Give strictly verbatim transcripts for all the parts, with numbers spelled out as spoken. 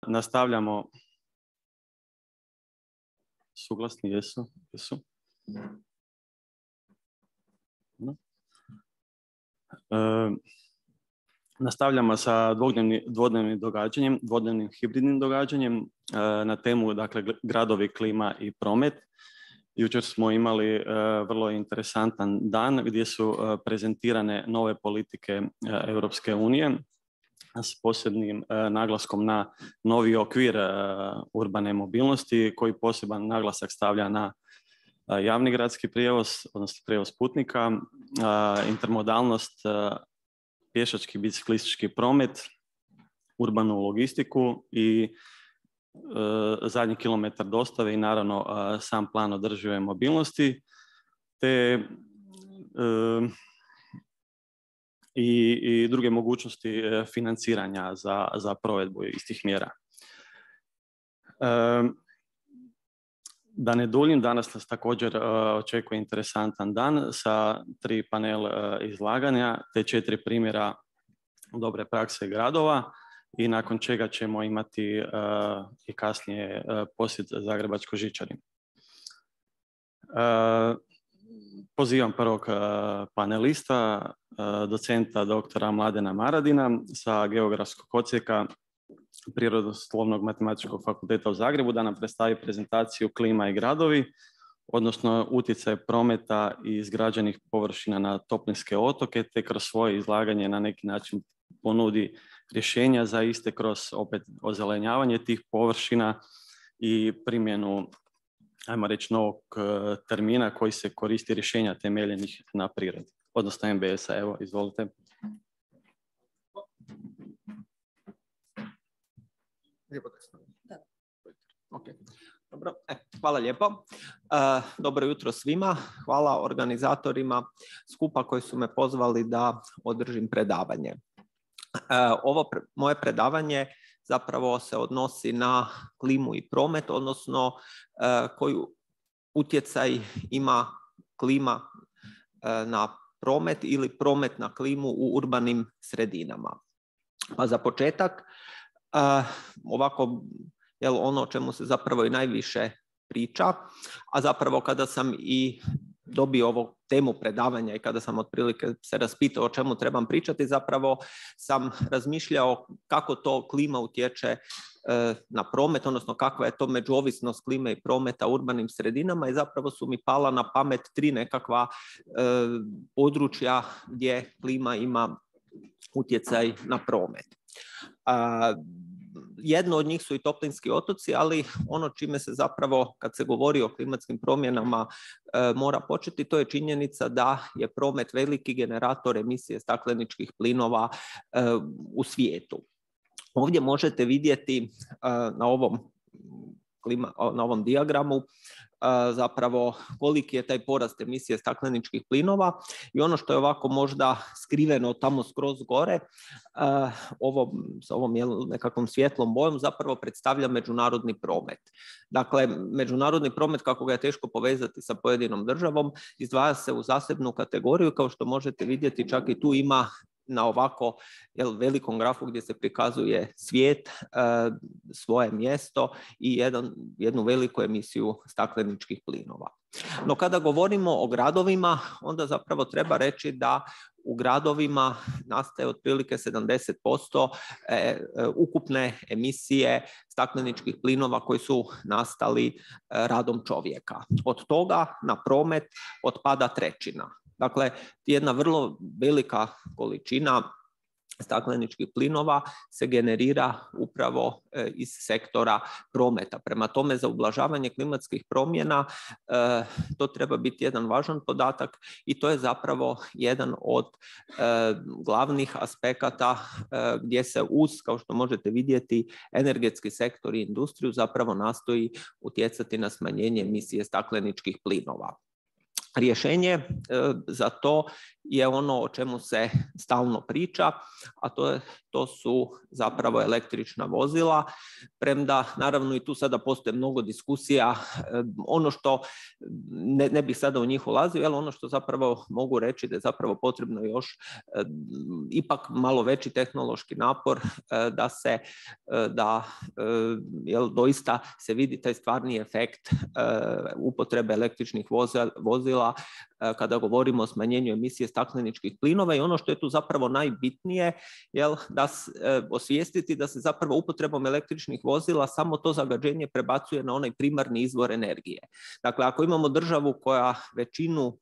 Nastavljamo. Suglasni jesu? Jesu? E, nastavljamo sa dvodnevnim, dvodnevnim događanjem, dvodnevnim hibridnim događanjem e, na temu, dakle, gradovi, klima i promet. Jučer smo imali e, vrlo interesantan dan gdje su e, prezentirane nove politike e, Europske unije s posebnim e, naglaskom na novi okvir e, urbane mobilnosti koji poseban naglasak stavlja na e, javni gradski prijevoz, odnosno prijevoz putnika, e, intermodalnost, e, pješački biciklistički promet, urbanu logistiku i e, zadnji kilometar dostave i naravno e, sam plan održive mobilnosti te e, I, i druge mogućnosti financiranja za, za provedbu istih mjera. E, da ne duljim, danas nas također uh, očekuje interesantan dan sa tri panel uh, izlaganja te četiri primjera dobre prakse gradova i nakon čega ćemo imati uh, i kasnije uh, posjet Zagrebačkoj žičari. Uh, Pozivam prvog uh, panelista, uh, docenta doktora Mladena Maradina sa Geografskog odsjeka Prirodoslovnog matematičkog fakulteta u Zagrebu da nam predstavi prezentaciju Klima i gradovi, odnosno utjecaj prometa i izgrađenih površina na toplinske otoke, te kroz svoje izlaganje na neki način ponudi rješenja za iste kroz opet ozelenjavanje tih površina i primjenu, ajmo reći, novog termina koji se koristi rješenja temeljenih na prirodi, odnosno M B S-a. Evo, izvolite. Da. Okay. Dobro. E, hvala lijepo. E, dobro jutro svima. Hvala organizatorima skupa koji su me pozvali da održim predavanje. E, ovo pre, moje predavanje zapravo se odnosi na klimu i promet, odnosno e, koji utjecaj ima klima e, na promet ili promet na klimu u urbanim sredinama. Pa za početak, Uh, ovako, jel, ono o čemu se zapravo i najviše priča, a zapravo kada sam i dobio ovu temu predavanja i kada sam otprilike se raspitao o čemu trebam pričati, zapravo sam razmišljao kako to klima utječe uh, na promet, odnosno kakva je to međuovisnost klime i prometa u urbanim sredinama i zapravo su mi pala na pamet tri nekakva uh, područja gdje klima ima utjecaj na promet. Uh, jedno od njih su i toplinski otoci, ali ono čime se zapravo, kad se govori o klimatskim promjenama, uh, mora početi, to je činjenica da je promet veliki generator emisije stakleničkih plinova uh, u svijetu. Ovdje možete vidjeti uh, na ovom klima, na ovom dijagramu zapravo koliki je taj porast emisije stakleničkih plinova i ono što je ovako možda skriveno tamo skroz gore, ovo, s ovom nekakvom svjetlom bojom zapravo predstavlja međunarodni promet. Dakle, međunarodni promet, kako ga je teško povezati sa pojedinom državom, izdvaja se u zasebnu kategoriju, kao što možete vidjeti, čak i tu ima na ovako, jel, velikom grafu gdje se prikazuje svijet, e, svoje mjesto i jedan, jednu veliku emisiju stakleničkih plinova. No kada govorimo o gradovima, onda zapravo treba reći da u gradovima nastaje otprilike sedamdeset posto e, e, ukupne emisije stakleničkih plinova koji su nastali e, radom čovjeka. Od toga na promet otpada trećina. Dakle, jedna vrlo velika količina stakleničkih plinova se generira upravo e, iz sektora prometa. Prema tome, za ublažavanje klimatskih promjena e, to treba biti jedan važan podatak i to je zapravo jedan od e, glavnih aspekata e, gdje se uz, kao što možete vidjeti, energetski sektor i industriju zapravo nastoji utjecati na smanjenje emisije stakleničkih plinova. Rješenje e, za to je ono o čemu se stalno priča, a to, je, to su zapravo električna vozila, premda naravno i tu sada postoje mnogo diskusija. Ono što, ne, ne bih sada u njih ulazio, ali ono što zapravo mogu reći da je zapravo potrebno još ipak malo veći tehnološki napor da se, da jel, doista se vidi taj stvarni efekt upotrebe električnih vozila kada govorimo o smanjenju emisije stakleničkih plinova, i ono što je tu zapravo najbitnije, jel, da s, e, osvijestiti da se zapravo upotrebom električnih vozila samo to zagađenje prebacuje na onaj primarni izvor energije. Dakle, ako imamo državu koja većinu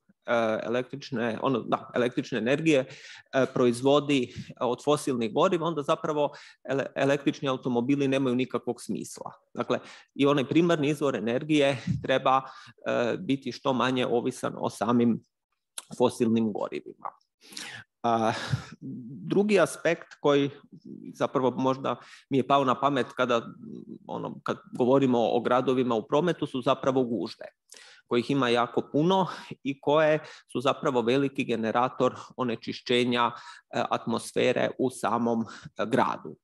električne, ono, da, električne energije e, proizvodi od fosilnih goriva, onda zapravo ele, električni automobili nemaju nikakvog smisla. Dakle, i onaj primarni izvor energije treba e, biti što manje ovisan o samim fosilnim gorivima. Uh, drugi aspekt koji zapravo možda mi je pao na pamet kada ono, kad govorimo o gradovima u prometu su zapravo gužve, kojih ima jako puno i koje su zapravo veliki generator onečišćenja uh, atmosfere u samom uh, gradu.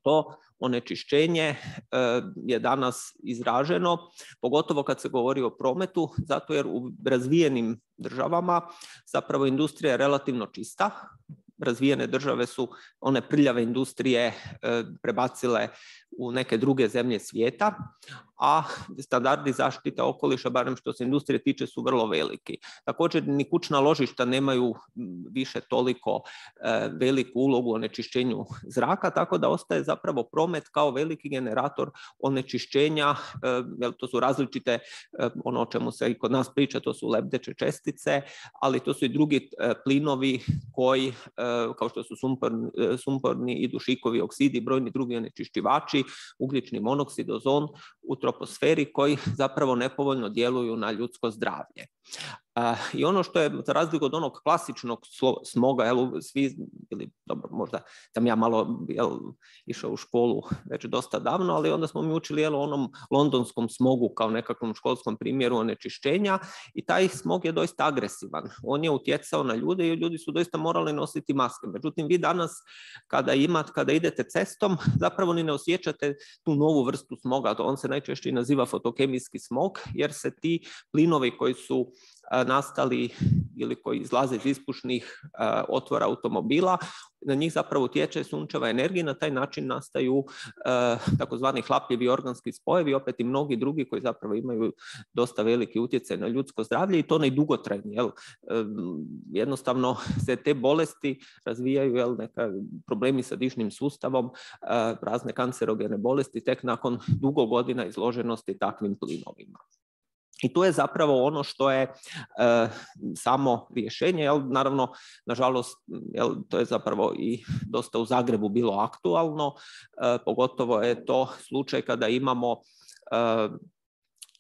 To onečišćenje uh, je danas izraženo, pogotovo kad se govori o prometu, zato jer u razvijenim državama zapravo industrija je relativno čista. Razvijene države su one prljave industrije e, prebacile u neke druge zemlje svijeta, a standardi zaštite okoliša, barem što se industrije tiče, su vrlo veliki. Također ni kućna ložišta nemaju više toliko e, veliku ulogu u onečišćenju zraka, tako da ostaje zapravo promet kao veliki generator onečišćenja, e, jer to su različite, e, ono o čemu se i kod nas priča, to su lebdeće čestice, ali to su i drugi e, plinovi koji, e, kao što su sumporni, e, sumporni i dušikovi oksidi, brojni drugi onečišćivači, ugljični monoksid, ozon u troposferi, koji zapravo nepovoljno djeluju na ljudsko zdravlje. Uh, I ono što je, za razliku od onog klasičnog smoga, jel, svi, ili dobro, možda sam ja malo jel, išao u školu već dosta davno, ali onda smo mi učili jel, onom londonskom smogu kao nekakvom školskom primjeru onečišćenja, i taj smog je doista agresivan. On je utjecao na ljude i ljudi su doista morali nositi maske. Međutim, vi danas kada imate, kada idete cestom, zapravo ni ne osjećate tu novu vrstu smoga. On se najčešće naziva fotokemijski smog, jer se ti plinovi koji su nastali ili koji izlaze iz ispušnih uh, otvora automobila, na njih zapravo utječe sunčeva energija, na taj način nastaju uh, takozvani hlapljivi organski spojevi, opet i mnogi drugi koji zapravo imaju dosta veliki utjecaj na ljudsko zdravlje, i to ne dugotrajni. Jel? Um, jednostavno se te bolesti razvijaju, jel, neka problemi sa dišnim sustavom, uh, razne kancerogene bolesti tek nakon dugo godina izloženosti takvim plinovima. I to je zapravo ono što je e, samo rješenje, jel, naravno, nažalost, jel, to je zapravo i dosta u Zagrebu bilo aktualno, e, pogotovo je to slučaj kada imamo e,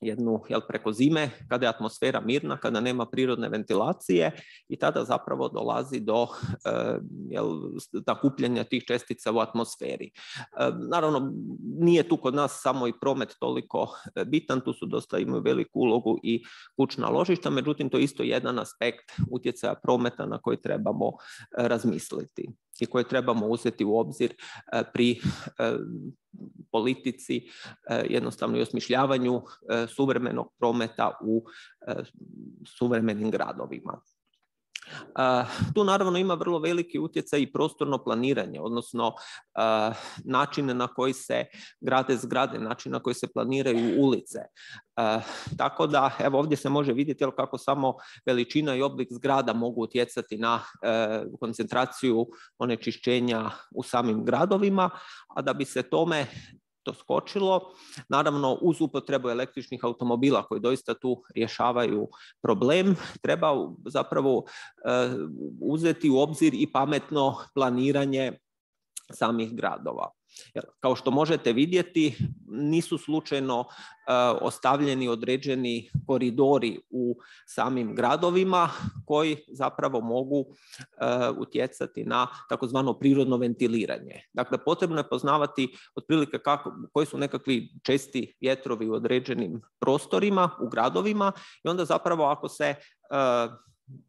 jednu, jel, preko zime, kada je atmosfera mirna, kada nema prirodne ventilacije, i tada zapravo dolazi do e, jel, nakupljanja tih čestica u atmosferi. E, naravno, nije tu kod nas samo i promet toliko bitan, tu su dosta, imaju veliku ulogu i kućna ložišta, međutim, to je isto jedan aspekt utjecaja prometa na koji trebamo e, razmisliti i koje trebamo uzeti u obzir e, pri e, politici, jednostavno i osmišljavanju suvremenog prometa u suvremenim gradovima. Tu naravno ima vrlo veliki utjecaj i prostorno planiranje, odnosno način na koji se grade zgrade, način na koji se planiraju ulice. Tako da, evo, ovdje se može vidjeti kako samo veličina i oblik zgrada mogu utjecati na koncentraciju onečišćenja u samim gradovima, a da bi se tome to skočilo, naravno uz upotrebu električnih automobila koji doista tu rješavaju problem, treba zapravo uh, uzeti u obzir i pametno planiranje samih gradova. Jer, kao što možete vidjeti, nisu slučajno uh, ostavljeni određeni koridori u samim gradovima koji zapravo mogu uh, utjecati na takozvano prirodno ventiliranje. Dakle, potrebno je poznavati otprilike kako, koji su nekakvi česti vjetrovi u određenim prostorima, u gradovima, i onda zapravo ako se uh,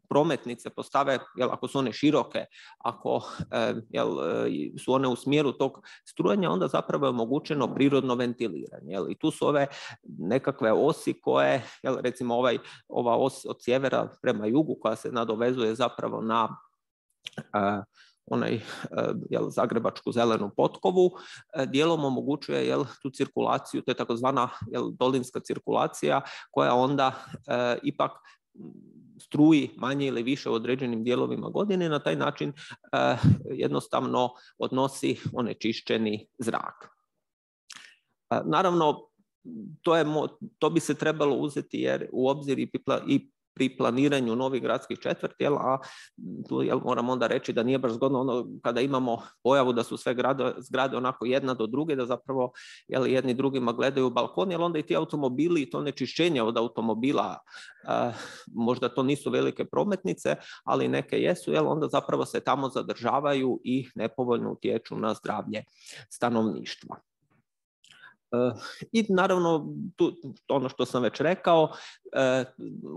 prometnice postave, jel, ako su one široke, ako jel, su one u smjeru tog strujanja, onda zapravo je omogućeno prirodno ventiliranje. Jel. I tu su ove nekakve osi koje, jel, recimo ovaj, ova os od sjevera prema jugu koja se nadovezuje zapravo na uh, onaj jel, zagrebačku zelenu potkovu, dijelom omogućuje jel, tu cirkulaciju, to je takozvana jel, dolinska cirkulacija koja onda e, ipak struji manje ili više u određenim dijelovima godine, na taj način e, jednostavno odnosi onečišćeni zrak. E, naravno, to, je, to bi se trebalo uzeti jer u obzir i, i pri planiranju novih gradskih četvrti, jel, a tu jel, moram onda reći da nije baš zgodno ono kada imamo pojavu da su sve grade, zgrade onako jedna do druge, da zapravo jel, jedni drugima gledaju u balkon, jer onda i ti automobili i to nečišćenje od automobila, a, možda to nisu velike prometnice, ali neke jesu, jel, onda zapravo se tamo zadržavaju i nepovoljno utječu na zdravlje stanovništva. I naravno, tu, ono što sam već rekao,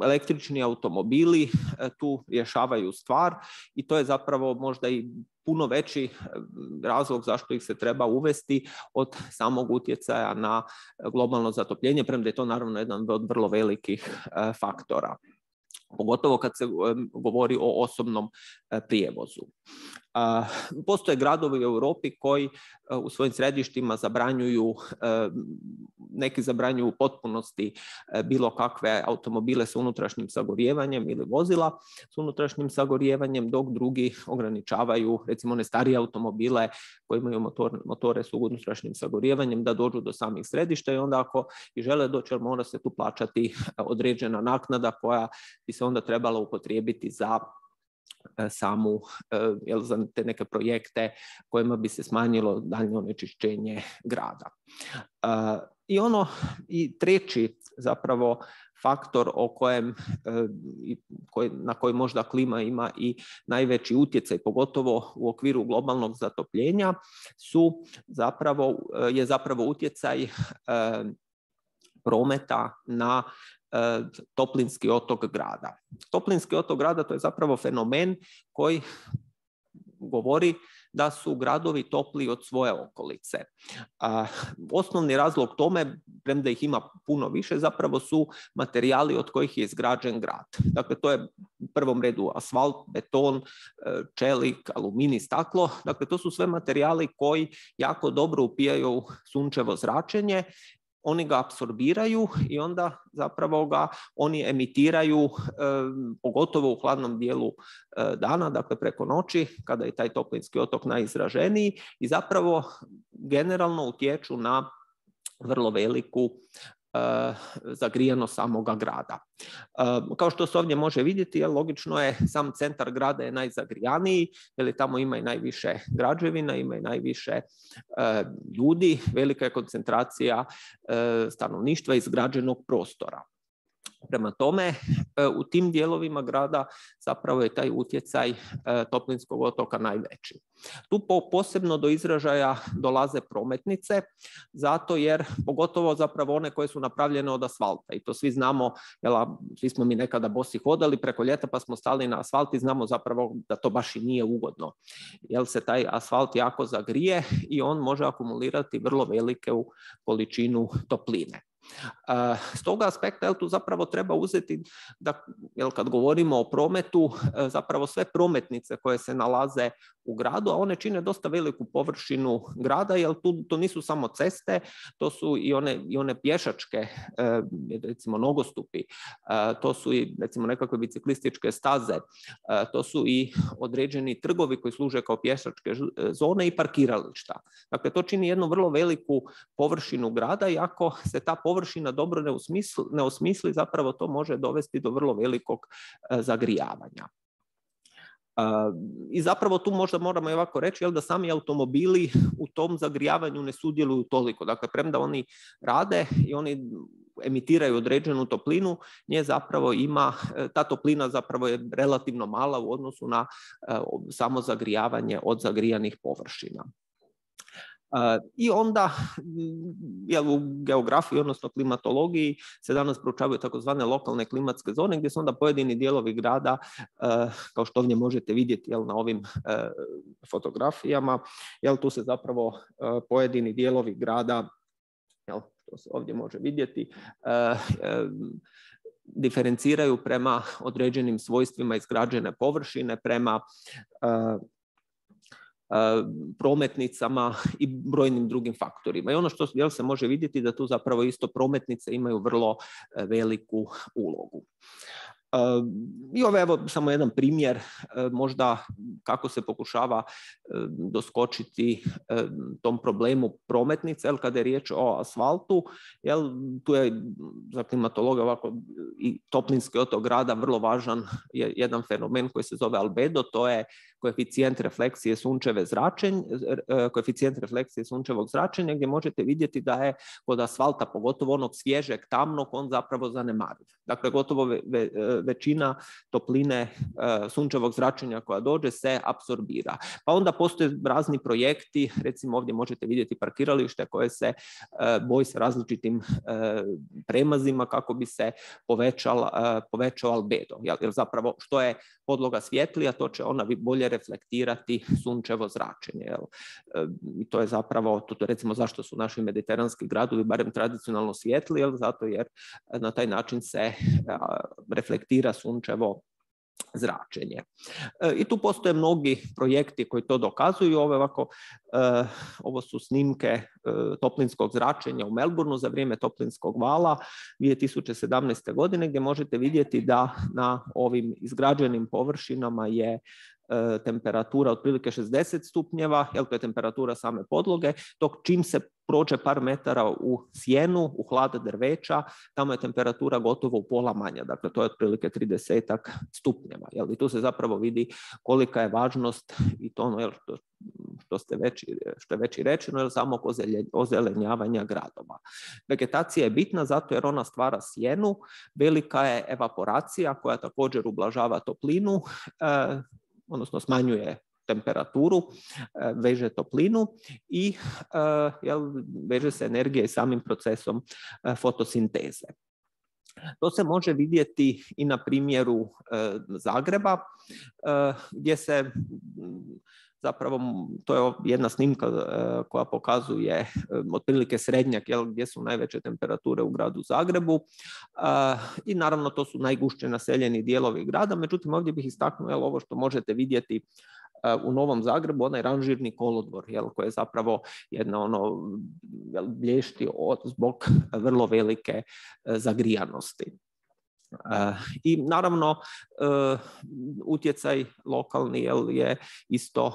električni automobili tu rješavaju stvar i to je zapravo možda i puno veći razlog zašto ih se treba uvesti od samog utjecaja na globalno zatopljenje, premda je to naravno jedan od vrlo velikih faktora. Pogotovo kad se govori o osobnom prijevozu. Postoje gradovi u Europi koji u svojim središtima zabranjuju, neki zabranjuju u potpunosti bilo kakve automobile sa unutrašnjim sagorijevanjem ili vozila s unutrašnjim sagorijevanjem, dok drugi ograničavaju recimo one starije automobile koji imaju motor, motore s unutrašnjim sagorijevanjem da dođu do samih središta i onda ako i žele doći, mora se tu plaćati određena naknada koja bi se onda trebala upotrijebiti za samu, jel, za te neke projekte kojima bi se smanjilo daljnje onečišćenje grada. I ono, i treći zapravo faktor o kojem, na koji možda klima ima i najveći utjecaj, pogotovo u okviru globalnog zatopljenja, su zapravo, je zapravo utjecaj prometa na toplinski otok grada. Toplinski otok grada to je zapravo fenomen koji govori da su gradovi topliji od svoje okolice. A, osnovni razlog tome, premda ih ima puno više, zapravo su materijali od kojih je izgrađen grad. Dakle, to je u prvom redu asfalt, beton, čelik, aluminij, staklo. Dakle, to su sve materijali koji jako dobro upijaju sunčevo zračenje. Oni ga apsorbiraju i onda zapravo ga oni emitiraju, e, pogotovo u hladnom dijelu e, dana, dakle preko noći, kada je taj toplinski otok najizraženiji i zapravo generalno utječu na vrlo veliku zagrijanost samoga grada. Kao što se ovdje može vidjeti, logično je, sam centar grada je najzagrijaniji, jer tamo ima i najviše građevina, ima i najviše ljudi, velika je koncentracija stanovništva izgrađenog prostora. Prema tome, u tim dijelovima grada zapravo je taj utjecaj toplinskog otoka najveći. Tu posebno do izražaja dolaze prometnice, zato jer, pogotovo zapravo one koje su napravljene od asfalta, i to svi znamo, jela, svi smo mi nekada bosi hodali preko ljeta pa smo stali na asfalt i znamo zapravo da to baš i nije ugodno, jer se taj asfalt jako zagrije i on može akumulirati vrlo veliku količinu topline. S toga aspekta jel, tu zapravo treba uzeti da jel, kad govorimo o prometu, zapravo sve prometnice koje se nalaze u gradu, a one čine dosta veliku površinu grada, jer tu to nisu samo ceste, to su i one, i one pješačke, recimo nogostupi, to su i recimo nekakve biciklističke staze, to su i određeni trgovi koji služe kao pješačke zone i parkirališta. Dakle, to čini jednu vrlo veliku površinu grada i ako se ta površina dobro ne osmisli, ne osmisli, zapravo to može dovesti do vrlo velikog zagrijavanja. I zapravo tu možda moramo i ovako reći jel, da sami automobili u tom zagrijavanju ne sudjeluju toliko. Dakle, premda oni rade i oni emitiraju određenu toplinu, nje zapravo ima, ta toplina zapravo je relativno mala u odnosu na samo zagrijavanje od zagrijanih površina. I onda jel, u geografiji, odnosno klimatologiji, se danas proučavaju takozvane lokalne klimatske zone, gdje su onda pojedini dijelovi grada, kao što ovdje možete vidjeti jel, na ovim fotografijama, jel, tu se zapravo pojedini dijelovi grada, jel, to se ovdje može vidjeti, diferenciraju prema određenim svojstvima izgrađene površine, prema prometnicama i brojnim drugim faktorima. I ono što jel, se može vidjeti da tu zapravo isto prometnice imaju vrlo veliku ulogu. I ovo je evo samo jedan primjer možda kako se pokušava doskočiti tom problemu prometnice, jel, kada je riječ o asfaltu, jel, tu je za klimatologa ovako i toplinski otok grada vrlo važan je jedan fenomen koji se zove albedo, to je koeficijent refleksije sunčeve zračenja, koeficijent refleksije sunčevog zračenja, gdje možete vidjeti da je kod asfalta, pogotovo onog svježeg, tamnog, on zapravo zanemariv. Dakle, gotovo ve, ve, većina topline sunčevog zračenja koja dođe se apsorbira. Pa onda postoje razni projekti, recimo ovdje možete vidjeti parkiralište koje se boji sa različitim premazima kako bi se povećal, povećao albedo. Jer zapravo što je podloga svjetlija, to će ona bolje reflektirati sunčevo zračenje. Jel? I to je zapravo, to recimo zašto su naši mediteranski gradovi barem tradicionalno svijetli, jel? Zato jer na taj način se reflektira sunčevo zračenje. I tu postoje mnogi projekti koji to dokazuju. Ovo, ovako, ovo su snimke toplinskog zračenja u Melbourneu za vrijeme toplinskog vala dvije tisuće sedamnaeste. godine, gdje možete vidjeti da na ovim izgrađenim površinama je temperatura otprilike šezdeset stupnjeva, jel, to je temperatura same podloge, dok čim se prođe par metara u sjenu, u hlad drveća, tamo je temperatura gotovo u pola manja, dakle to je otprilike tridesetak stupnjeva. Jel, i tu se zapravo vidi kolika je važnost i to ono, jel, što, što, ste već, što je već i rečeno, jel, samog ozelenjavanja gradova. Vegetacija je bitna zato jer ona stvara sjenu, velika je evaporacija koja također ublažava toplinu, eh, odnosno smanjuje temperaturu, veže toplinu i jel, veže se energija i samim procesom fotosinteze. To se može vidjeti i na primjeru Zagreba, gdje se zapravo, to je jedna snimka koja pokazuje otprilike srednjak, jel, gdje su najveće temperature u gradu Zagrebu i naravno to su najgušće naseljeni dijelovi grada, međutim ovdje bih istaknuo jel, ovo što možete vidjeti u Novom Zagrebu, onaj ranžirni kolodvor, jel, koji je zapravo jedna ono, jel, blješti od, zbog vrlo velike zagrijanosti. Uh, I naravno uh, utjecaj lokalni jel, je isto uh,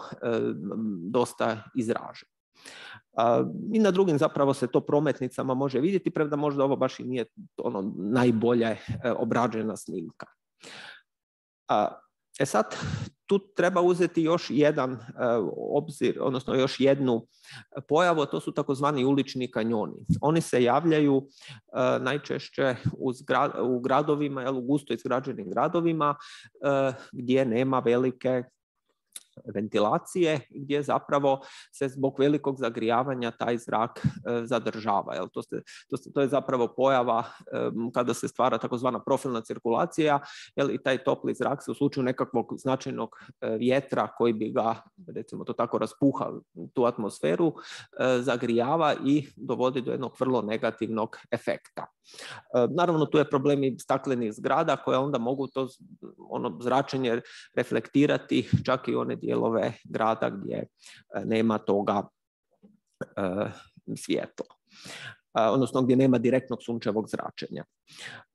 dosta izražen. Uh, I na drugim zapravo se to prometnicama može vidjeti, premda možda ovo baš i nije ono najbolje uh, obrađena snimka. Uh, E sad, tu treba uzeti još jedan uh, obzir, odnosno još jednu pojavu, to su takozvani ulični kanjoni. Oni se javljaju uh, najčešće uz gra, u gradovima, jel, u gusto izgrađenim gradovima, uh, gdje nema velike ventilacije, gdje zapravo se zbog velikog zagrijavanja taj zrak e, zadržava. Jel? To, se, to, se, to je zapravo pojava e, kada se stvara takozvana profilna cirkulacija, jel? I taj topli zrak se u slučaju nekakvog značajnog e, vjetra koji bi ga, recimo to tako, raspuha tu atmosferu, e, zagrijava i dovodi do jednog vrlo negativnog efekta. E, naravno, tu je problem i staklenih zgrada koje onda mogu to ono zračenje reflektirati čak i one dijelove grada gdje nema toga e, svjetla, e, odnosno gdje nema direktnog sunčevog zračenja.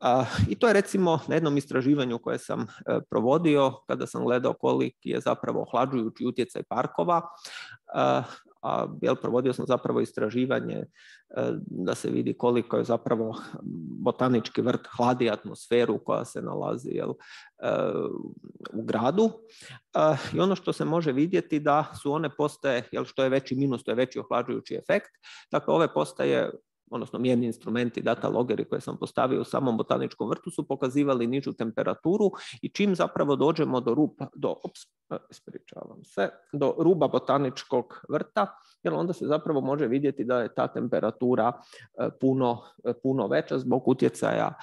E, I to je recimo na jednom istraživanju koje sam e, provodio kada sam gledao koliki je zapravo ohlađujući utjecaj parkova. E, a jel, provodio sam zapravo istraživanje e, da se vidi koliko je zapravo botanički vrt hladi atmosferu koja se nalazi jel, e, u gradu. E, I ono što se može vidjeti da su one postaje, jel, što je veći minus, to je veći ohlađujući efekt. Dakle, ove postaje odnosno mjerni instrumenti, data logeri koje sam postavio u samom botaničkom vrtu su pokazivali nižu temperaturu i čim zapravo dođemo do ruba, do, ops, ispričavam se, do ruba botaničkog vrta, jer onda se zapravo može vidjeti da je ta temperatura puno, puno veća zbog utjecaja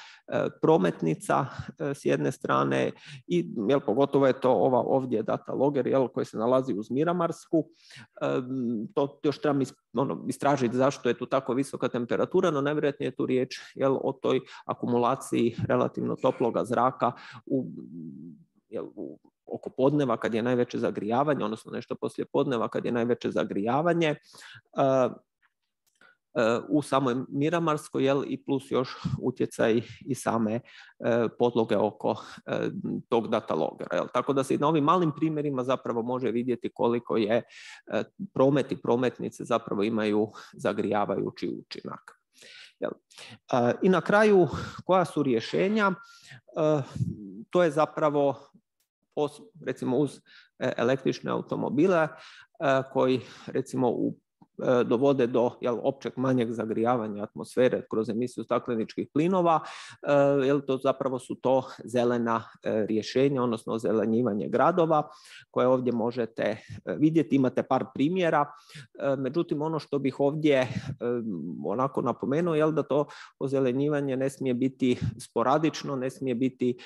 prometnica s jedne strane i jel, pogotovo je to ova ovdje data loger jel, koji se nalazi uz Miramarsku. To još treba ono, istražiti zašto je tu tako visoka temperatura, no najvjerojatnije je tu riječ jel, o toj akumulaciji relativno toploga zraka u, jel, u oko podneva kad je najveće zagrijavanje, odnosno nešto poslije podneva kad je najveće zagrijavanje uh, uh, u samoj Miramarskoj jel, i plus još utjecaj i same uh, podloge oko uh, tog data logera. Jel. Tako da se i na ovim malim primjerima zapravo može vidjeti koliko je uh, promet i prometnice zapravo imaju zagrijavajući učinak. Jel. Uh, I na kraju koja su rješenja? Uh, to je zapravo recimo uz električne automobile koji recimo u dovode do jel, općeg manjeg zagrijavanja atmosfere kroz emisiju stakleničkih plinova, jel, to zapravo su to zelena rješenja, odnosno zelenjivanje gradova koje ovdje možete vidjeti. Imate par primjera, međutim ono što bih ovdje onako napomenuo je da to ozelenjivanje ne smije biti sporadično, ne smije biti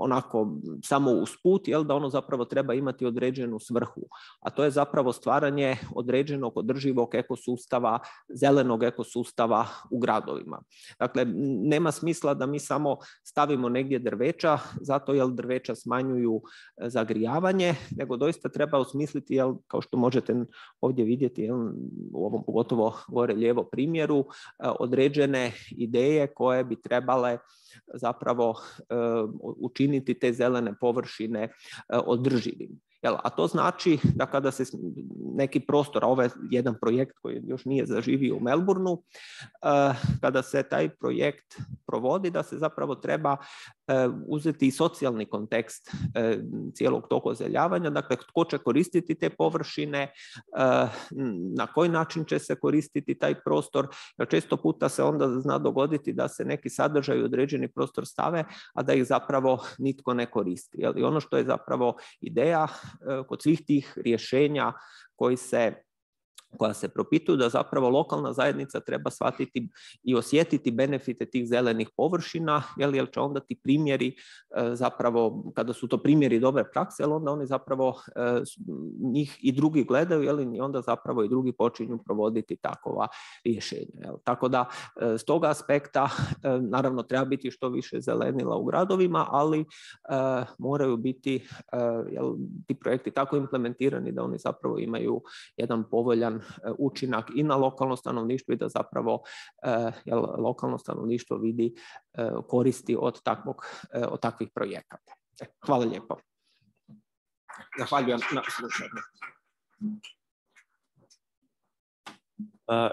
onako samo usput, jel, da ono zapravo treba imati određenu svrhu, a to je zapravo stvaranje određenog održivog ekosustava, zelenog ekosustava u gradovima. Dakle, nema smisla da mi samo stavimo negdje drveća, zato jer drveća smanjuju zagrijavanje, nego doista treba osmisliti, jel, kao što možete ovdje vidjeti, jel, u ovom pogotovo gore lijevo primjeru, određene ideje koje bi trebale zapravo učiniti te zelene površine održivim. Jel, a to znači da kada se neki prostor, a ovo je jedan projekt koji još nije zaživio u Melbourneu, uh, kada se taj projekt provodi, da se zapravo treba uh, uzeti i socijalni kontekst uh, cijelog tog ozeljavanja, dakle tko će koristiti te površine, uh, na koji način će se koristiti taj prostor, jer često puta se onda zna dogoditi da se neki sadržaj u određeni prostor stave, a da ih zapravo nitko ne koristi. Jel? I ono što je zapravo ideja kod svih tih rješenja koji se, koja se propituju, da zapravo lokalna zajednica treba shvatiti i osjetiti benefite tih zelenih površina, jel, jel će onda ti primjeri zapravo, kada su to primjeri dobre prakse, jel, onda oni zapravo njih i drugi gledaju, jel, i onda zapravo i drugi počinju provoditi takova rješenja. Jel. Tako da s toga aspekta naravno treba biti što više zelenila u gradovima, ali moraju biti jel, ti projekti tako implementirani da oni zapravo imaju jedan povoljan učinak i na lokalno stanovništvo i da zapravo jel, lokalno stanovništvo vidi koristi od, takvog, od takvih projekata. Hvala lijepo. Zahvaljujem na slušanju.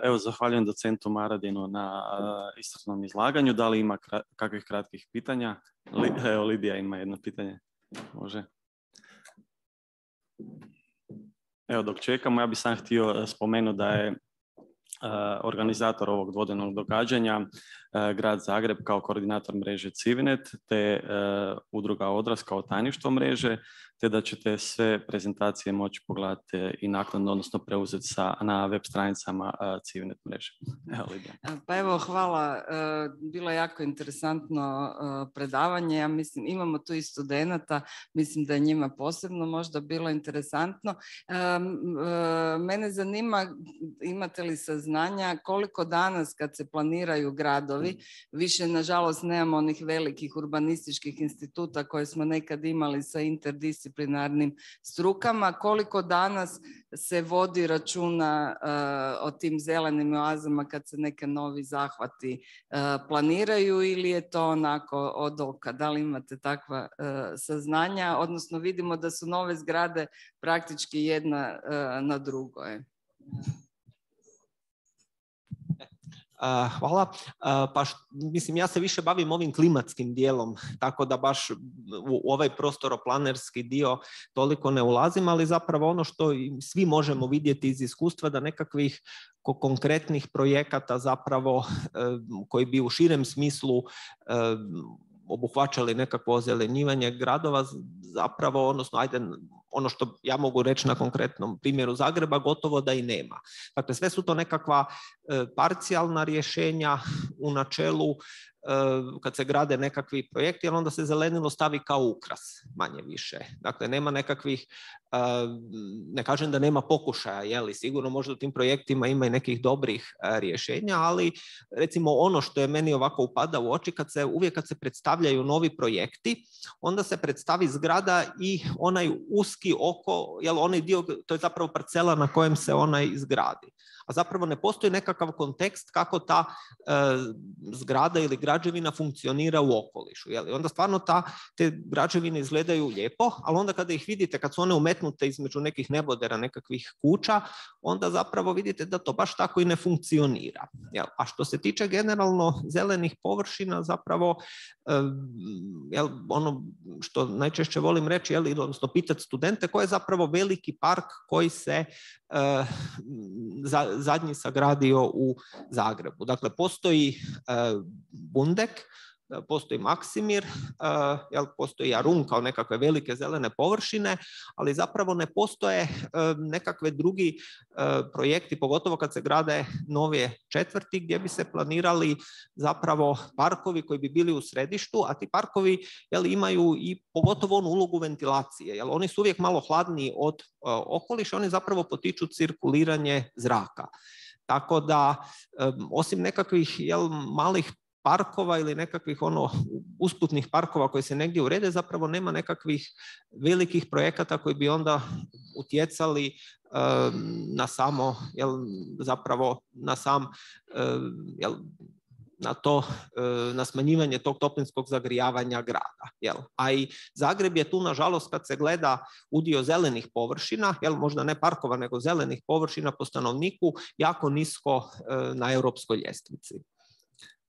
Evo, zahvaljujem docentu Maradinu na iscrpnom izlaganju. Da li ima kakvih kratkih pitanja? Evo, Lidija ima jedno pitanje. Može. Evo, dok čekamo, ja bih sam htio spomenuti da je organizator ovog dvodnevnog događanja Grad Zagreb kao koordinator mreže Civinet, te udruga Odraz kao tajništvo mreže, te da ćete sve prezentacije moći pogledati i naknadno, odnosno preuzeti sa, na web stranicama Civinet mreže. Evo, Lidija. Pa evo, hvala. Bilo je jako interesantno predavanje. Ja mislim, imamo tu i studenata, mislim da je njima posebno možda bilo interesantno. Mene zanima, imate li saznanja koliko danas kad se planiraju gradovi, više nažalost nemamo onih velikih urbanističkih instituta koje smo nekad imali sa interdisciplinarnim strukama, koliko danas se vodi računa uh, o tim zelenim oazama kad se neke novi zahvati uh, planiraju, ili je to onako od oka? Da li imate takva uh, saznanja? Odnosno vidimo da su nove zgrade praktički jedna uh, na drugoj. Hvala. Pa š, mislim, ja se više bavim ovim klimatskim dijelom, tako da baš u ovaj prostoroplanerski dio toliko ne ulazim, ali zapravo ono što svi možemo vidjeti iz iskustva da nekakvih konkretnih projekata zapravo koji bi u širem smislu obuhvaćali nekakvo ozelenjivanje gradova, zapravo, odnosno, ajde, ono što ja mogu reći na konkretnom primjeru Zagreba, gotovo da i nema. Dakle, sve su to nekakva e, parcijalna rješenja u načelu, e, kad se grade nekakvi projekti, ali onda se zelenilo stavi kao ukras, manje više. Dakle, nema nekakvih, e, ne kažem da nema pokušaja, jeli, sigurno možda u tim projektima ima i nekih dobrih e, rješenja, ali recimo ono što je meni ovako upada u oči, kad se, uvijek kad se predstavljaju novi projekti, onda se predstavi zgrada i onaj uski oko, jel, onaj dio, to je zapravo parcela na kojem se ona izgradi. A zapravo ne postoji nekakav kontekst kako ta e, zgrada ili građevina funkcionira u okolišu. Jel? Onda stvarno ta, te građevine izgledaju lijepo, ali onda kada ih vidite, kad su one umetnute između nekih nebodera, nekakvih kuća, onda zapravo vidite da to baš tako i ne funkcionira. Jel? A što se tiče generalno zelenih površina, zapravo e, jel, ono što najčešće volim reći, jel, odnosno pitati studente, koji je zapravo veliki park koji se e, za, zadnji sagradio u Zagrebu. Dakle, postoji uh, Bundek, postoji Maksimir, uh, jel, postoji Jarun kao nekakve velike zelene površine, ali zapravo ne postoje uh, nekakve drugi uh, projekti, pogotovo kad se grade nove četvrti gdje bi se planirali zapravo parkovi koji bi bili u središtu, a ti parkovi, jel, imaju i pogotovo onu ulogu ventilacije. Jel, oni su uvijek malo hladniji od uh, okoliša, oni zapravo potiču cirkuliranje zraka. Tako da, um, osim nekakvih, jel, malih parkova ili nekakvih ono usputnih parkova koji se negdje urede, zapravo nema nekakvih velikih projekata koji bi onda utjecali um, na samo, jel, zapravo na sam, um, jel, na to, na smanjivanje tog toplinskog zagrijavanja grada. Jel? A i Zagreb je tu, nažalost, kad se gleda udio zelenih površina, jel, možda ne parkova, nego zelenih površina po stanovniku, jako nisko na europskoj ljestvici.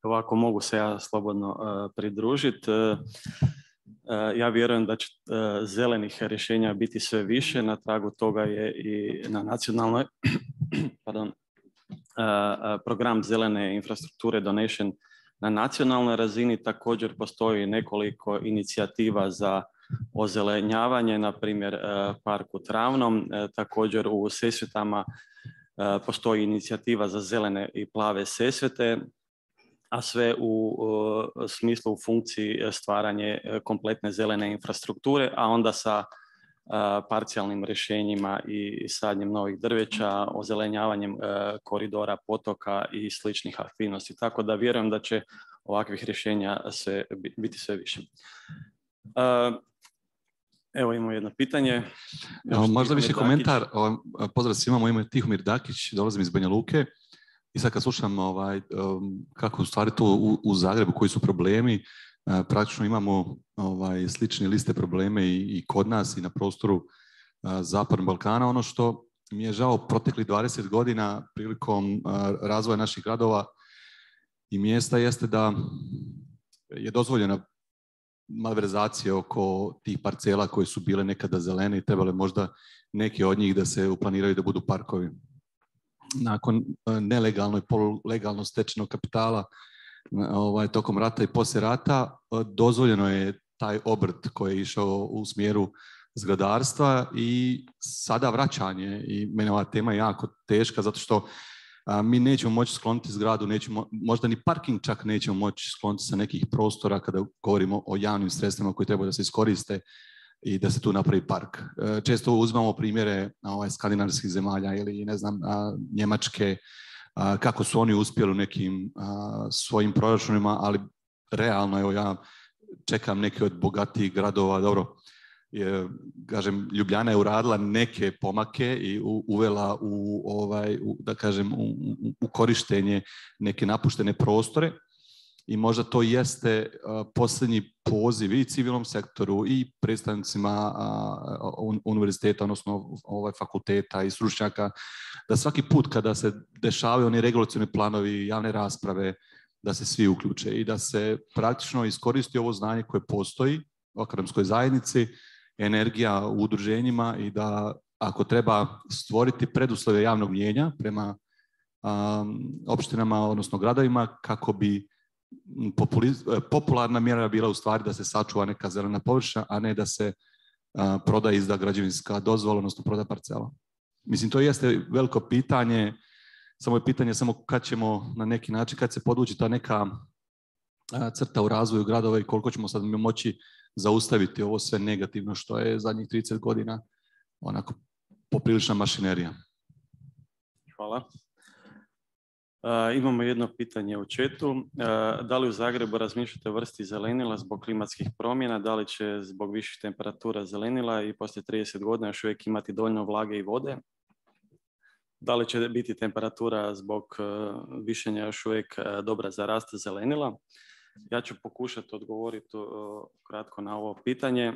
Ovako mogu se ja slobodno uh, pridružiti. Uh, uh, ja vjerujem da će uh, zelenih rješenja biti sve više. Na tragu toga je i na nacionalnoj pardon, uh, uh, program zelene infrastrukture donesen na nacionalnoj razini. Također postoji nekoliko inicijativa za ozelenjavanje, na primjer uh, park u Travnom. Uh, također u Sesvetama uh, postoji inicijativa za zelene i plave Sesvete, a sve u uh, smislu, u funkciji stvaranje kompletne zelene infrastrukture, a onda sa uh, parcijalnim rješenjima i sadnjem novih drveća, ozelenjavanjem uh, koridora, potoka i sličnih aktivnosti. Tako da vjerujem da će ovakvih rješenja sve, biti sve više. Uh, Evo imamo jedno pitanje. Evo, možda više komentar. Pozdrav svima, moje ime je Tihomir Dakić, dolazim iz Banja Luke. I sad kad slušam ovaj, um, kako u stvari to u, u Zagrebu, koji su problemi, uh, praktično imamo ovaj, slične liste probleme i, i kod nas i na prostoru uh, Zapadnog Balkana. Ono što mi je žao proteklih dvadeset godina prilikom uh, razvoja naših gradova i mjesta jeste da je dozvoljena malverzacija oko tih parcela koje su bile nekada zelene i trebale možda neke od njih da se uplaniraju da budu parkovi. Nakon nelegalno i polulegalno stečenog kapitala ovaj, tokom rata i poslije rata dozvoljeno je taj obrt koji je išao u smjeru zgradarstva i sada vraćanje. I mene ova tema je jako teška zato što a, mi nećemo moći skloniti zgradu, nećemo, možda ni parking čak nećemo moći skloniti sa nekih prostora kada govorimo o javnim sredstvima koji trebaju da se iskoriste i da se tu napravi park. Često uzmamo primjere ovaj, skandinavskih zemalja ili ne znam, a, Njemačke, a, kako su oni uspjeli u nekim a, svojim proračunima, ali realno, evo ja čekam neke od bogatijih gradova, dobro, je, kažem, Ljubljana je uradila neke pomake i u, uvela u, ovaj, u, da kažem, u, u korištenje neke napuštene prostore, i možda to jeste posljednji poziv i civilnom sektoru i predstavnicima univerziteta, odnosno ovaj fakulteta i stručnjaka, da svaki put kada se dešavaju oni regulacioni planovi, javne rasprave, da se svi uključe i da se praktično iskoristi ovo znanje koje postoji u akademskoj zajednici, energija u udruženjima i da ako treba stvoriti preduslove javnog mnijenja prema um, opštinama, odnosno gradovima, kako bi popularna mjera bila u stvari da se sačuva neka zelena površina, a ne da se uh, proda izda građevinska dozvola, odnosno proda parcela. Mislim, to jeste veliko pitanje, samo je pitanje samo kad ćemo na neki način, kad se podvući ta neka uh, crta u razvoju gradova i koliko ćemo sad moći zaustaviti ovo sve negativno što je zadnjih trideset godina onako poprilična mašinerija. Hvala. Uh, imamo jedno pitanje u chatu. Uh, da li u Zagrebu razmišljate o vrsti zelenila zbog klimatskih promjena? Da li će zbog viših temperatura zelenila i poslije trideset godina još uvijek imati dovoljno vlage i vode? Da li će biti temperatura zbog uh, višenja još uvijek uh, dobra za rast zelenila? Ja ću pokušati odgovoriti uh, kratko na ovo pitanje.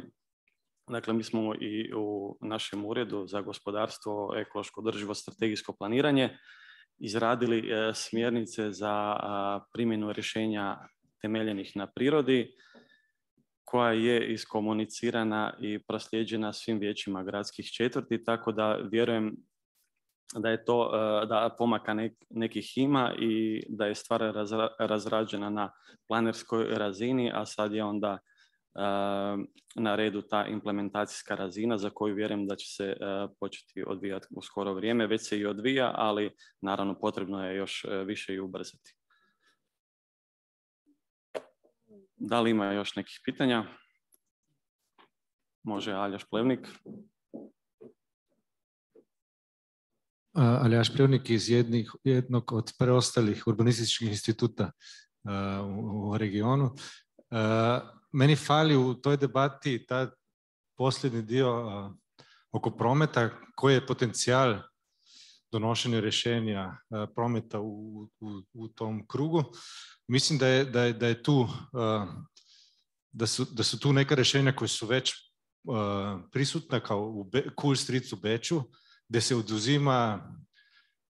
Dakle, mi smo i u našem uredu za gospodarstvo, ekološko održivo strategijsko planiranje izradili uh, smjernice za uh, primjenu rješenja temeljenih na prirodi, koja je iskomunicirana i proslijeđena svim vijećima gradskih četvrti, tako da vjerujem da je to, da pomaka nekih ima i da je stvar razrađena na planerskoj razini, a sad je onda na redu ta implementacijska razina za koju vjerujem da će se početi odvijati u skoro vrijeme. Već se i odvija, ali naravno potrebno je još više i ubrzati. Da li ima još nekih pitanja? Može Aljaš Plevnik. Aljaš Plevnik iz jednih, jednog od preostalih urbanističkih instituta uh, u, u regionu. Uh, meni fali u toj debati ta posljednji dio uh, oko prometa, koji je potencijal donošenja rješenja uh, prometa u, u, u tom krugu. Mislim da je, da je, da je tu uh, da su, da su tu neka rješenja koja su već uh, prisutna kao u Be- Cool Streets u Beču, gdje se oduzima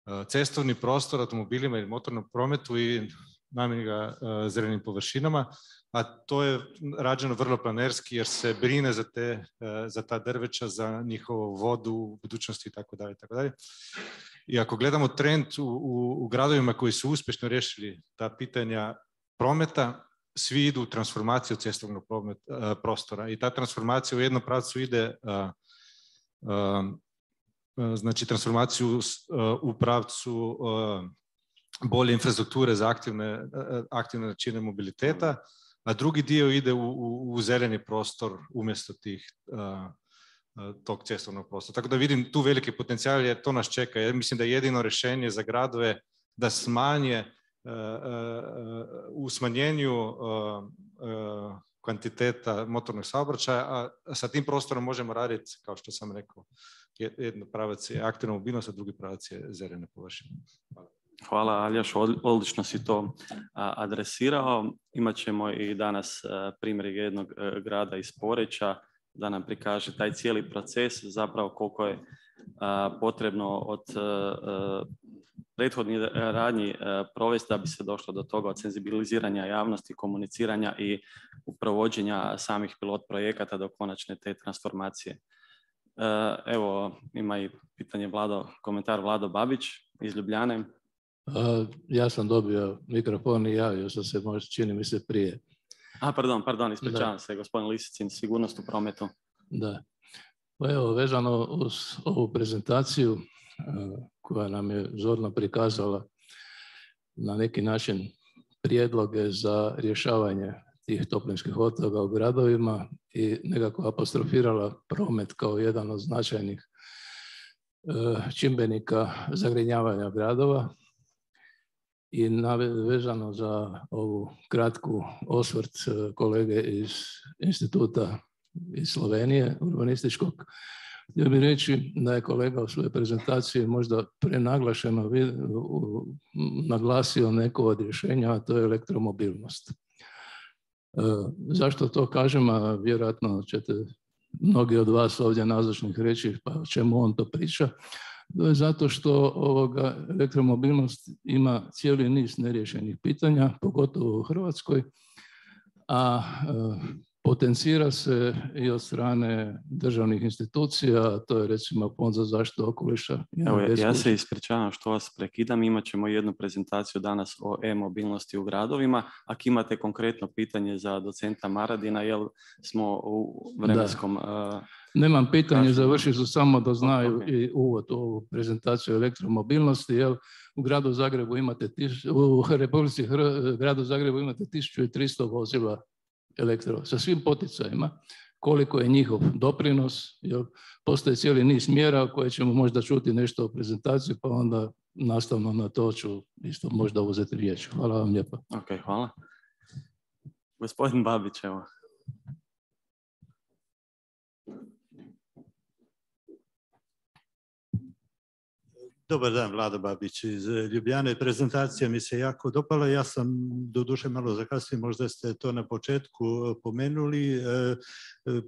uh, cestovni prostor automobilima i motornom prometu i namjeni ga uh, zelenim površinama, a to je rađeno vrlo planerski jer se brine za, te, uh, za ta drveća, za njihovu vodu u budućnosti i tako dalje, tako dalje. I ako gledamo trend u, u, u gradovima koji su uspješno riješili ta pitanja prometa, svi idu u transformaciju cestovnog promet, uh, prostora i ta transformacija u jednom pravcu ide uh, uh, znači transformaciju uh, u pravcu uh, bolje infrastrukture za aktivne, uh, aktivne načine mobiliteta, a drugi dio ide u, u, u zeleni prostor umjesto tih uh, tog cestovnog prostora. Tako da vidim tu veliki potencijal jer to nas čeka. Ja mislim da je jedino rješenje za gradove da smanje uh, uh, u smanjenju uh, uh, kvantiteta motornog saobraćaja, a sa tim prostorom možemo raditi, kao što sam rekao, jedno pravac je aktivna mobilnost, a drugi pravac je zelene površine. Hvala. Hvala Aljaš, odlično si to adresirao. Imaćemo i danas primjer jednog grada iz Poreča da nam prikaže taj cijeli proces, zapravo koliko je potrebno od prethodnih radnji provesti da bi se došlo do toga, od senzibiliziranja javnosti, komuniciranja i provođenja samih pilot projekata do konačne te transformacije. Evo, ima i pitanje Vlado, komentar Vlado Babić iz Ljubljane. A, ja sam dobio mikrofon i javio sam se, možda čini mi se prije. A, pardon, pardon, ispričavam da. se, gospodin Lisicin, sigurnost u prometu. Da. Pa evo, vezano uz ovu prezentaciju koja nam je zorno prikazala na neki način prijedloge za rješavanje tih toplinskih otoka u gradovima i nekako apostrofirala promet kao jedan od značajnih čimbenika zagrinjavanja gradova. I vezano za ovu kratku osvrt kolege iz instituta iz Slovenije, urbanističkog, Htio bih reći da je kolega u svojoj prezentaciji možda prenaglašeno naglasio neko od rješenja, a to je elektromobilnost. Zašto to kažem, a vjerojatno ćete mnogi od vas ovdje nazočnih reći pa o čemu on to priča. To je zato što ovoga, elektromobilnost ima cijeli niz neriješenih pitanja, pogotovo u Hrvatskoj, a potencira se i od strane državnih institucija, to je recimo Fond za zaštitu okoliša. Evo, ja se ispričavam što vas prekidam, imat ćemo jednu prezentaciju danas o e-mobilnosti u gradovima. Ako imate konkretno pitanje za docenta Maradina, jer smo u vremenskom... Da. Nemam pitanje, završit ću samo da znaju okay. i uvod u ovu prezentaciju elektromobilnosti, jer u gradu Zagrebu imate, u Republici Hr- gradu Zagrebu imate tisuću tristo vozila elektro, sa svim poticajima, koliko je njihov doprinos, jer postoje cijeli niz mjera koje ćemo možda čuti nešto o prezentaciji, pa onda nastavno na to ću isto možda uzeti riječ. Hvala vam lijepa. Ok, hvala. Gospodin Babić, evo. Dobar dan, Vlado Babić iz Ljubljane. Prezentacija mi se jako dopala. Ja sam doduše malo zakasnio, možda ste to na početku pomenuli.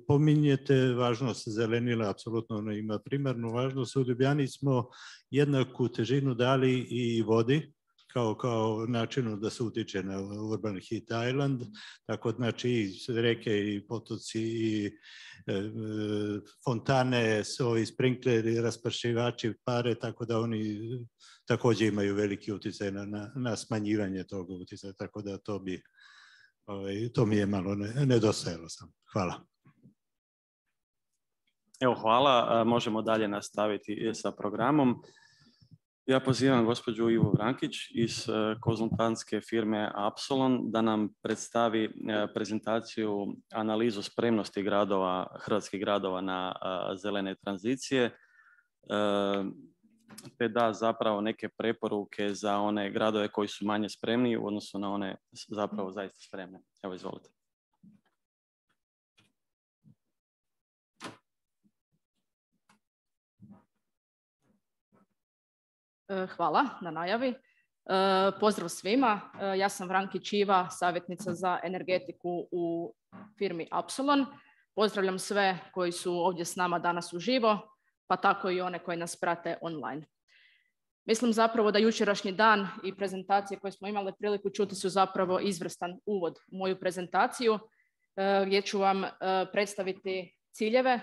Pominjete važnost zelenila, apsolutno ono ima primarnu važnost. U Ljubljani smo jednaku težinu dali i vodi, kao, kao načinu da se utiče na Urban Heat Island, tako znači i reke i potoci i e, fontane, ovi sprinkleri, raspršivači pare, tako da oni također imaju veliki utjecaj na, na, na smanjivanje tog utjecaja, tako da to bi, ovaj, to mi je malo ne, nedostajalo sam. Hvala. Evo, hvala. Možemo dalje nastaviti sa programom. Ja pozivam gospođu Ivu Vrankić iz konzultantske firme Apsolon da nam predstavi prezentaciju analizu spremnosti gradova, hrvatskih gradova na zelene tranzicije, te da zapravo neke preporuke za one gradove koji su manje spremni u odnosu na one zapravo zaista spremne. Evo, izvolite. Hvala na najavi. Pozdrav svima. Ja sam Vrankić Iva, savjetnica za energetiku u firmi Apsolon. Pozdravljam sve koji su ovdje s nama danas uživo, pa tako i one koji nas prate online. Mislim zapravo da jučerašnji dan i prezentacije koje smo imali priliku čuti su zapravo izvrstan uvod u moju prezentaciju, gdje ću vam predstaviti ciljeve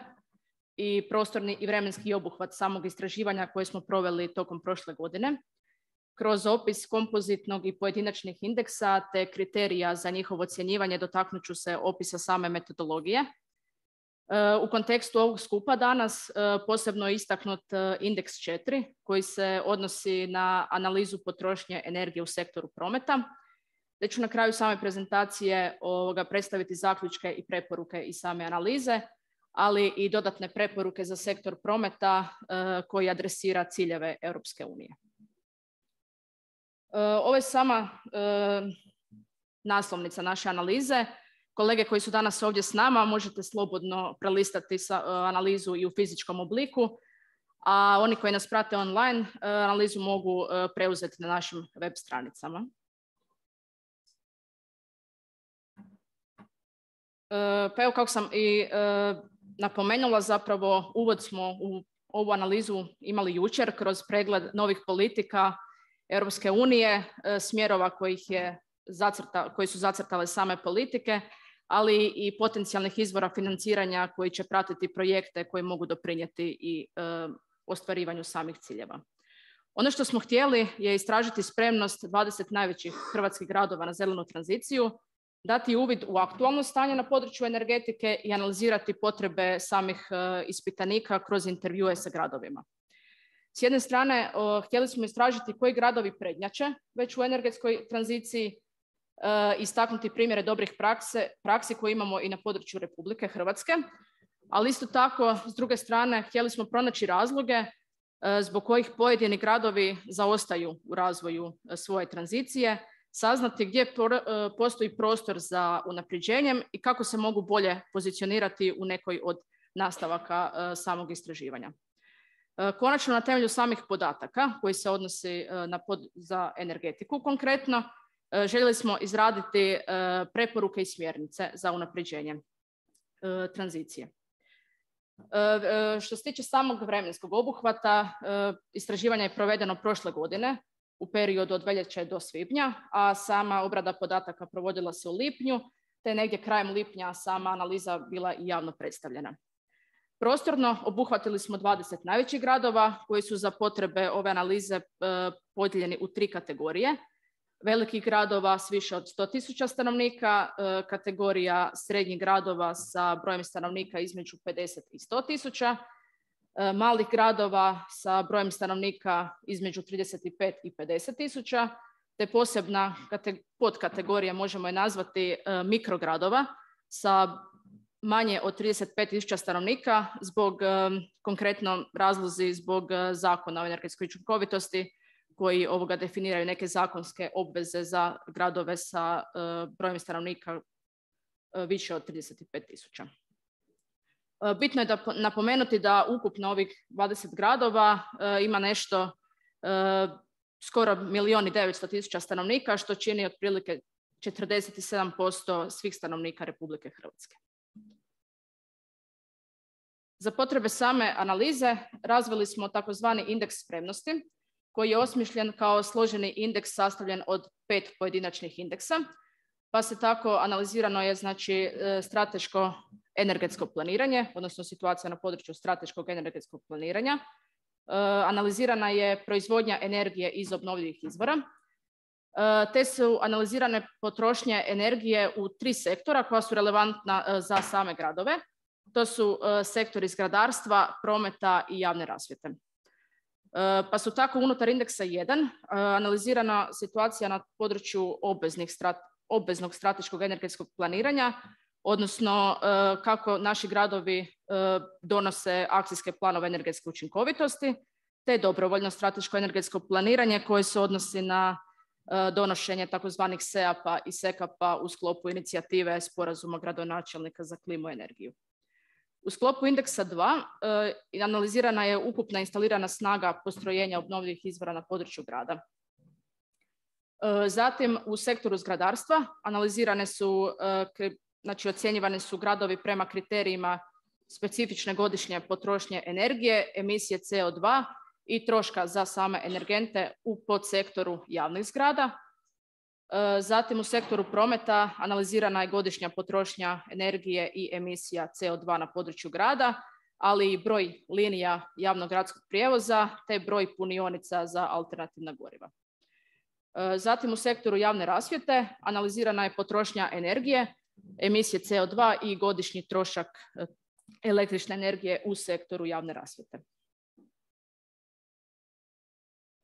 i prostorni i vremenski obuhvat samog istraživanja koje smo proveli tokom prošle godine, kroz opis kompozitnog i pojedinačnih indeksa te kriterija za njihovo ocjenjivanje dotaknut ću se opisa same metodologije. U kontekstu ovog skupa danas posebno je istaknut indeks četiri koji se odnosi na analizu potrošnje energije u sektoru prometa, te ću na kraju same prezentacije ovoga predstaviti zaključke i preporuke iz same analize, ali i dodatne preporuke za sektor prometa koji adresira ciljeve Europske unije. Ovo je sama naslovnica naše analize. Kolege koji su danas ovdje s nama možete slobodno prelistati analizu i u fizičkom obliku, a oni koji nas prate online analizu mogu preuzeti na našim web stranicama. Pa evo, kako sam i napomenula, zapravo uvod smo u ovu analizu imali jučer kroz pregled novih politika Europske unije, smjerova kojih je zacrta, koji su zacrtale same politike, ali i potencijalnih izvora financiranja koji će pratiti projekte koji mogu doprinijeti i e, ostvarivanju samih ciljeva. Ono što smo htjeli je istražiti spremnost dvadeset najvećih hrvatskih gradova na zelenu tranziciju, dati uvid u aktualno stanje na području energetike i analizirati potrebe samih e, ispitanika kroz intervjue sa gradovima. S jedne strane, o, htjeli smo istražiti koji gradovi prednjače već u energetskoj tranziciji, e, istaknuti primjere dobrih prakse, praksi koje imamo i na području Republike Hrvatske, ali isto tako, s druge strane, htjeli smo pronaći razloge e, zbog kojih pojedini gradovi zaostaju u razvoju e, svoje tranzicije, saznati gdje por, e, postoji prostor za unapređenjem i kako se mogu bolje pozicionirati u nekoj od nastavaka samog istraživanja. Konačno, na temelju samih podataka koji se odnosi na pod, za energetiku konkretno, željeli smo izraditi preporuke i smjernice za unapređenje tranzicije. Što se tiče samog vremenskog obuhvata, istraživanje je provedeno prošle godine u periodu od veljače do svibnja, a sama obrada podataka provodila se u lipnju, te negdje krajem lipnja sama analiza bila i javno predstavljena. Prostorno obuhvatili smo dvadeset najvećih gradova koji su za potrebe ove analize podijeljeni u tri kategorije. Velikih gradova s više od sto tisuća stanovnika, kategorija srednjih gradova sa brojem stanovnika između pedeset i sto tisuća, malih gradova sa brojem stanovnika između trideset pet i pedeset tisuća, te posebna podkategorija, možemo je nazvati mikrogradova sa manje od trideset pet tisuća stanovnika zbog, konkretno razlozi zbog zakona o energetskoj učinkovitosti koji ovoga definiraju neke zakonske obveze za gradove sa brojem stanovnika više od trideset pet tisuća. Bitno je da napomenuti da ukupno ovih dvadeset gradova ima nešto skoro milijun i devetsto tisuća stanovnika, što čini otprilike četrdeset sedam posto svih stanovnika Republike Hrvatske. Za potrebe same analize razvili smo takozvani indeks spremnosti, koji je osmišljen kao složeni indeks sastavljen od pet pojedinačnih indeksa, pa se tako analizirano je znači strateško energetsko planiranje, odnosno situacija na području strateškog energetskog planiranja. Analizirana je proizvodnja energije iz obnovljivih izvora, te su analizirane potrošnje energije u tri sektora koja su relevantna za same gradove. To su sektori zgradarstva, prometa i javne rasvjete. Pa su tako unutar indeksa jedan analizirana situacija na području obveznih strat, obveznog strateškog energetskog planiranja, odnosno kako naši gradovi donose akcijske planove energetske učinkovitosti, te dobrovoljno strateško energetsko planiranje koje se odnosi na donošenje takozvanih S E A P-a i S E K A P-a u sklopu inicijative Sporazuma gradonačelnika za klimu i energiju. U sklopu indeksa dva eh, analizirana je ukupna instalirana snaga postrojenja obnovljivih izvora na području grada. Eh, zatim u sektoru zgradarstva analizirane su, eh, znači ocjenjivane su gradovi prema kriterijima specifične godišnje potrošnje energije, emisije C O dva i troška za same energente u podsektoru javnih zgrada. Zatim u sektoru prometa analizirana je godišnja potrošnja energije i emisija C O dva na području grada, ali i broj linija javnog gradskog prijevoza te broj punionica za alternativna goriva. Zatim u sektoru javne rasvjete analizirana je potrošnja energije, emisije C O dva i godišnji trošak električne energije u sektoru javne rasvjete.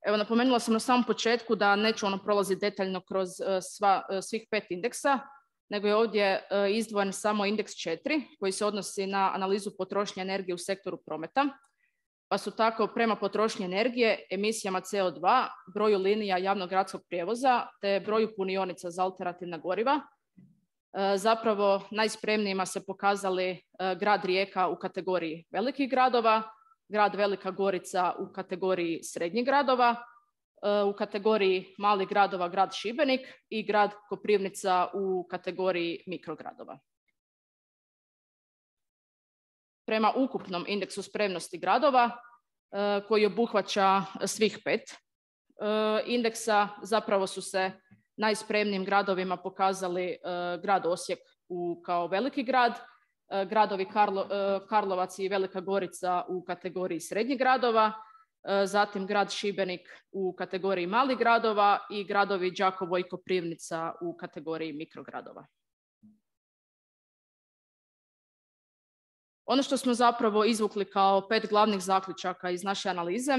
Evo, napomenula sam na samom početku da neću ono prolaziti detaljno kroz sva, svih pet indeksa, nego je ovdje izdvojen samo indeks četiri koji se odnosi na analizu potrošnje energije u sektoru prometa. Pa su tako prema potrošnji energije, emisijama C O dva, broju linija javnog gradskog prijevoza te broju punionica za alternativna goriva zapravo najspremnijima se pokazali grad Rijeka u kategoriji velikih gradova, grad Velika Gorica u kategoriji srednjih gradova, u kategoriji malih gradova grad Šibenik i grad Koprivnica u kategoriji mikrogradova. Prema ukupnom indeksu spremnosti gradova, koji obuhvaća svih pet indeksa, zapravo su se najspremnijim gradovima pokazali grad Osijek u, kao veliki grad, gradovi Karlo, Karlovac i Velika Gorica u kategoriji srednjih gradova, zatim grad Šibenik u kategoriji malih gradova i gradovi Đakovo i Koprivnica u kategoriji mikrogradova. Ono što smo zapravo izvukli kao pet glavnih zaključaka iz naše analize,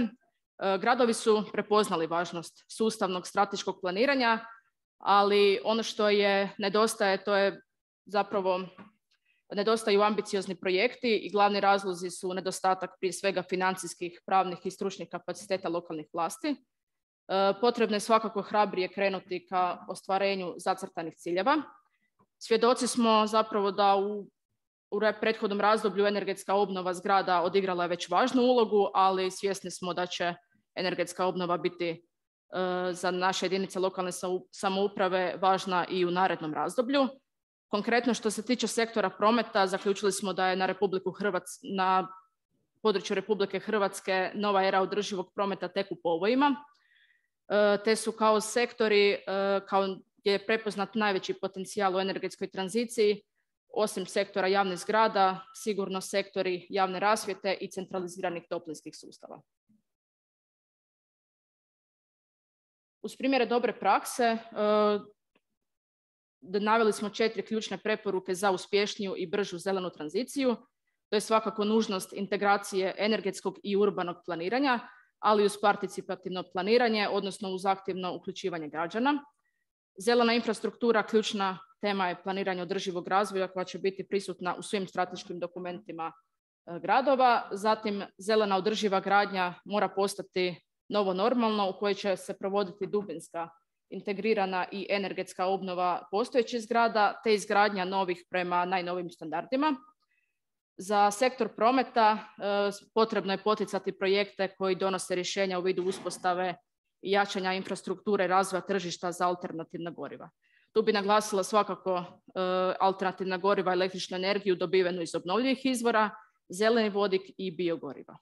gradovi su prepoznali važnost sustavnog strateškog planiranja, ali ono što je nedostaje, to je zapravo nedostaju ambiciozni projekti i glavni razlozi su nedostatak prije svega financijskih, pravnih i stručnih kapaciteta lokalnih vlasti. Potrebno je svakako hrabrije krenuti ka ostvarenju zacrtanih ciljeva. Svjedoci smo zapravo da u U prethodnom razdoblju energetska obnova zgrada odigrala je već važnu ulogu, ali svjesni smo da će energetska obnova biti za naše jedinice lokalne samouprave važna i u narednom razdoblju. Konkretno što se tiče sektora prometa, zaključili smo da je na, Republiku Hrvatsku, na području Republike Hrvatske nova era održivog prometa tek u povojima, te su kao sektori, kao gdje je prepoznat najveći potencijal u energetskoj tranziciji, osim sektora javnih zgrada, sigurno sektori javne rasvjete i centraliziranih toplinskih sustava. Uz primjere dobre prakse, naveli smo četiri ključne preporuke za uspješniju i bržu zelenu tranziciju. To je svakako nužnost integracije energetskog i urbanog planiranja, ali uz participativno planiranje, odnosno uz aktivno uključivanje građana. Zelena infrastruktura, ključna tema je planiranje održivog razvoja koja će biti prisutna u svim strateškim dokumentima gradova. Zatim, zelena održiva gradnja mora postati novo normalno u kojoj će se provoditi dubinska, integrirana i energetska obnova postojećih zgrada te izgradnja novih prema najnovijim standardima. Za sektor prometa potrebno je poticati projekte koji donose rješenja u vidu uspostave i jačanja infrastrukture i razvoja tržišta za alternativna goriva. Tu bi naglasila svakako alternativna goriva, električnu energiju dobivenu iz obnovljivih izvora, zeleni vodik i biogoriva.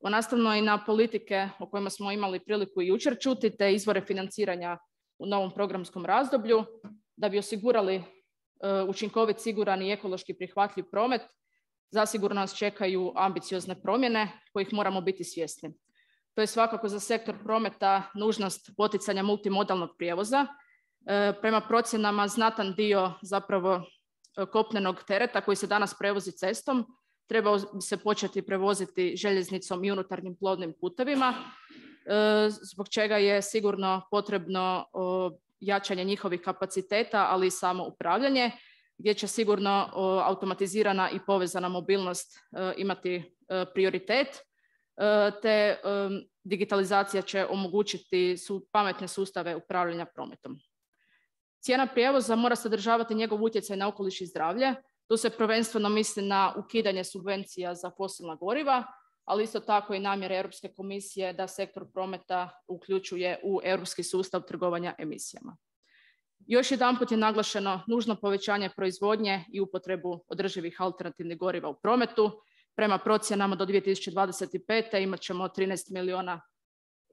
Nastavno i na politike o kojima smo imali priliku i jučer čuti, te izvore financiranja u novom programskom razdoblju, da bi osigurali učinkovit, siguran i ekološki prihvatljiv promet, zasigurno nas čekaju ambiciozne promjene kojih moramo biti svjesni. To je svakako za sektor prometa nužnost poticanja multimodalnog prijevoza. Prema procjenama znatan dio zapravo kopnenog tereta koji se danas prevozi cestom trebao bi se početi prevoziti željeznicom i unutarnjim plovnim putevima, zbog čega je sigurno potrebno jačanje njihovih kapaciteta, ali i samo upravljanje, gdje će sigurno automatizirana i povezana mobilnost imati prioritet, te digitalizacija će omogućiti pametne sustave upravljanja prometom. Cijena prijevoza mora sadržavati njegov utjecaj na okoliš i zdravlje. Tu se prvenstveno misli na ukidanje subvencija za fosilna goriva, ali isto tako i namjere Europske komisije da sektor prometa uključuje u europski sustav trgovanja emisijama. Još jedanput je naglašeno nužno povećanje proizvodnje i upotrebu održivih alternativnih goriva u prometu. Prema procjenama do dvije tisuće dvadeset pete imat ćemo trinaest milijuna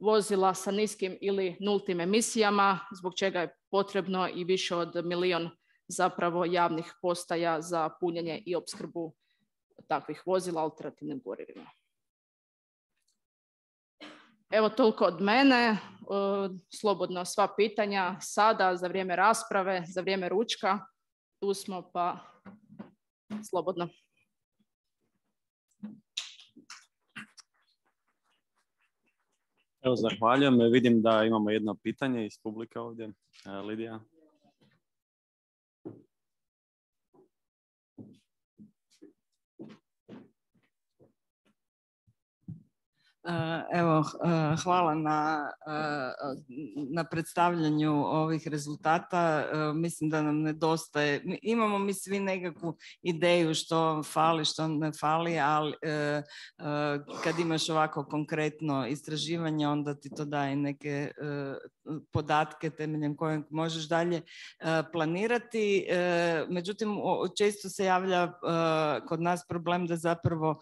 vozila sa niskim ili nultim emisijama, zbog čega je potrebno i više od milijun zapravo javnih postaja za punjenje i opskrbu takvih vozila alternativnim gorivima. Evo toliko od mene. Slobodno sva pitanja sada, za vrijeme rasprave, za vrijeme ručka. Tu smo, pa slobodno. Evo, zahvaljujem. Vidim da imamo jedno pitanje iz publike ovdje. Lidija. Evo, hvala na, na predstavljanju ovih rezultata. Mislim da nam nedostaje, imamo mi svi nekakvu ideju što fali, što ne fali, ali kad imaš ovako konkretno istraživanje, onda ti to daje neke podatke temeljem kojeg možeš dalje planirati. Međutim, često se javlja kod nas problem da zapravo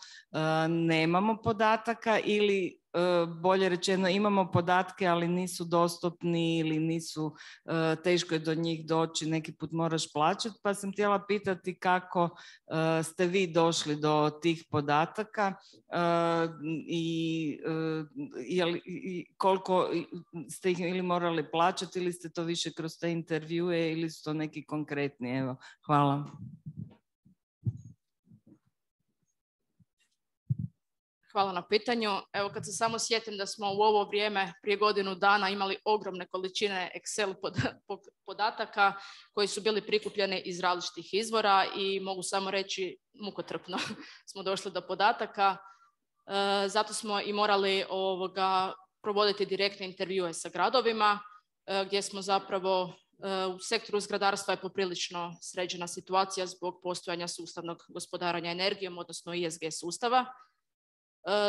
nemamo podataka ili bolje rečeno imamo podatke, ali nisu dostupni ili nisu, teško je do njih doći, neki put moraš plaćati, pa sam htjela pitati kako ste vi došli do tih podataka i, i koliko ste ih ili morali plaćati ili ste to više kroz te intervjue ili su to neki konkretni. Evo, hvala. Hvala na pitanju. Evo, kad se samo sjetim da smo u ovo vrijeme prije godinu dana imali ogromne količine Excel podataka koji su bili prikupljeni iz različitih izvora i mogu samo reći mukotrpno smo došli do podataka. E, zato smo i morali ovoga, provoditi direktne intervjue sa gradovima e, gdje smo zapravo U sektoru zgradarstva je poprilično sređena situacija zbog postojanja sustavnog gospodarenja energijom, odnosno I S G sustava.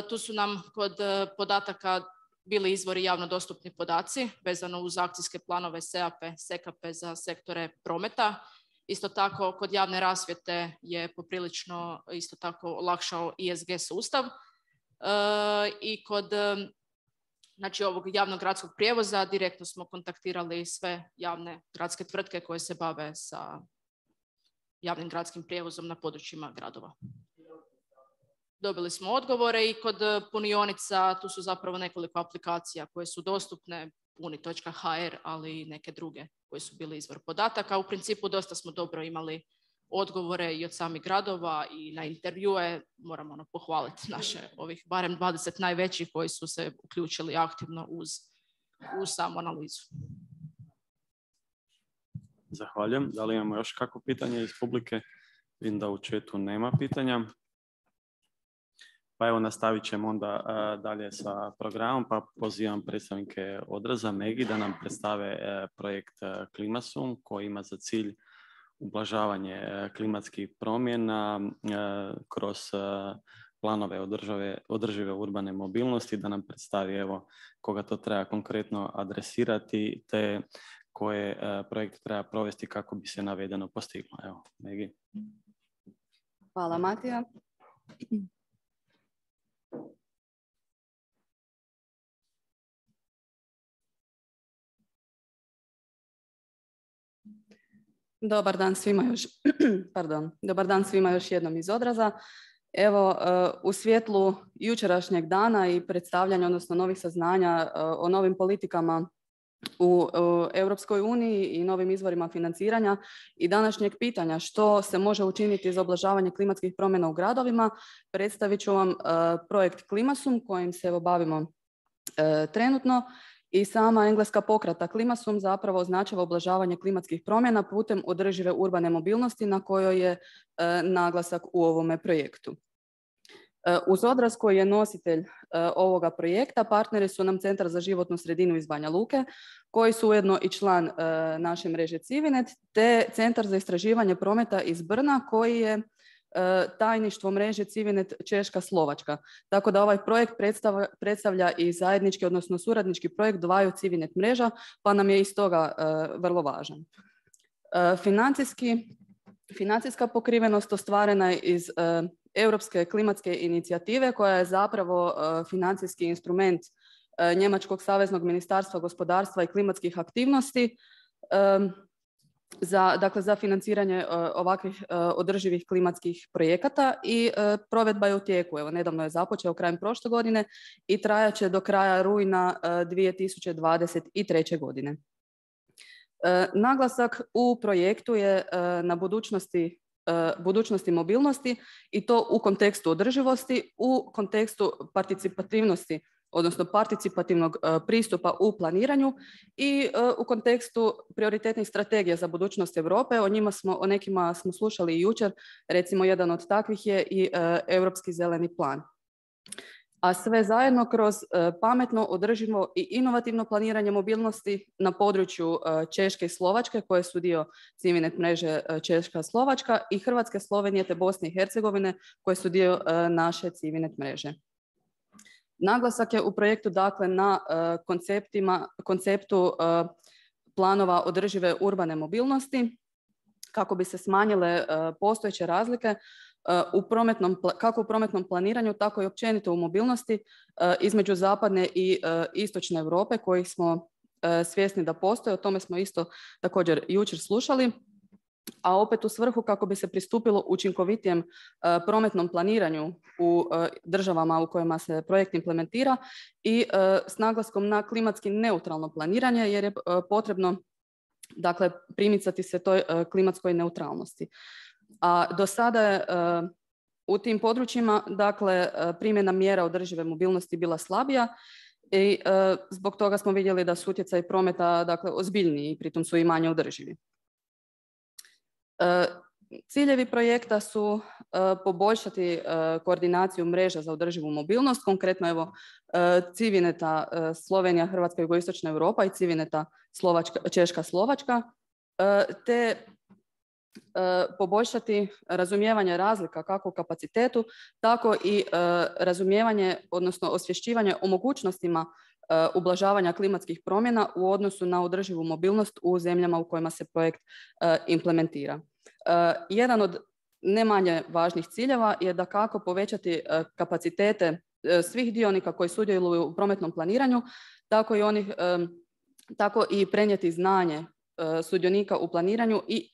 Tu su nam kod podataka bili izvori javno dostupni podaci vezano uz akcijske planove S E A P E, S E K A P E za sektore prometa. Isto tako kod javne rasvjete je poprilično isto tako olakšao I S G sustav. I kod znači, ovog javnog gradskog prijevoza direktno smo kontaktirali sve javne gradske tvrtke koje se bave sa javnim gradskim prijevozom na područjima gradova. Dobili smo odgovore i kod punionica tu su zapravo nekoliko aplikacija koje su dostupne, puni točka h r, ali i neke druge koje su bili izvor podataka. U principu dosta smo dobro imali odgovore i od samih gradova i na intervjue. Moramo ono, pohvaliti naše ovih barem dvadeset najvećih koji su se uključili aktivno uz, uz samu analizu. Zahvaljujem. Da li imamo još kakvo pitanje iz publike? Vidim da u chatu nema pitanja. Pa evo nastavit ćemo onda uh, dalje sa programom, pa pozivam predstavnike Odraza, Megi, da nam predstave uh, projekt uh, Klimasum koji ima za cilj ublažavanje uh, klimatskih promjena uh, kroz uh, planove održive, održive urbane mobilnosti, da nam predstavi evo koga to treba konkretno adresirati te koje uh, projekt treba provesti kako bi se navedeno postiglo. Evo, Megi. Hvala, Matija. Dobar dan svima još, pardon, dobar dan svima još jednom iz Odraza. Evo, u svjetlu jučerašnjeg dana i predstavljanja, odnosno novih saznanja o novim politikama u Europskoj uniji i novim izvorima financiranja i današnjeg pitanja što se može učiniti za ublažavanje klimatskih promjena u gradovima, predstavit ću vam projekt Klimasum kojim se evo bavimo trenutno. I sama engleska pokrata Klimasum zapravo označava ublažavanje klimatskih promjena putem održive urbane mobilnosti na kojoj je e, naglasak u ovome projektu. E, uz Odraz koji je nositelj e, ovoga projekta, partneri su nam Centar za životnu sredinu iz Banja Luke, koji su ujedno i član e, naše mreže Civinet, te Centar za istraživanje prometa iz Brna koji je tajništvo mreže Civinet Češka Slovačka. Tako da ovaj projekt predstavlja, predstavlja i zajednički, odnosno suradnički projekt dvaju Civinet mreža, pa nam je iz toga uh, vrlo važan. Uh, financijski, financijska pokrivenost ostvarena je iz uh, Europske klimatske inicijative koja je zapravo uh, financijski instrument uh, Njemačkog saveznog ministarstva gospodarstva i klimatskih aktivnosti um, Za, dakle, za financiranje uh, ovakvih uh, održivih klimatskih projekata i uh, provedba je u tijeku. Evo, nedavno je započeo krajem prošle godine i trajat će do kraja rujna uh, dvije tisuće dvadeset treće. godine. Uh, naglasak u projektu je uh, na budućnosti, uh, budućnosti mobilnosti i to u kontekstu održivosti, u kontekstu participativnosti, odnosno participativnog uh, pristupa u planiranju i uh, u kontekstu prioritetnih strategija za budućnost Europe. O njima smo, o nekima smo slušali i jučer, recimo jedan od takvih je i uh, Europski zeleni plan. A sve zajedno kroz uh, pametno, održivo i inovativno planiranje mobilnosti na području uh, Češke i Slovačke, koje su dio Civinet mreže uh, Češka Slovačka i Hrvatske, Slovenije te Bosne i Hercegovine, koje su dio uh, naše Civinet mreže. Naglasak je u projektu dakle na uh, konceptima, konceptu uh, planova održive urbane mobilnosti kako bi se smanjile uh, postojeće razlike uh, u prometnom, kako u prometnom planiranju, tako i općenito u mobilnosti uh, između zapadne i uh, istočne Europe kojih smo uh, svjesni da postoje. O tome smo isto također jučer slušali. A opet u svrhu kako bi se pristupilo učinkovitijem uh, prometnom planiranju u uh, državama u kojima se projekt implementira i uh, s naglaskom na klimatski neutralno planiranje jer je uh, potrebno dakle, primicati se toj uh, klimatskoj neutralnosti. A do sada je uh, u tim područjima dakle, uh, primjena mjera održive mobilnosti bila slabija i uh, zbog toga smo vidjeli da su utjecaji prometa dakle, ozbiljniji i pritom su i manje održivi. Ciljevi projekta su poboljšati koordinaciju mreža za održivu mobilnost, konkretno evo Civineta Slovenija, Hrvatska, Jugoistočna Europa i Civineta Slovačka, Češka, Slovačka, te poboljšati razumijevanje razlika kako u kapacitetu, tako i razumijevanje, odnosno osvješćivanje o mogućnostima ublažavanja klimatskih promjena u odnosu na održivu mobilnost u zemljama u kojima se projekt implementira. Jedan od ne manje važnih ciljeva je da kako povećati kapacitete svih dionika koji sudjeluju u prometnom planiranju, tako i onih, tako i prenijeti znanje sudionika u planiranju i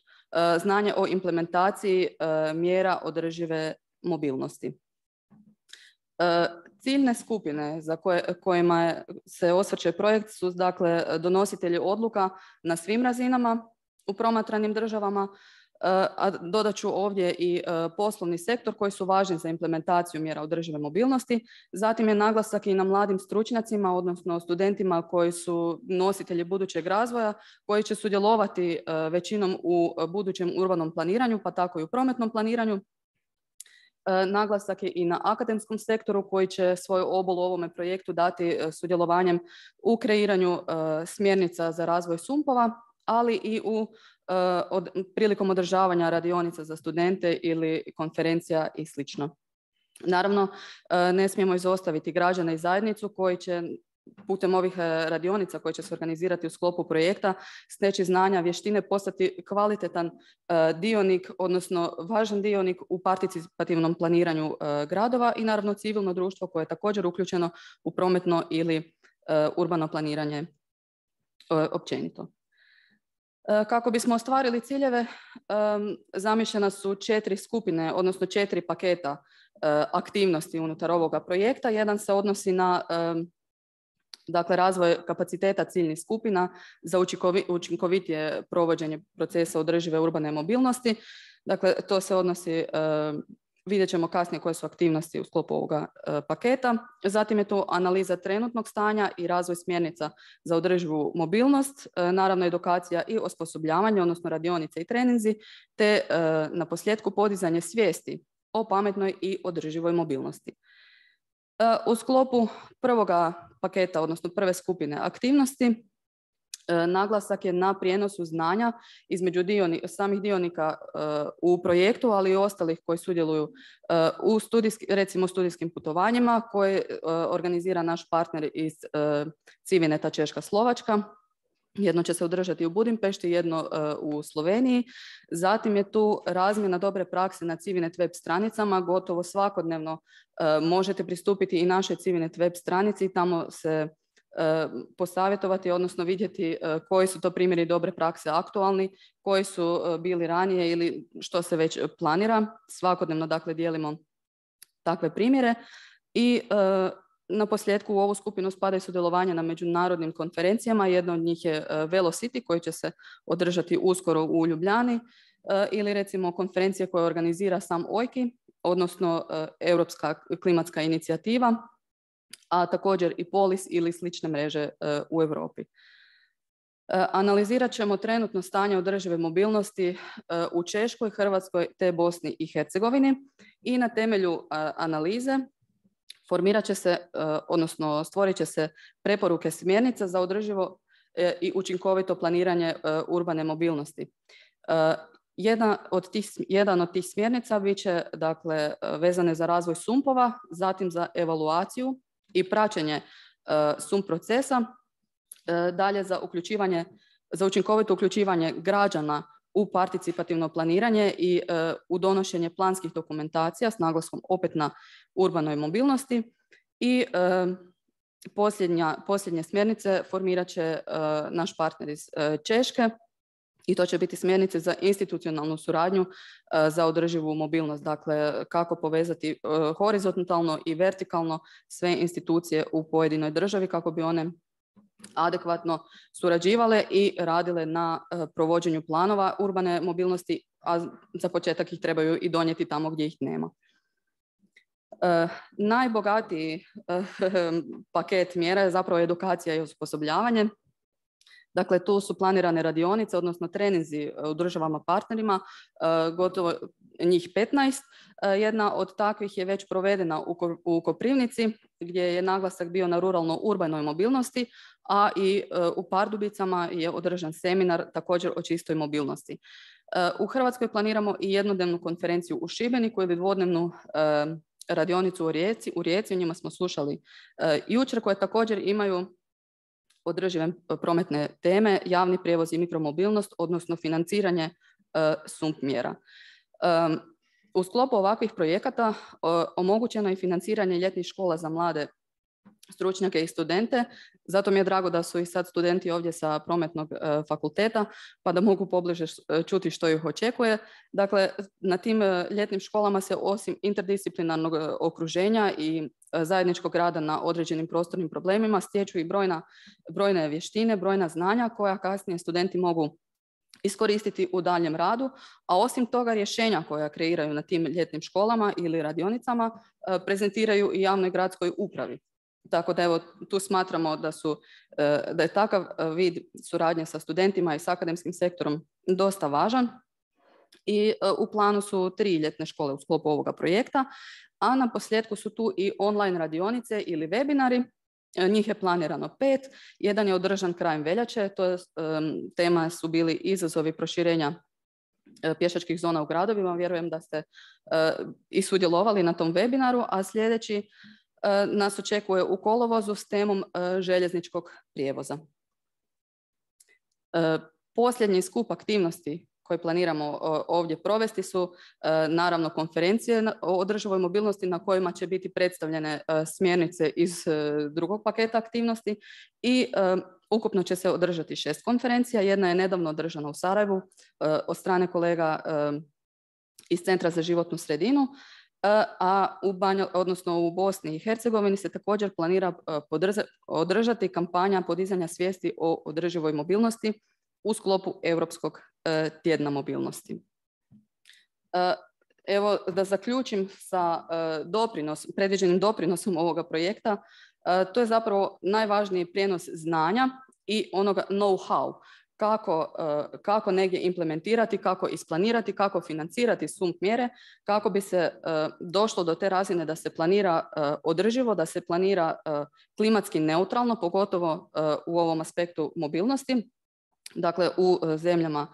znanje o implementaciji mjera održive mobilnosti. Ciljne skupine za koje, kojima se osvrće projekt su dakle donositelji odluka na svim razinama u promatranim državama, a dodat ću ovdje i poslovni sektor koji su važni za implementaciju mjera održive mobilnosti. Zatim je naglasak i na mladim stručnjacima, odnosno studentima koji su nositelji budućeg razvoja, koji će sudjelovati većinom u budućem urbanom planiranju, pa tako i u prometnom planiranju. Naglasak je i na akademskom sektoru koji će svoju obol u ovome projektu dati sudjelovanjem u kreiranju smjernica za razvoj sumpova, ali i u od, prilikom održavanja radionica za studente ili konferencija i slično. Naravno, ne smijemo izostaviti građane i zajednicu koji će putem ovih radionica koje će se organizirati u sklopu projekta steći znanja, vještine, postati kvalitetan dionik, odnosno važan dionik u participativnom planiranju gradova i naravno civilno društvo koje je također uključeno u prometno ili urbano planiranje općenito. Kako bismo ostvarili ciljeve, zamišljena su četiri skupine, odnosno četiri paketa aktivnosti unutar ovoga projekta. Jedan se odnosi na dakle, razvoj kapaciteta ciljnih skupina za učinkovitije provođenje procesa održive urbane mobilnosti. Dakle, to se odnosi, vidjet ćemo kasnije koje su aktivnosti u sklopu ovoga paketa. Zatim je tu analiza trenutnog stanja i razvoj smjernica za održivu mobilnost, naravno edukacija i osposobljavanje, odnosno radionice i treninzi, te na posljedku podizanje svijesti o pametnoj i održivoj mobilnosti. U sklopu prvoga paketa, odnosno prve skupine aktivnosti, naglasak je na prijenosu znanja između dioni, samih dionika u projektu, ali i ostalih koji sudjeluju u studijski, recimo studijskim putovanjima koje organizira naš partner iz Civineta Češka Slovačka. Jedno će se održati u Budimpešti, jedno u Sloveniji. Zatim je tu razmjena dobre prakse na Civinet web stranicama. Gotovo svakodnevno možete pristupiti i našoj Civinet web stranici i tamo se posavjetovati, odnosno vidjeti koji su to primjeri dobre prakse aktualni, koji su bili ranije ili što se već planira. Svakodnevno dakle dijelimo takve primjere i na posljedku u ovu skupinu spada i sudjelovanje na međunarodnim konferencijama. Jedna od njih je Velocity koji će se održati uskoro u Ljubljani ili recimo konferencije koje organizira sam O I K I, odnosno Europska klimatska inicijativa, a također i Polis ili slične mreže u Europi. Analizirat ćemo trenutno stanje održive mobilnosti u Češkoj, Hrvatskoj te Bosni i Hercegovini i na temelju analize formirat će se, odnosno stvorit će se preporuke smjernica za održivo i učinkovito planiranje urbane mobilnosti. Jedna od tih, jedan od tih smjernica bit će dakle, vezane za razvoj sumpova, zatim za evaluaciju i praćenje sump procesa, dalje za uključivanje, za učinkovito uključivanje građana u participativno planiranje i u donošenje planskih dokumentacija s naglaskom opet na urbanoj mobilnosti i posljednja, posljednje smjernice formirat će naš partner iz Češke i to će biti smjernice za institucionalnu suradnju za održivu mobilnost, dakle kako povezati horizontalno i vertikalno sve institucije u pojedinoj državi kako bi one adekvatno surađivale i radile na provođenju planova urbane mobilnosti, a za početak ih trebaju i donijeti tamo gdje ih nema. Najbogatiji paket mjera je zapravo edukacija i osposobljavanje. Dakle, tu su planirane radionice, odnosno treninzi u državama partnerima, gotovo njih petnaest. Jedna od takvih je već provedena u Koprivnici, gdje je naglasak bio na ruralno-urbanoj mobilnosti, a i u Pardubicama je održan seminar također o čistoj mobilnosti. U Hrvatskoj planiramo i jednodnevnu konferenciju u Šibeniku ili dvodnevnu radionicu u Rijeci. U Rijeci, o njima smo slušali jučer, koje također imaju održive prometne teme, javni prijevoz i mikromobilnost, odnosno financiranje S U M P mjera. U sklopu ovakvih projekata omogućeno je financiranje ljetnih škola za mlade stručnjake i studente. Zato mi je drago da su i sad studenti ovdje sa prometnog fakulteta, pa da mogu pobliže čuti što ih očekuje. Dakle, na tim ljetnim školama se osim interdisciplinarnog okruženja i zajedničkog rada na određenim prostornim problemima stječu i brojna, brojne vještine, brojna znanja koja kasnije studenti mogu iskoristiti u daljem radu, a osim toga rješenja koja kreiraju na tim ljetnim školama ili radionicama prezentiraju i javnoj gradskoj upravi. Tako da evo, tu smatramo da, su, da je takav vid suradnje sa studentima i s akademskim sektorom dosta važan i u planu su tri ljetne škole u sklopu ovoga projekta, a na posljedku su tu i online radionice ili webinari. Njih je planirano pet, jedan je održan krajem veljače, to je, tema su bili izazovi proširenja pješačkih zona u gradovima, vjerujem da ste i sudjelovali na tom webinaru, a sljedeći nas očekuje u kolovozu s temom željezničkog prijevoza. Posljednji skup aktivnosti koje planiramo ovdje provesti su naravno konferencije o održivoj mobilnosti na kojima će biti predstavljene smjernice iz drugog paketa aktivnosti i ukupno će se održati šest konferencija. Jedna je nedavno održana u Sarajevu od strane kolega iz Centra za životnu sredinu, a u Banju, odnosno u Bosni i Hercegovini se također planira održati kampanja podizanja svijesti o održivoj mobilnosti u sklopu Europskog tjedna mobilnosti. Evo, da zaključim sa doprinos, predviđenim doprinosom ovoga projekta, to je zapravo najvažniji prijenos znanja i onoga know-how. Kako, kako negdje implementirati, kako isplanirati, kako financirati S U M P mjere, kako bi se došlo do te razine da se planira održivo, da se planira klimatski neutralno, pogotovo u ovom aspektu mobilnosti, dakle u zemljama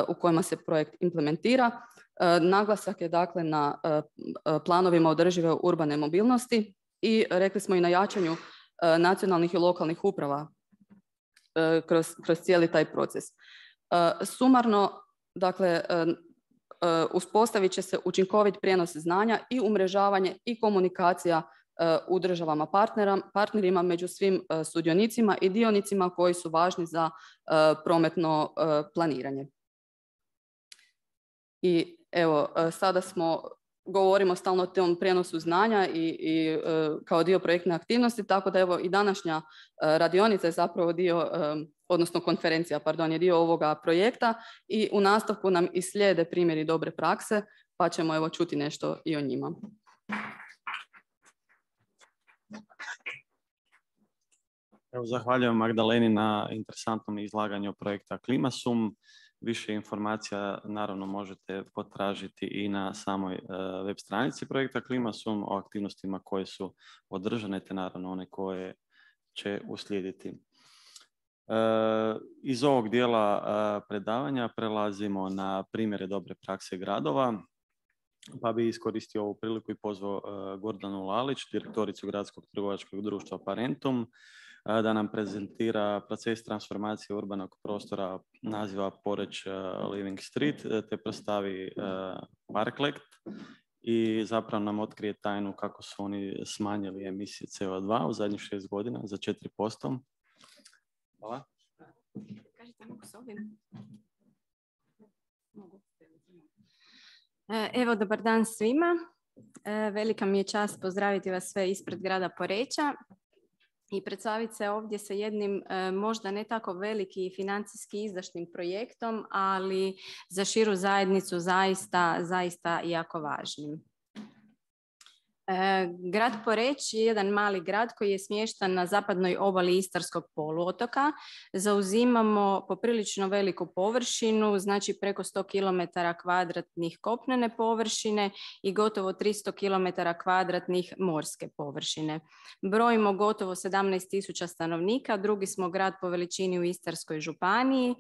u kojima se projekt implementira. Naglasak je dakle na planovima održive urbane mobilnosti i rekli smo i na jačanju nacionalnih i lokalnih uprava Kroz, kroz cijeli taj proces. Sumarno, dakle, uspostavit će se učinkovit prijenos znanja i umrežavanje i komunikacija u državama partnerima među svim sudionicima i dionicima koji su važni za prometno planiranje. I evo, sada smo govorimo stalno o tom prijenosu znanja i, i uh, kao dio projektne aktivnosti, tako da evo i današnja uh, radionica je zapravo dio, um, odnosno konferencija, pardon, je dio ovoga projekta i u nastavku nam i slijede primjeri dobre prakse, pa ćemo evo čuti nešto i o njima. Evo, zahvaljujem Magdaleni na interesantnom izlaganju projekta KlimaSUM. Više informacija naravno možete potražiti i na samoj uh, web stranici projekta KlimaSUM o aktivnostima koje su održane, te naravno one koje će uslijediti. Uh, iz ovog dijela uh, predavanja prelazimo na primjere dobre prakse gradova, pa bi iskoristio ovu priliku i pozvao uh, Gordanu Lalić, direktoricu Gradskog trgovačkog društva Parentum, da nam prezentira proces transformacije urbanog prostora naziva Poreč Living Street, te predstavi Parklekt i zapravo nam otkrije tajnu kako su oni smanjili emisije C O dva u zadnjih šest godina za četiri posto. Hvala. Kažete, mogu s ovim? Mogu. Evo, dobar dan svima. Velika mi je čast pozdraviti vas sve ispred grada Poreča i predstaviti se ovdje sa jednim možda ne tako veliki i financijski izdašnim projektom, ali za širu zajednicu zaista, zaista jako važnim. Grad Poreč je jedan mali grad koji je smješten na zapadnoj obali Istarskog poluotoka. Zauzimamo poprilično veliku površinu, znači preko sto kilometara kvadratnih kopnene površine i gotovo tristo kilometara kvadratnih morske površine. Brojimo gotovo sedamnaest tisuća stanovnika, drugi smo grad po veličini u Istarskoj županiji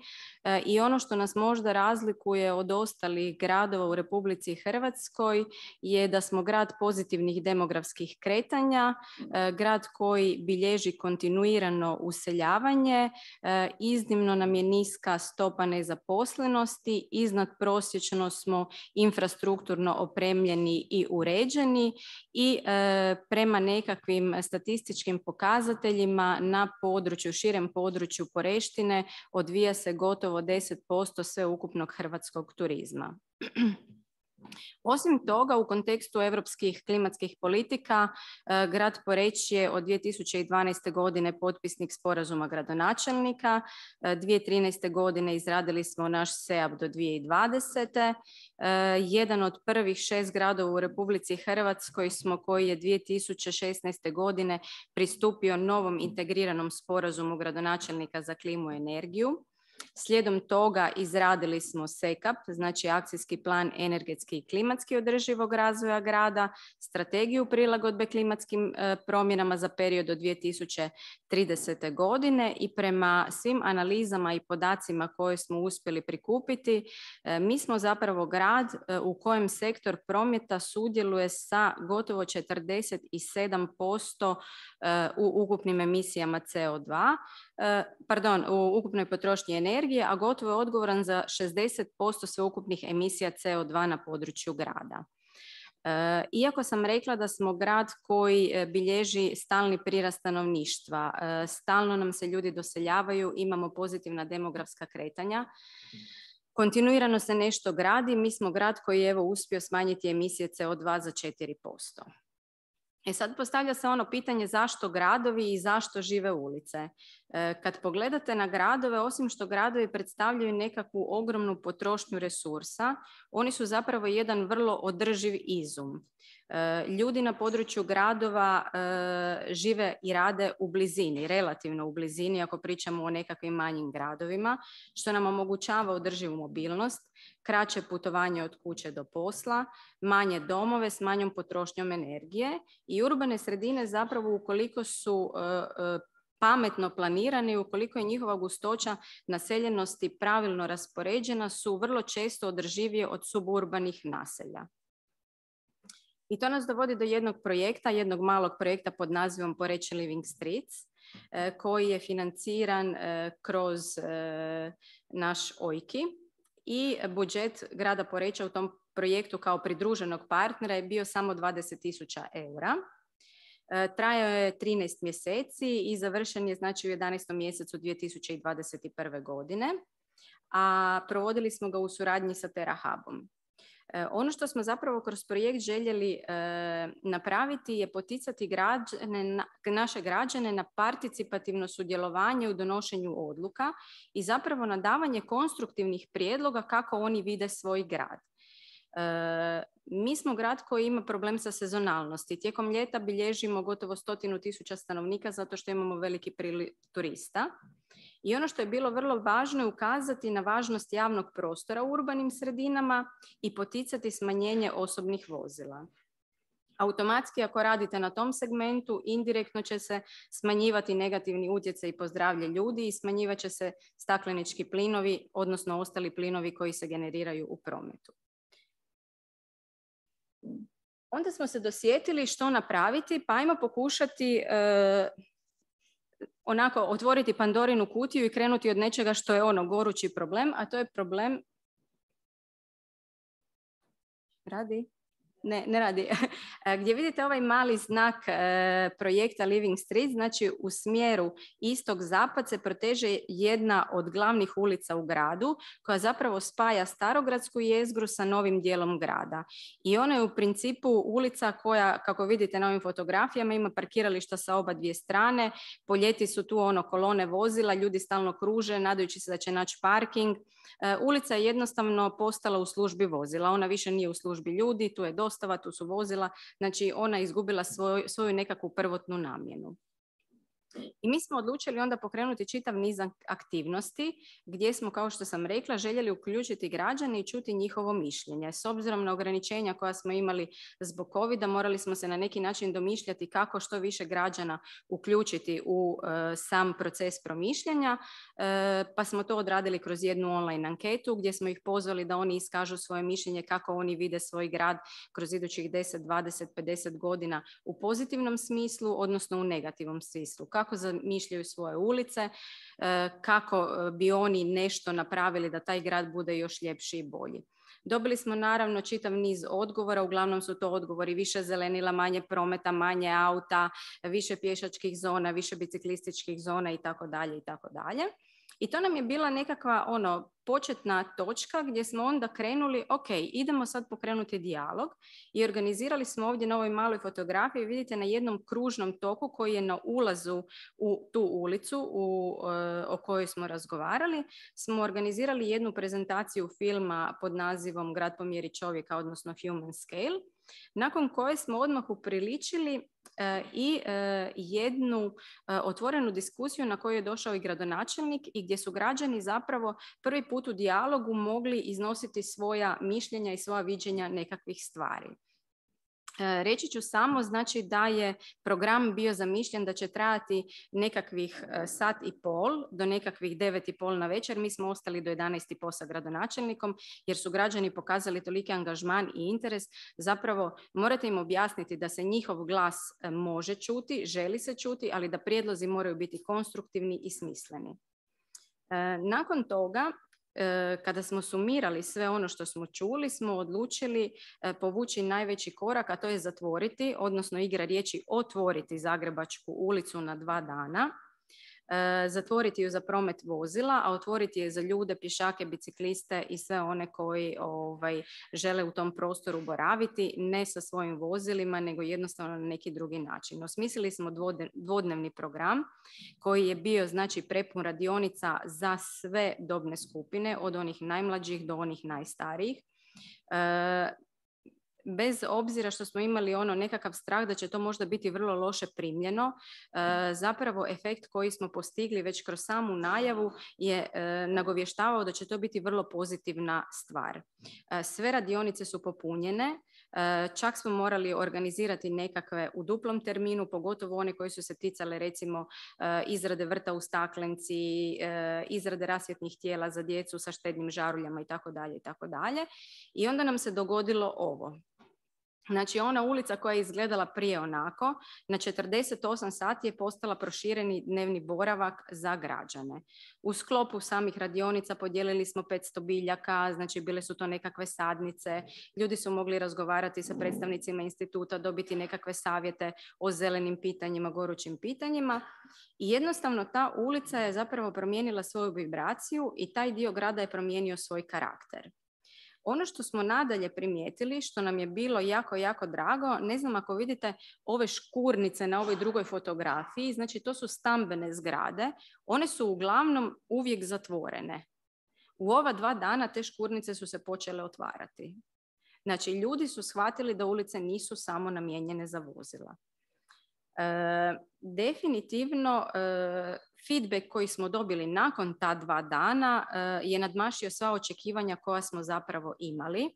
i ono što nas možda razlikuje od ostalih gradova u Republici Hrvatskoj je da smo grad pozitivnih demografskih kretanja, grad koji bilježi kontinuirano useljavanje, iznimno nam je niska stopa nezaposlenosti, iznad prosječno smo infrastrukturno opremljeni i uređeni i prema nekakvim statističkim pokazateljima na području, širem području Poreštine odvija se gotovo deset posto sveukupnog hrvatskog turizma. Osim toga, u kontekstu europskih klimatskih politika, grad Poreč je od dvije tisuće dvanaeste. godine potpisnik sporazuma gradonačelnika. dvije tisuće trinaeste. godine izradili smo naš S E A P do dvije tisuće dvadesete. Jedan od prvih šest gradova u Republici Hrvatskoj smo koji je dvije tisuće šesnaeste. godine pristupio novom integriranom sporazumu gradonačelnika za klimu i energiju. Slijedom toga izradili smo S E K A P, znači akcijski plan energetski i klimatski održivog razvoja grada, strategiju prilagodbe klimatskim e, promjenama za period do dvije tisuće tridesete. godine i prema svim analizama i podacima koje smo uspjeli prikupiti, e, mi smo zapravo grad e, u kojem sektor prometa sudjeluje sa gotovo četrdeset sedam posto e, u ukupnim emisijama C O dva, e, pardon, u ukupnoj potrošnji energije, a gotovo je odgovoran za šezdeset posto sveukupnih emisija C O dva na području grada. E, iako sam rekla da smo grad koji bilježi stalni prirast stanovništva, e, stalno nam se ljudi doseljavaju, imamo pozitivna demografska kretanja, kontinuirano se nešto gradi, mi smo grad koji je evo uspio smanjiti emisije C O dva za četiri posto. E sad postavlja se ono pitanje zašto gradovi i zašto žive ulice. E, kad pogledate na gradove, osim što gradovi predstavljaju nekakvu ogromnu potrošnju resursa, oni su zapravo jedan vrlo održiv izum. E, ljudi na području gradova e, žive i rade u blizini, relativno u blizini ako pričamo o nekakvim manjim gradovima, što nam omogućava održivu mobilnost, kraće putovanje od kuće do posla, manje domove s manjom potrošnjom energije i urbane sredine zapravo ukoliko su e, e, pametno planirani, ukoliko je njihova gustoća naseljenosti pravilno raspoređena, su vrlo često održivije od suburbanih naselja. I to nas dovodi do jednog projekta, jednog malog projekta pod nazivom Poreč Living Streets, e, koji je financiran e, kroz e, naš O I K I i budžet grada Poreča u tom projektu kao pridruženog partnera je bio samo dvadeset tisuća eura. E, trajao je trinaest mjeseci i završen je znači u jedanaestom mjesecu dvije tisuće dvadeset prve. godine, a provodili smo ga u suradnji sa TerraHubom. Ono što smo zapravo kroz projekt željeli e, napraviti je poticati građane, na, naše građane na participativno sudjelovanje u donošenju odluka i zapravo na davanje konstruktivnih prijedloga kako oni vide svoj grad. E, mi smo grad koji ima problem sa sezonalnosti. Tijekom ljeta bilježimo gotovo stotinu tisuća stanovnika zato što imamo veliki priliv turista. I ono što je bilo vrlo važno je ukazati na važnost javnog prostora u urbanim sredinama i poticati smanjenje osobnih vozila. Automatski ako radite na tom segmentu, indirektno će se smanjivati negativni utjecaj po zdravlje ljudi i smanjivat će se staklenički plinovi, odnosno ostali plinovi koji se generiraju u prometu. Onda smo se dosjetili što napraviti, pa ajmo pokušati e, onako otvoriti Pandorinu kutiju i krenuti od nečega što je ono gorući problem, a to je problem... Radi? Ne, ne radi. Gdje vidite ovaj mali znak e, projekta Living Street, znači u smjeru istok-zapad se proteže jedna od glavnih ulica u gradu koja zapravo spaja starogradsku jezgru sa novim dijelom grada. I ona je u principu ulica koja, kako vidite na ovim fotografijama, ima parkirališta sa oba dvije strane, po ljeti su tu ono kolone vozila, ljudi stalno kruže, nadajući se da će naći parking. E, ulica je jednostavno postala u službi vozila, ona više nije u službi ljudi, tu je dosta dostava, tu su vozila, znači ona je izgubila svoj, svoju nekakvu prvotnu namjenu. I mi smo odlučili onda pokrenuti čitav niz aktivnosti gdje smo, kao što sam rekla, željeli uključiti građane i čuti njihovo mišljenje. S obzirom na ograničenja koja smo imali zbog covida, morali smo se na neki način domišljati kako što više građana uključiti u e, sam proces promišljanja, e, pa smo to odradili kroz jednu online anketu gdje smo ih pozvali da oni iskažu svoje mišljenje kako oni vide svoj grad kroz idućih deset, dvadeset, pedeset godina u pozitivnom smislu, odnosno u negativnom smislu. Kako zamišljaju svoje ulice, kako bi oni nešto napravili da taj grad bude još ljepši i bolji. Dobili smo naravno čitav niz odgovora, uglavnom su to odgovori više zelenila, manje prometa, manje auta, više pješačkih zona, više biciklističkih zona i tako dalje i tako dalje. I to nam je bila nekakva ono početna točka gdje smo onda krenuli, ok, idemo sad pokrenuti dijalog i organizirali smo ovdje na ovoj maloj fotografiji, vidite na jednom kružnom toku koji je na ulazu u tu ulicu u, o kojoj smo razgovarali, smo organizirali jednu prezentaciju filma pod nazivom Grad po mjeri čovjeka, odnosno Human Scale, nakon koje smo odmah upriličili e, i e, jednu e, otvorenu diskusiju na koju je došao i gradonačelnik i gdje su građani zapravo prvi put u dijalogu mogli iznositi svoja mišljenja i svoja viđenja nekakvih stvari. Reći ću samo znači da je program bio zamišljen da će trajati nekakvih sat i pol do nekakvih devet i pol na večer. Mi smo ostali do jedanaest i pol sa gradonačelnikom jer su građani pokazali toliki angažman i interes. Zapravo morate im objasniti da se njihov glas može čuti, želi se čuti, ali da prijedlozi moraju biti konstruktivni i smisleni. Nakon toga, kada smo sumirali sve ono što smo čuli, smo odlučili povući najveći korak, a to je zatvoriti, odnosno igra riječi otvoriti Zagrebačku ulicu na dva dana, zatvoriti ju za promet vozila, a otvoriti je za ljude, pješake, bicikliste i sve one koji ovaj, žele u tom prostoru boraviti, ne sa svojim vozilima, nego jednostavno na neki drugi način. Osmislili smo dvodnevni program koji je bio znači prepun radionica za sve dobne skupine, od onih najmlađih do onih najstarijih. E, bez obzira što smo imali ono nekakav strah da će to možda biti vrlo loše primljeno, e, zapravo efekt koji smo postigli već kroz samu najavu je e, nagovještavao da će to biti vrlo pozitivna stvar. E, sve radionice su popunjene, e, čak smo morali organizirati nekakve u duplom terminu, pogotovo one koji su se ticale recimo e, izrade vrta u staklenci, e, izrade rasvjetnih tijela za djecu sa štednim žaruljama i tako dalje i tako dalje. I onda nam se dogodilo ovo. Znači ona ulica koja je izgledala prije onako, na četrdeset osam sati je postala prošireni dnevni boravak za građane. U sklopu samih radionica podijelili smo petsto biljaka, znači bile su to nekakve sadnice, ljudi su mogli razgovarati sa predstavnicima instituta, dobiti nekakve savjete o zelenim pitanjima, gorućim pitanjima i jednostavno ta ulica je zapravo promijenila svoju vibraciju i taj dio grada je promijenio svoj karakter. Ono što smo nadalje primijetili, što nam je bilo jako, jako drago, ne znam ako vidite ove škurnice na ovoj drugoj fotografiji, znači to su stambene zgrade, one su uglavnom uvijek zatvorene. U ova dva dana te škurnice su se počele otvarati. Znači ljudi su shvatili da ulice nisu samo namijenjene za vozila. E, definitivno e, feedback koji smo dobili nakon ta dva dana e, je nadmašio sva očekivanja koja smo zapravo imali.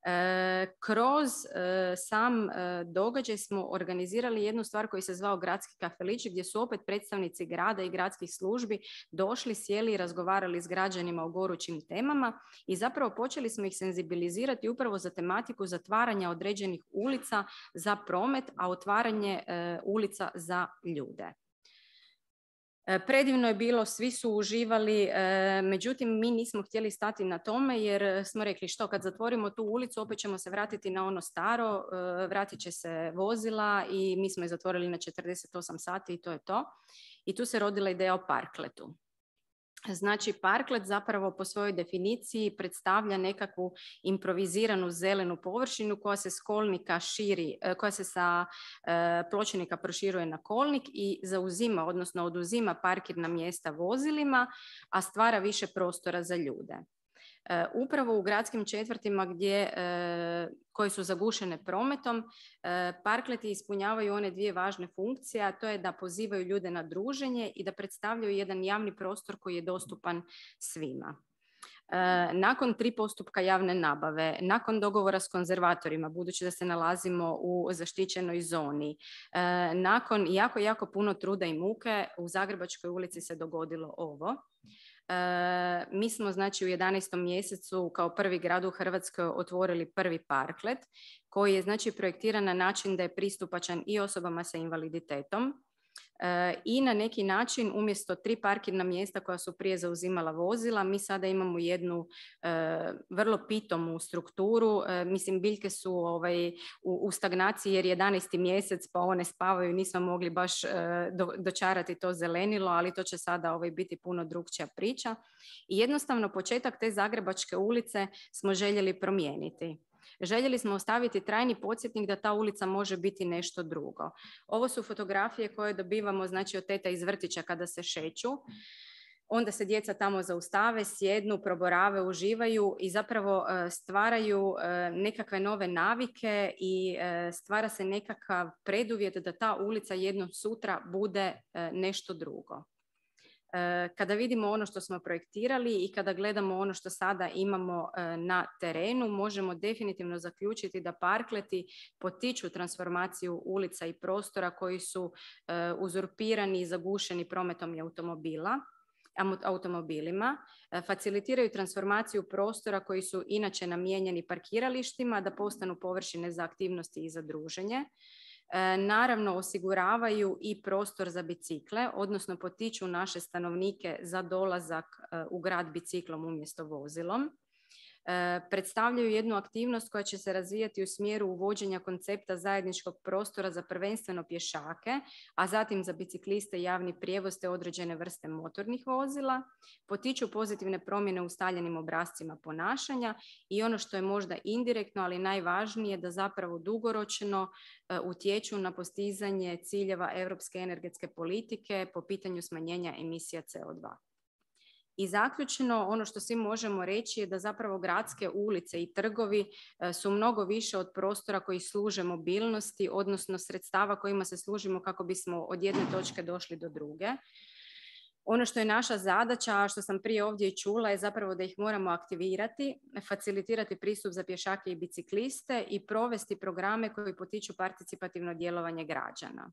E, kroz e, sam e, događaj smo organizirali jednu stvar koji se zvao Gradski kafelić, gdje su opet predstavnici grada i gradskih službi došli, sjeli i razgovarali s građanima o gorućim temama i zapravo počeli smo ih senzibilizirati upravo za tematiku zatvaranja određenih ulica za promet, a otvaranje e, ulica za ljude. Predivno je bilo, svi su uživali, međutim mi nismo htjeli stati na tome jer smo rekli što kad zatvorimo tu ulicu opet ćemo se vratiti na ono staro, vratit će se vozila i mi smo je zatvorili na četrdeset osam sati i to je to. I tu se rodila ideja o parkletu. Znači, parklet zapravo po svojoj definiciji predstavlja nekakvu improviziranu zelenu površinu koja se s kolnika širi, koja se sa e, pločnika proširuje na kolnik i zauzima, odnosno oduzima parkirna mjesta vozilima, a stvara više prostora za ljude. Upravo u gradskim četvrtima gdje, koje su zagušene prometom, parkleti ispunjavaju one dvije važne funkcije, a to je da pozivaju ljude na druženje i da predstavljaju jedan javni prostor koji je dostupan svima. Nakon tri postupka javne nabave, nakon dogovora s konzervatorima, budući da se nalazimo u zaštićenoj zoni, nakon jako, jako puno truda i muke, u Zagrebačkoj ulici se dogodilo ovo. Mi smo znači u jedanaestom mjesecu kao prvi grad u Hrvatskoj otvorili prvi parklet koji je znači projektiran na način da je pristupačan i osobama sa invaliditetom. I na neki način umjesto tri parkirna mjesta koja su prije zauzimala vozila, mi sada imamo jednu e, vrlo pitomu strukturu. E, mislim, biljke su ovaj, u, u stagnaciji jer je jedanaesti mjesec pa one spavaju, nismo mogli baš e, do, dočarati to zelenilo, ali to će sada ovaj, biti puno drukčija priča. I jednostavno početak te Zagrebačke ulice smo željeli promijeniti. Željeli smo ostaviti trajni podsjetnik da ta ulica može biti nešto drugo. Ovo su fotografije koje dobivamo znači, od teta iz vrtića kada se šeću. Onda se djeca tamo zaustave, sjednu, proborave, uživaju i zapravo stvaraju nekakve nove navike i stvara se nekakav preduvjet da ta ulica jednom sutra bude nešto drugo. Kada vidimo ono što smo projektirali i kada gledamo ono što sada imamo na terenu, možemo definitivno zaključiti da parkleti potiču transformaciju ulica i prostora koji su uzurpirani i zagušeni prometom i automobila, automobilima, facilitiraju transformaciju prostora koji su inače namijenjeni parkiralištima da postanu površine za aktivnosti i za druženje. Naravno osiguravaju i prostor za bicikle, odnosno potiču naše stanovnike za dolazak u grad biciklom umjesto vozilom. Predstavljaju jednu aktivnost koja će se razvijati u smjeru uvođenja koncepta zajedničkog prostora za prvenstveno pješake, a zatim za bicikliste i javni prijevoz te određene vrste motornih vozila, potiču pozitivne promjene u ustaljenim obrascima ponašanja i ono što je možda indirektno, ali najvažnije, da zapravo dugoročno utječu na postizanje ciljeva europske energetske politike po pitanju smanjenja emisija C O dva. I zaključno, ono što svi možemo reći je da zapravo gradske ulice i trgovi su mnogo više od prostora koji služe mobilnosti, odnosno sredstava kojima se služimo kako bismo od jedne točke došli do druge. Ono što je naša zadaća, a što sam prije ovdje i čula, je zapravo da ih moramo aktivirati, facilitirati pristup za pješake i bicikliste i provesti programe koji potiču participativno djelovanje građana.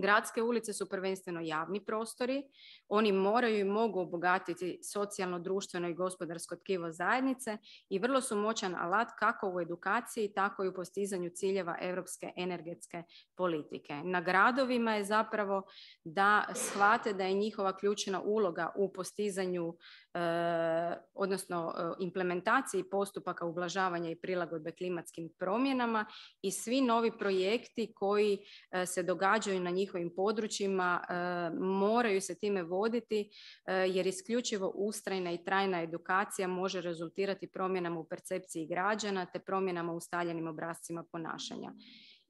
Gradske ulice su prvenstveno javni prostori, oni moraju i mogu obogatiti socijalno, društveno i gospodarsko tkivo zajednice i vrlo su moćan alat kako u edukaciji, tako i u postizanju ciljeva europske energetske politike. Na gradovima je zapravo da shvate da je njihova ključna uloga u postizanju, eh, odnosno eh, implementaciji postupaka ublažavanja i prilagodbe klimatskim promjenama i svi novi projekti koji eh, se događaju na njih njihovim područjima e, moraju se time voditi e, jer isključivo ustrajna i trajna edukacija može rezultirati promjenama u percepciji građana te promjenama u ustaljenim obrascima ponašanja.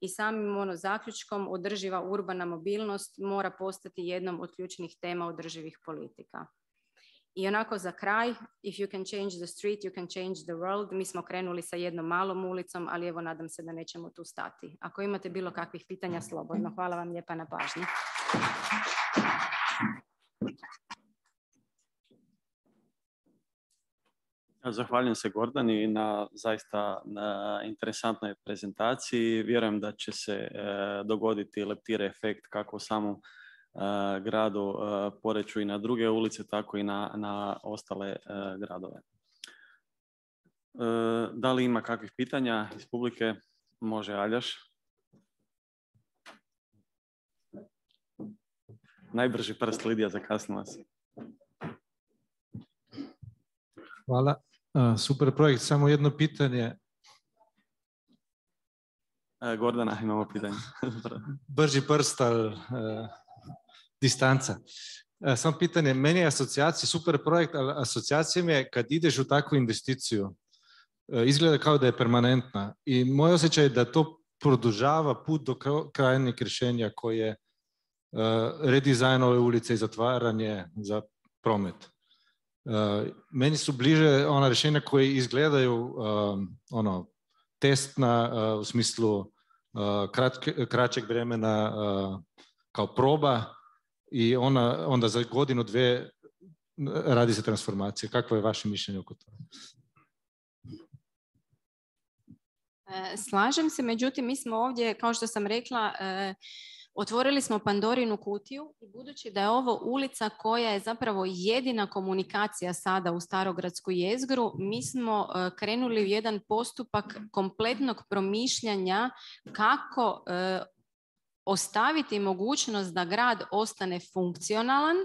I samim ono zaključkom održiva urbana mobilnost mora postati jednom od ključnih tema održivih politika. I onako za kraj, if you can change the street, you can change the world. Mi smo krenuli sa jednom malom ulicom, ali evo nadam se da nećemo tu stati. Ako imate bilo kakvih pitanja, slobodno. Hvala vam lijepa na pažnji. Zahvaljujem se Gordani na zaista na interesantnoj prezentaciji. Vjerujem da će se e, dogoditi leptire efekt kako u samom Uh, gradu uh, Poreču i na druge ulice, tako i na, na ostale uh, gradove. Uh, da li ima kakvih pitanja iz publike? Može Aljaš. Najbrži prst, Lidija, zakasnila se. Hvala. Uh, super projekt. Samo jedno pitanje. Uh, Gordana, imamo pitanje. Brži prst, ali... Uh... distanca. E, samo pitanje, meni je asocijacija, super projekt, ali asocijacija mi je kad ideš u takvu investiciju, e, izgleda kao da je permanentna i moj osjećaj je da to produžava put do krajnjeg rješenja koje je e, redizajn ove ulice i zatvaranje za promet. Meni su bliže ona rješenja koje izgledaju ono, testna u smislu kratke, kraćeg vremena kao proba i ona, onda za godinu, dvije radi se transformacija. Kakvo je vaše mišljenje oko toga? Slažem se, međutim mi smo ovdje, kao što sam rekla, otvorili smo Pandorinu kutiju i budući da je ovo ulica koja je zapravo jedina komunikacija sada u starogradsku jezgru, mi smo krenuli u jedan postupak kompletnog promišljanja kako ostaviti mogućnost da grad ostane funkcionalan,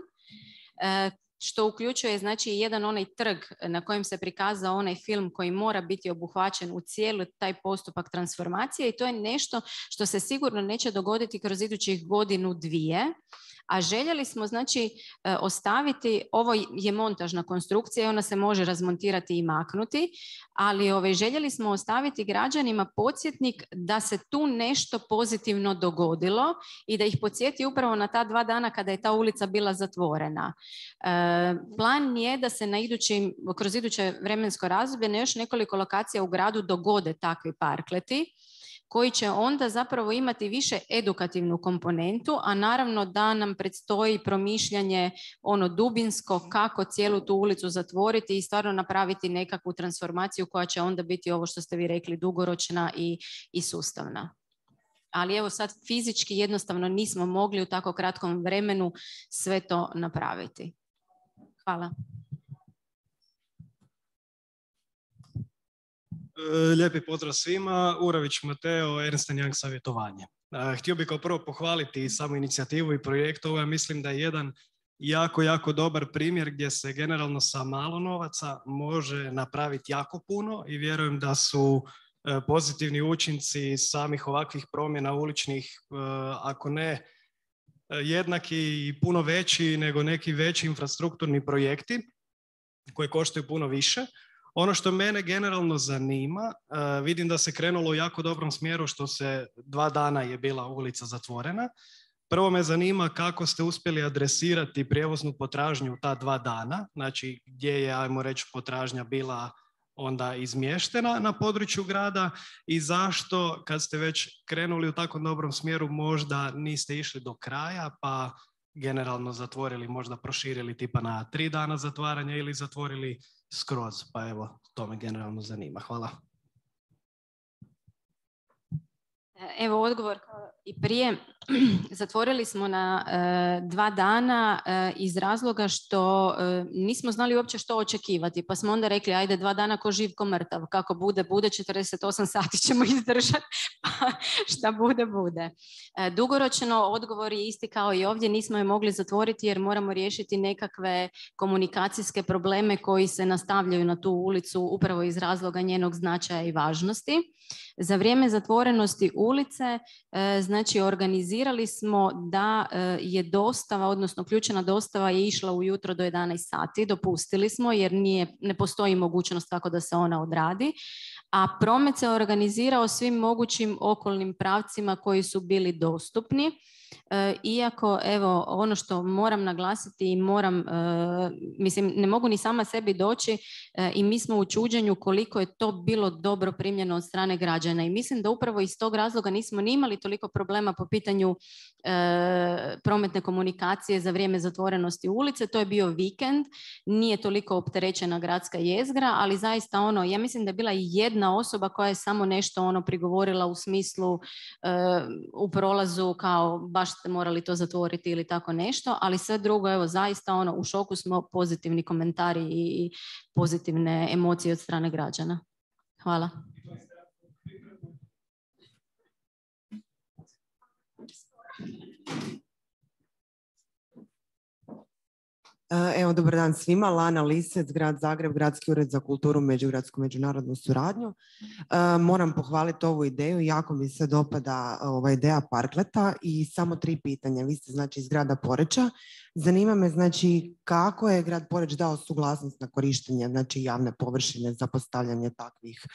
što uključuje znači jedan onaj trg na kojem se prikazao onaj film koji mora biti obuhvaćen u cijeli taj postupak transformacije i to je nešto što se sigurno neće dogoditi kroz idućih godinu, dvije. A željeli smo znači ostaviti, ovo je montažna konstrukcija i ona se može razmontirati i maknuti, ali ovaj, željeli smo ostaviti građanima podsjetnik da se tu nešto pozitivno dogodilo i da ih podsjeti upravo na ta dva dana kada je ta ulica bila zatvorena. E, plan je da se na idućim, kroz iduće vremensko razdoblje na još nekoliko lokacija u gradu dogode takvi parkleti, koji će onda zapravo imati više edukativnu komponentu, a naravno da nam predstoji promišljanje ono dubinsko kako cijelu tu ulicu zatvoriti i stvarno napraviti nekakvu transformaciju koja će onda biti ovo što ste vi rekli dugoročna i, i sustavna. Ali evo sad fizički jednostavno nismo mogli u tako kratkom vremenu sve to napraviti. Hvala. Lijepi pozdrav svima, Urović Mateo, Ernst and Young savjetovanje. Htio bih kao prvo pohvaliti samu inicijativu i projekt. Ovo ja mislim da je jedan jako, jako dobar primjer gdje se generalno sa malo novaca može napraviti jako puno i vjerujem da su pozitivni učinci samih ovakvih promjena uličnih, ako ne jednaki i puno veći nego neki veći infrastrukturni projekti koji koštaju puno više. Ono što mene generalno zanima, uh, vidim da se krenulo u jako dobrom smjeru što se dva dana je bila ulica zatvorena. Prvo me zanima kako ste uspjeli adresirati prijevoznu potražnju ta dva dana, znači gdje je, ajmo reći, potražnja bila onda izmještena na području grada i zašto kad ste već krenuli u tako dobrom smjeru možda niste išli do kraja pa generalno zatvorili, možda proširili tipa na tri dana zatvaranja ili zatvorili skroz, pa evo, to me generalno zanima. Hvala. Evo odgovor i prije. Zatvorili smo na e, dva dana e, iz razloga što e, nismo znali uopće što očekivati, pa smo onda rekli ajde dva dana ko živ ko mrtav, kako bude, bude, četrdeset osam sati ćemo izdržati, pa šta bude, bude. E, dugoročno odgovor je isti kao i ovdje, nismo je mogli zatvoriti jer moramo riješiti nekakve komunikacijske probleme koji se nastavljaju na tu ulicu upravo iz razloga njenog značaja i važnosti. Za vrijeme zatvorenosti ulice, e, znači organizirali smo da e, je dostava, odnosno ključna dostava je išla ujutro do jedanaest sati, dopustili smo jer nije, ne postoji mogućnost kako da se ona odradi, a promet se organizirao svim mogućim okolnim pravcima koji su bili dostupni. E, iako, evo, ono što moram naglasiti i moram, e, mislim, ne mogu ni sama sebi doći e, i mi smo u čuđenju koliko je to bilo dobro primljeno od strane građana i mislim da upravo iz tog razloga nismo ni imali toliko problema po pitanju e, prometne komunikacije za vrijeme zatvorenosti ulice. To je bio vikend, nije toliko opterećena gradska jezgra, ali zaista ono, ja mislim da je bila jedna osoba koja je samo nešto ono prigovorila u smislu e, u prolazu kao baš ste morali to zatvoriti ili tako nešto, ali sve drugo, evo, zaista ono, u šoku smo, pozitivni komentari i pozitivne emocije od strane građana. Hvala. Evo, dobar dan svima. Lana Lisec, Grad Zagreb, Gradski ured za kulturu, međugradsku međunarodnu suradnju. Moram pohvaliti ovu ideju, jako mi se dopada ova ideja parkleta i samo tri pitanja. Vi ste znači iz grada Poreča. Zanima me znači kako je grad Poreč dao suglasnost na korištenje znači javne površine za postavljanje takvih,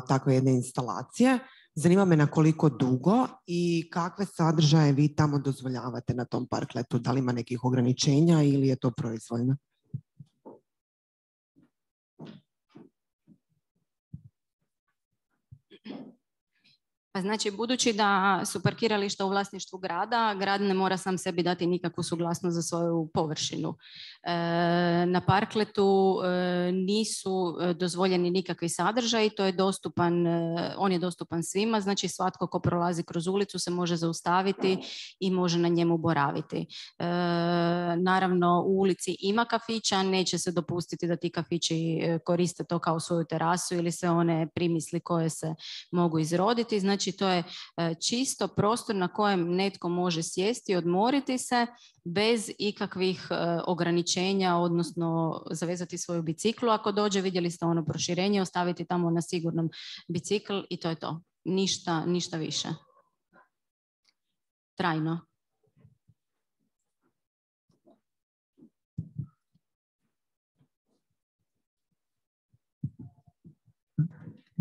takve jedne instalacije. Zanima me na koliko dugo i kakve sadržaje vi tamo dozvoljavate na tom parkletu. Da li ima nekih ograničenja ili je to proizvoljno? Pa znači, budući da su parkirališta u vlasništvu grada, grad ne mora sam sebi dati nikakvu suglasnost za svoju površinu. E, na parkletu e, nisu dozvoljeni nikakvi sadržaji, to je dostupan, e, on je dostupan svima, znači svatko ko prolazi kroz ulicu se može zaustaviti i može na njemu boraviti. E, naravno, u ulici ima kafića, neće se dopustiti da ti kafići koriste to kao svoju terasu ili sve one primisli koje se mogu izroditi. Znači, Znači, to je čisto prostor na kojem netko može sjesti, odmoriti se bez ikakvih ograničenja, odnosno zavezati svoju biciklu. Ako dođe, vidjeli ste ono proširenje, ostaviti tamo na sigurnom bicikl i to je to. Ništa, ništa više. Trajno.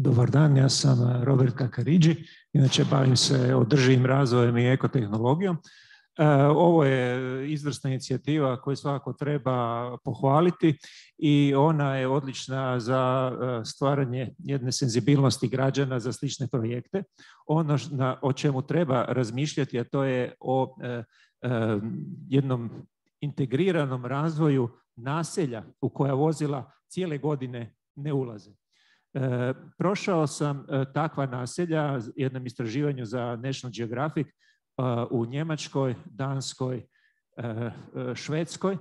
Dobar dan, ja sam Robert Kakariđi, inače bavim se održivim razvojem i ekotehnologijom. Ovo je izvrsna inicijativa koju svakako treba pohvaliti i ona je odlična za stvaranje jedne senzibilnosti građana za slične projekte. Ono o čemu treba razmišljati, a to je o jednom integriranom razvoju naselja u koja vozila cijele godine ne ulaze. E, prošao sam e, takva naselja jednom istraživanju za National Geographic e, u Njemačkoj, Danskoj, e, Švedskoj e,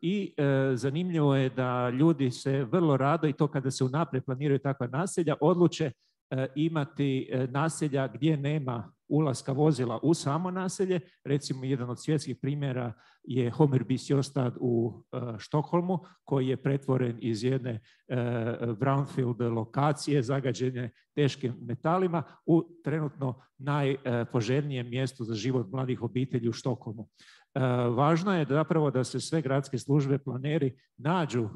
i e, zanimljivo je da ljudi se vrlo rado, i to kada se unaprijed planiraju takva naselja, odluče e, imati e, naselja gdje nema ulaska vozila u samo naselje. Recimo, jedan od svjetskih primjera je Hommerbysjostad u uh, Štokholmu, koji je pretvoren iz jedne uh, brownfield lokacije zagađene teškim metalima u trenutno najpoželjnijem uh, mjestu za život mladih obitelji u Štokholmu. Uh, važno je zapravo da se sve gradske službe, planeri nađu uh,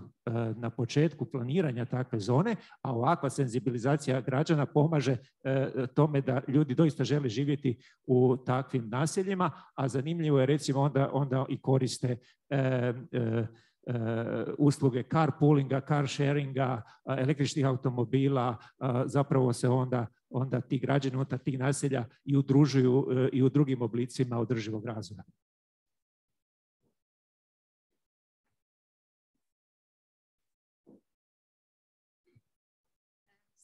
na početku planiranja takve zone, a ovakva senzibilizacija građana pomaže uh, tome da ljudi doista žele živjeti u takvim naseljima, a zanimljivo je recimo onda, onda i koriste e, e, e, usluge carpoolinga, car sharinga, električnih automobila, a, zapravo se onda, onda ti građani unutar tih naselja i udružuju e, i u drugim oblicima održivog razvoja.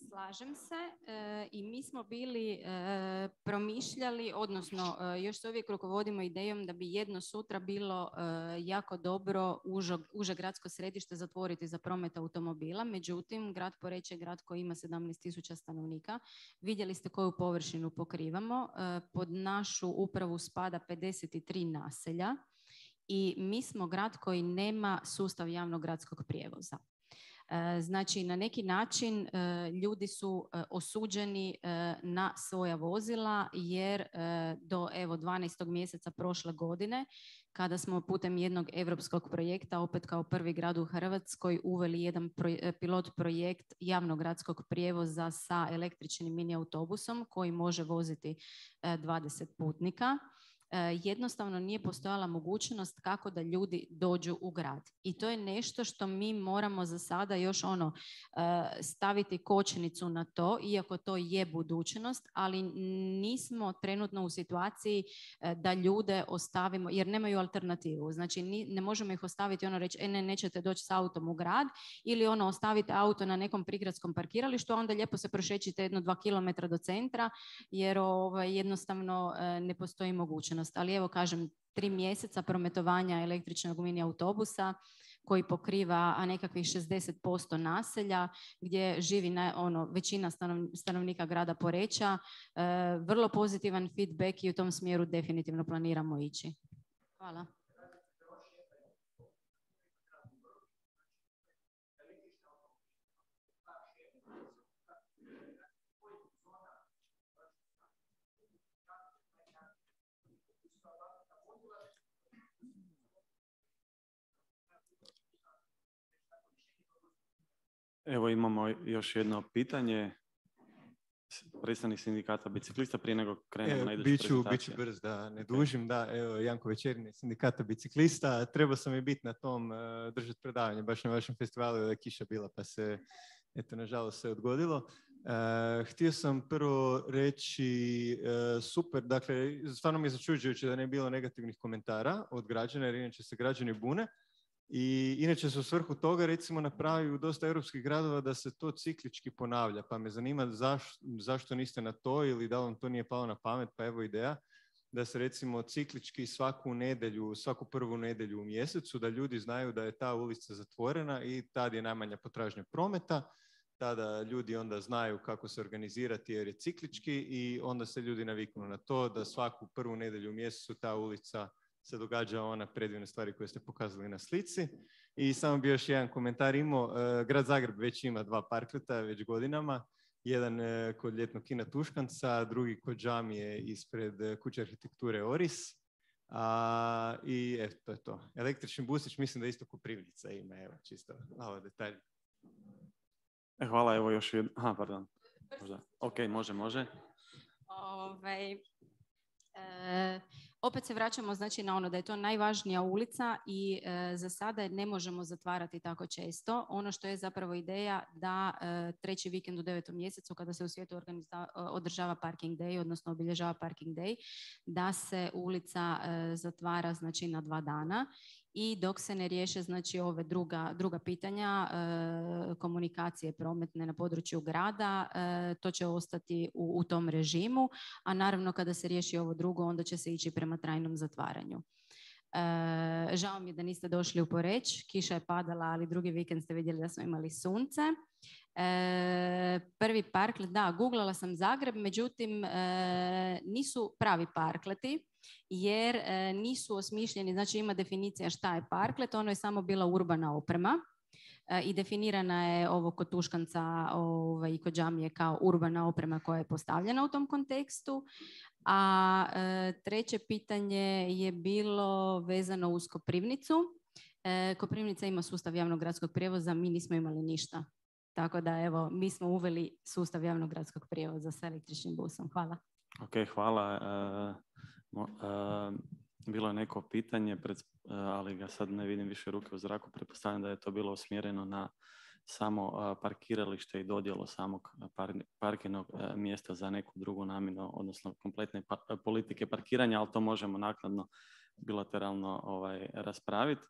Slažem se e, i mi smo bili e, promišljali, odnosno e, još se uvijek rukovodimo idejom da bi jedno sutra bilo e, jako dobro uže, uže gradsko središte zatvoriti za promet automobila. Međutim, grad Poreč je grad koji ima sedamnaest tisuća stanovnika. Vidjeli ste koju površinu pokrivamo. E, pod našu upravu spada pedeset tri naselja i mi smo grad koji nema sustav javnog gradskog prijevoza. Znači, na neki način ljudi su osuđeni na svoja vozila jer do evo dvanaestog mjeseca prošle godine, kada smo putem jednog europskog projekta, opet kao prvi grad u Hrvatskoj, uveli jedan pilot projekt javnog gradskog prijevoza sa električnim mini autobusom koji može voziti dvadeset putnika. Jednostavno nije postojala mogućnost kako da ljudi dođu u grad. I to je nešto što mi moramo za sada još ono staviti kočnicu na to, iako to je budućnost, ali nismo trenutno u situaciji da ljude ostavimo, jer nemaju alternativu. Znači ne možemo ih ostaviti ono reći, e ne, nećete doći s autom u grad, ili ono ostavite auto na nekom prigradskom parkiralištu, a onda lijepo se prošećite jedno dva kilometra do centra, jer ovaj, jednostavno ne postoji mogućnost. Ali evo kažem, tri mjeseca prometovanja električnog mini autobusa koji pokriva a nekakvih šezdeset posto naselja gdje živi na, ono, većina stanov, stanovnika grada Poreča. E, vrlo pozitivan feedback i u tom smjeru definitivno planiramo ići. Hvala. Evo imamo još jedno pitanje. Predstavnik sindikata biciklista prije nego krenemo na iduću biću, prezentaciju. Biću brz da ne dužim. Da, evo Janko Večerini, sindikata biciklista. Trebao sam i biti na tom uh, držati predavanje, baš na vašem festivalu je kiša bila pa se, eto, nažalost se odgodilo. Uh, htio sam prvo reći uh, super, dakle, stvarno mi je začuđujuće da ne je bilo negativnih komentara od građana, jer inače se građani bune. I inače se u svrhu toga recimo napravi u dosta europskih gradova da se to ciklički ponavlja, pa me zanima zaš, zašto niste na to ili da vam to nije palo na pamet, pa evo ideja da se recimo ciklički svaku nedjelju, svaku prvu nedjelju u mjesecu, da ljudi znaju da je ta ulica zatvorena i tad je najmanja potražnja prometa, tada ljudi onda znaju kako se organizirati jer je ciklički i onda se ljudi naviknu na to da svaku prvu nedjelju u mjesecu ta ulica se događa ona predivne stvari koje ste pokazali na slici. I samo bi još jedan komentar imao. Grad Zagreb već ima dva parkleta već godinama. Jedan kod ljetnog kina Tuškanca, drugi kod džamije ispred kuće arhitekture Oris. A, I eto, to je to. Električni busić mislim da isto Koprivnica ima. Evo, čisto malo detalj. E, hvala, evo još jedan. Aha, pardon. Možda. Ok, može, može. Ove, e, opet se vraćamo znači na ono da je to najvažnija ulica i e, za sada ne možemo zatvarati tako često. Ono što je zapravo ideja da e, treći vikend u devetom mjesecu kada se u svijetu organiza, održava parking day, odnosno obilježava parking day, da se ulica e, zatvara znači na dva dana. I dok se ne riješe znači ove druga, druga pitanja e, komunikacije prometne na području grada, e, to će ostati u, u tom režimu, a naravno kada se riješi ovo drugo onda će se ići prema trajnom zatvaranju. E, žao mi je da niste došli u Poreč, kiša je padala, ali drugi vikend ste vidjeli da smo imali sunce. E, prvi parklet, da, googlala sam Zagreb, međutim e, nisu pravi parkleti jer e, nisu osmišljeni, znači ima definicija šta je parklet, ono je samo bila urbana oprema e, i definirana je ovo kod Tuškanca ovaj, i kod džamije kao urbana oprema koja je postavljena u tom kontekstu. A e, treće pitanje je bilo vezano uz Koprivnicu. E, Koprivnica ima sustav javnog gradskog prijevoza, mi nismo imali ništa. Tako da evo, mi smo uveli sustav javnog gradskog prijevoza sa električnim busom. Hvala. Ok, hvala. Uh, uh, bilo je neko pitanje, pred, uh, ali ga sad ne vidim više ruke u zraku. Pretpostavljam da je to bilo usmjereno na samo uh, parkiralište i dodjelu samog par, parkirnog uh, mjesta za neku drugu namjenu, odnosno kompletne pa, politike parkiranja, ali to možemo naknadno bilateralno ovaj, raspraviti.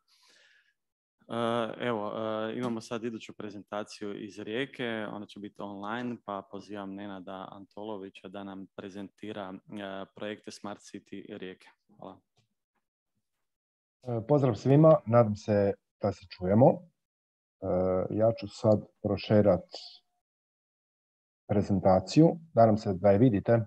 Uh, evo, uh, imamo sad iduću prezentaciju iz Rijeke, ona će biti online, pa pozivam Nenada Antolovića da nam prezentira uh, projekte Smart City Rijeke. Hvala. Pozdrav svima, nadam se da se čujemo. Uh, ja ću sad prošerat prezentaciju, nadam se da je vidite.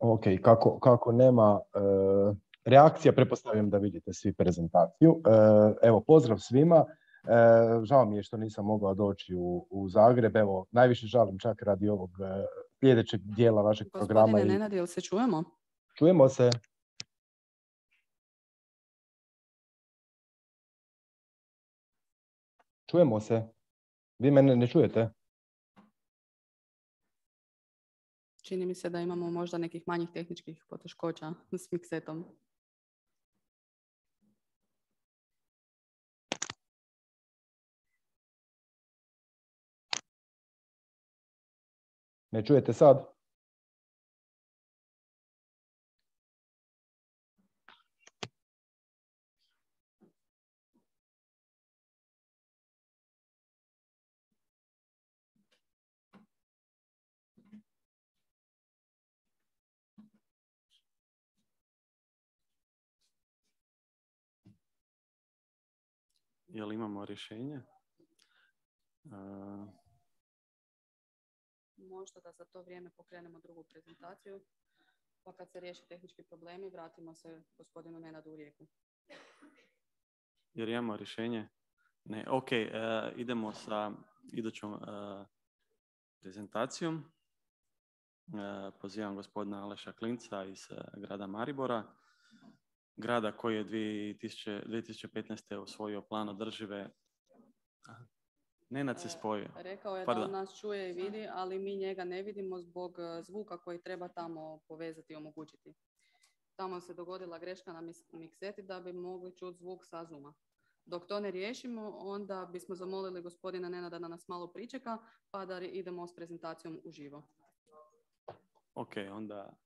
Ok, kako, kako nema uh, reakcija, pretpostavljam da vidite svi prezentaciju. Uh, evo, pozdrav svima. Uh, žao mi je što nisam mogao doći u, u Zagreb. Evo, najviše žalim čak radi ovog uh, sljedećeg dijela vašeg Gospodine programa. Gospodine Nenad, jel se čujemo? Čujemo se. Čujemo se. Vi mene ne čujete? Čini mi se da imamo možda nekih manjih tehničkih poteškoća s miksetom. Ne čujete sad? Jel imamo rješenje? Uh... Možda da za to vrijeme pokrenemo drugu prezentaciju, pa kad se riješe tehnički problemi, vratimo se gospodinu Nenadu u Rijeku. Jer imamo rješenje? Ne, ok, uh, idemo sa idućom uh, prezentacijom. Uh, pozivam gospodina Aleša Klinca iz uh, grada Maribora, grada koji je dvije tisuće petnaeste. usvojio plan održive... Nenad se spojio. Rekao je Pardon. da on nas čuje i vidi, ali mi njega ne vidimo zbog zvuka koji treba tamo povezati i omogućiti. tamo se dogodila greška na mikseti da bi mogli čuti zvuk sa Zooma. Dok to ne riješimo, onda bismo zamolili gospodina Nenada da nas malo pričeka, pa da idemo s prezentacijom uživo. Ok, onda...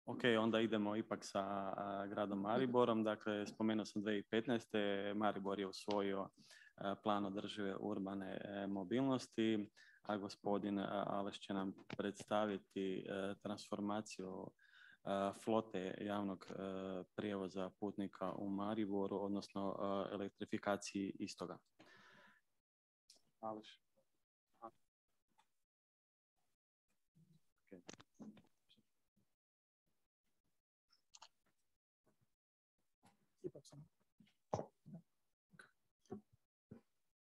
Ok, onda idemo ipak sa a, gradom Mariborom. Dakle, spomenuo sam dvije tisuće petnaeste. Maribor je usvojio a, plan održive urbane a, mobilnosti, a gospodin a, Aleš će nam predstaviti a, transformaciju a, flote javnog a, prijevoza putnika u Mariboru, odnosno a, elektrifikaciji istoga. Aleš. Okay.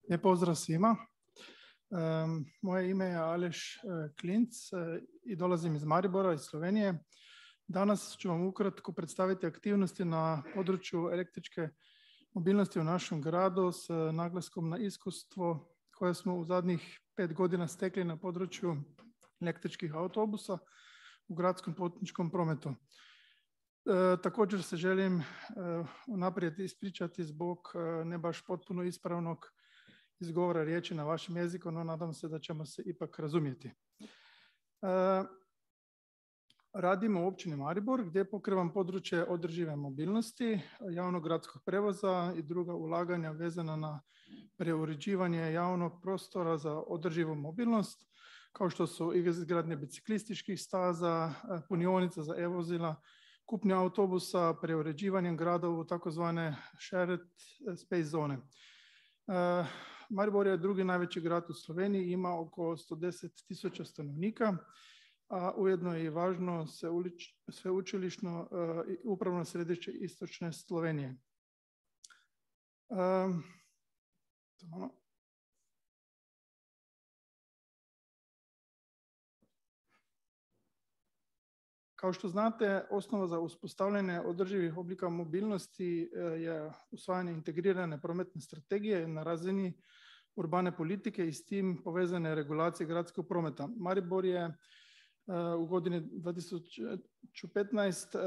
Lijep pozdrav svima. Um, moje ime je Aleš Klinc uh, i dolazim iz Maribora, iz Slovenije. Danas ću vam ukratko predstaviti aktivnosti na području električke mobilnosti u našem gradu s naglaskom na iskustvo koje smo u zadnjih pet godina stekli na području električkih autobusa u gradskom putničkom prometu. E, također se želim e, unaprijed ispričati zbog e, ne baš potpuno ispravnog izgovora riječi na vašem jeziku, no nadam se da ćemo se ipak razumjeti. E, radimo u općini Maribor gdje pokrivam područje održive mobilnosti, javnog gradskog prevoza i druga ulaganja vezana na preuređivanje javnog prostora za održivu mobilnost, kao što su izgradnje biciklističkih staza, punionica za e-vozila, kupnja autobusa, preuređivanjem gradova u takozvane shared space zone. Uh, Maribor je drugi najveći grad u Sloveniji, ima oko sto deset tisuća stanovnika, a ujedno je i važno sveučilišno uh, upravno središte istočne Slovenije. Um, Kao što znate, osnova za uspostavljanje održivih oblika mobilnosti je usvajanje integrirane prometne strategije na razini urbane politike i s tim povezane regulacije gradskog prometa. Maribor je u godini dvije tisuće petnaeste.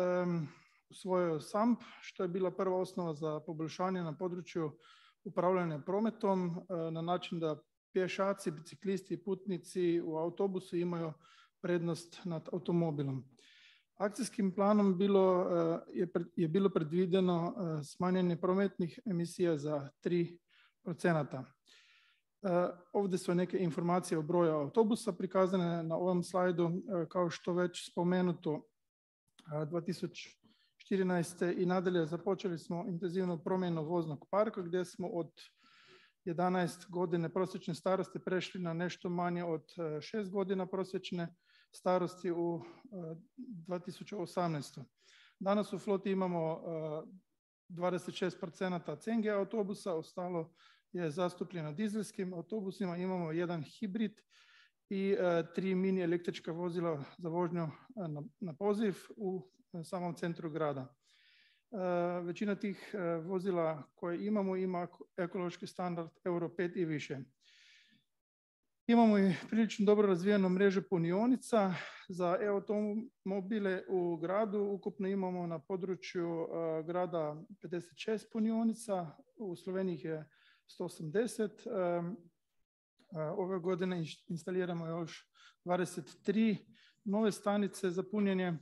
usvojio S A M P, što je bila prva osnova za poboljšanje na području upravljanja prometom na način da pješaci, biciklisti i putnici u autobusu imaju prednost nad automobilom. Akcijskim planom bilo, je, je bilo predvideno smanjenje prometnih emisija za tri procenta. Ovdje su neke informacije o broju autobusa prikazane na ovom slajdu. Kao što već spomenuto, dvije tisuće četrnaeste. i nadalje započeli smo intenzivnu promjenu voznog parka gdje smo od jedanaest godine prosječne starosti prešli na nešto manje od šest godina prosječne starosti u dvije tisuće osamnaestoj. Danas u floti imamo dvadeset šest procenta C N G autobusa, ostalo je zastupljeno dizelskim autobusima, imamo jedan hibrid i tri mini električka vozila za vožnju na, na poziv u samom centru grada. Većina tih vozila koje imamo ima ekološki standard Euro pet i više. Imamo i prilično dobro razvijenu mrežu punionica za e-automobile u gradu. Ukupno imamo na području uh, grada pedeset šest punionica, u Sloveniji je sto osamdeset. Um, uh, ove godine instaliramo još dvadeset tri nove stanice za punjenje.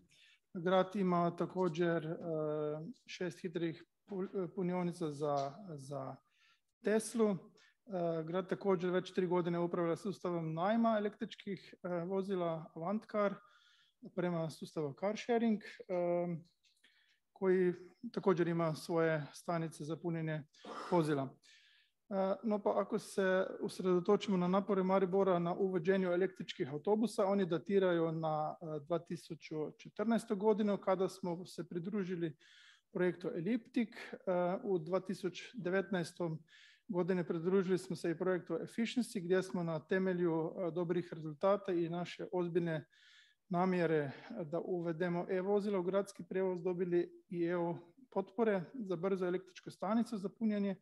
Grad ima također uh, šest hitrih punionica za, za Teslu. Grad također već tri godine upravlja sustavom najma električkih vozila Avantcar prema sustavu car sharing, koji također ima svoje stanice za punjenje vozila. No pa ako se usredotočimo na napore Maribora na uvođenju električkih autobusa, oni datiraju na dvije tisuće četrnaestu. godinu kada smo se pridružili projektu Elliptic. U dvije tisuće devetnaestoj. godine pridružili smo se i projektu Efficiency gdje smo na temelju dobrih rezultata i naše ozbiljne namjere da uvedemo e-vozila u gradski prijevoz dobili i E U potpore za brzo električku stanicu za punjenje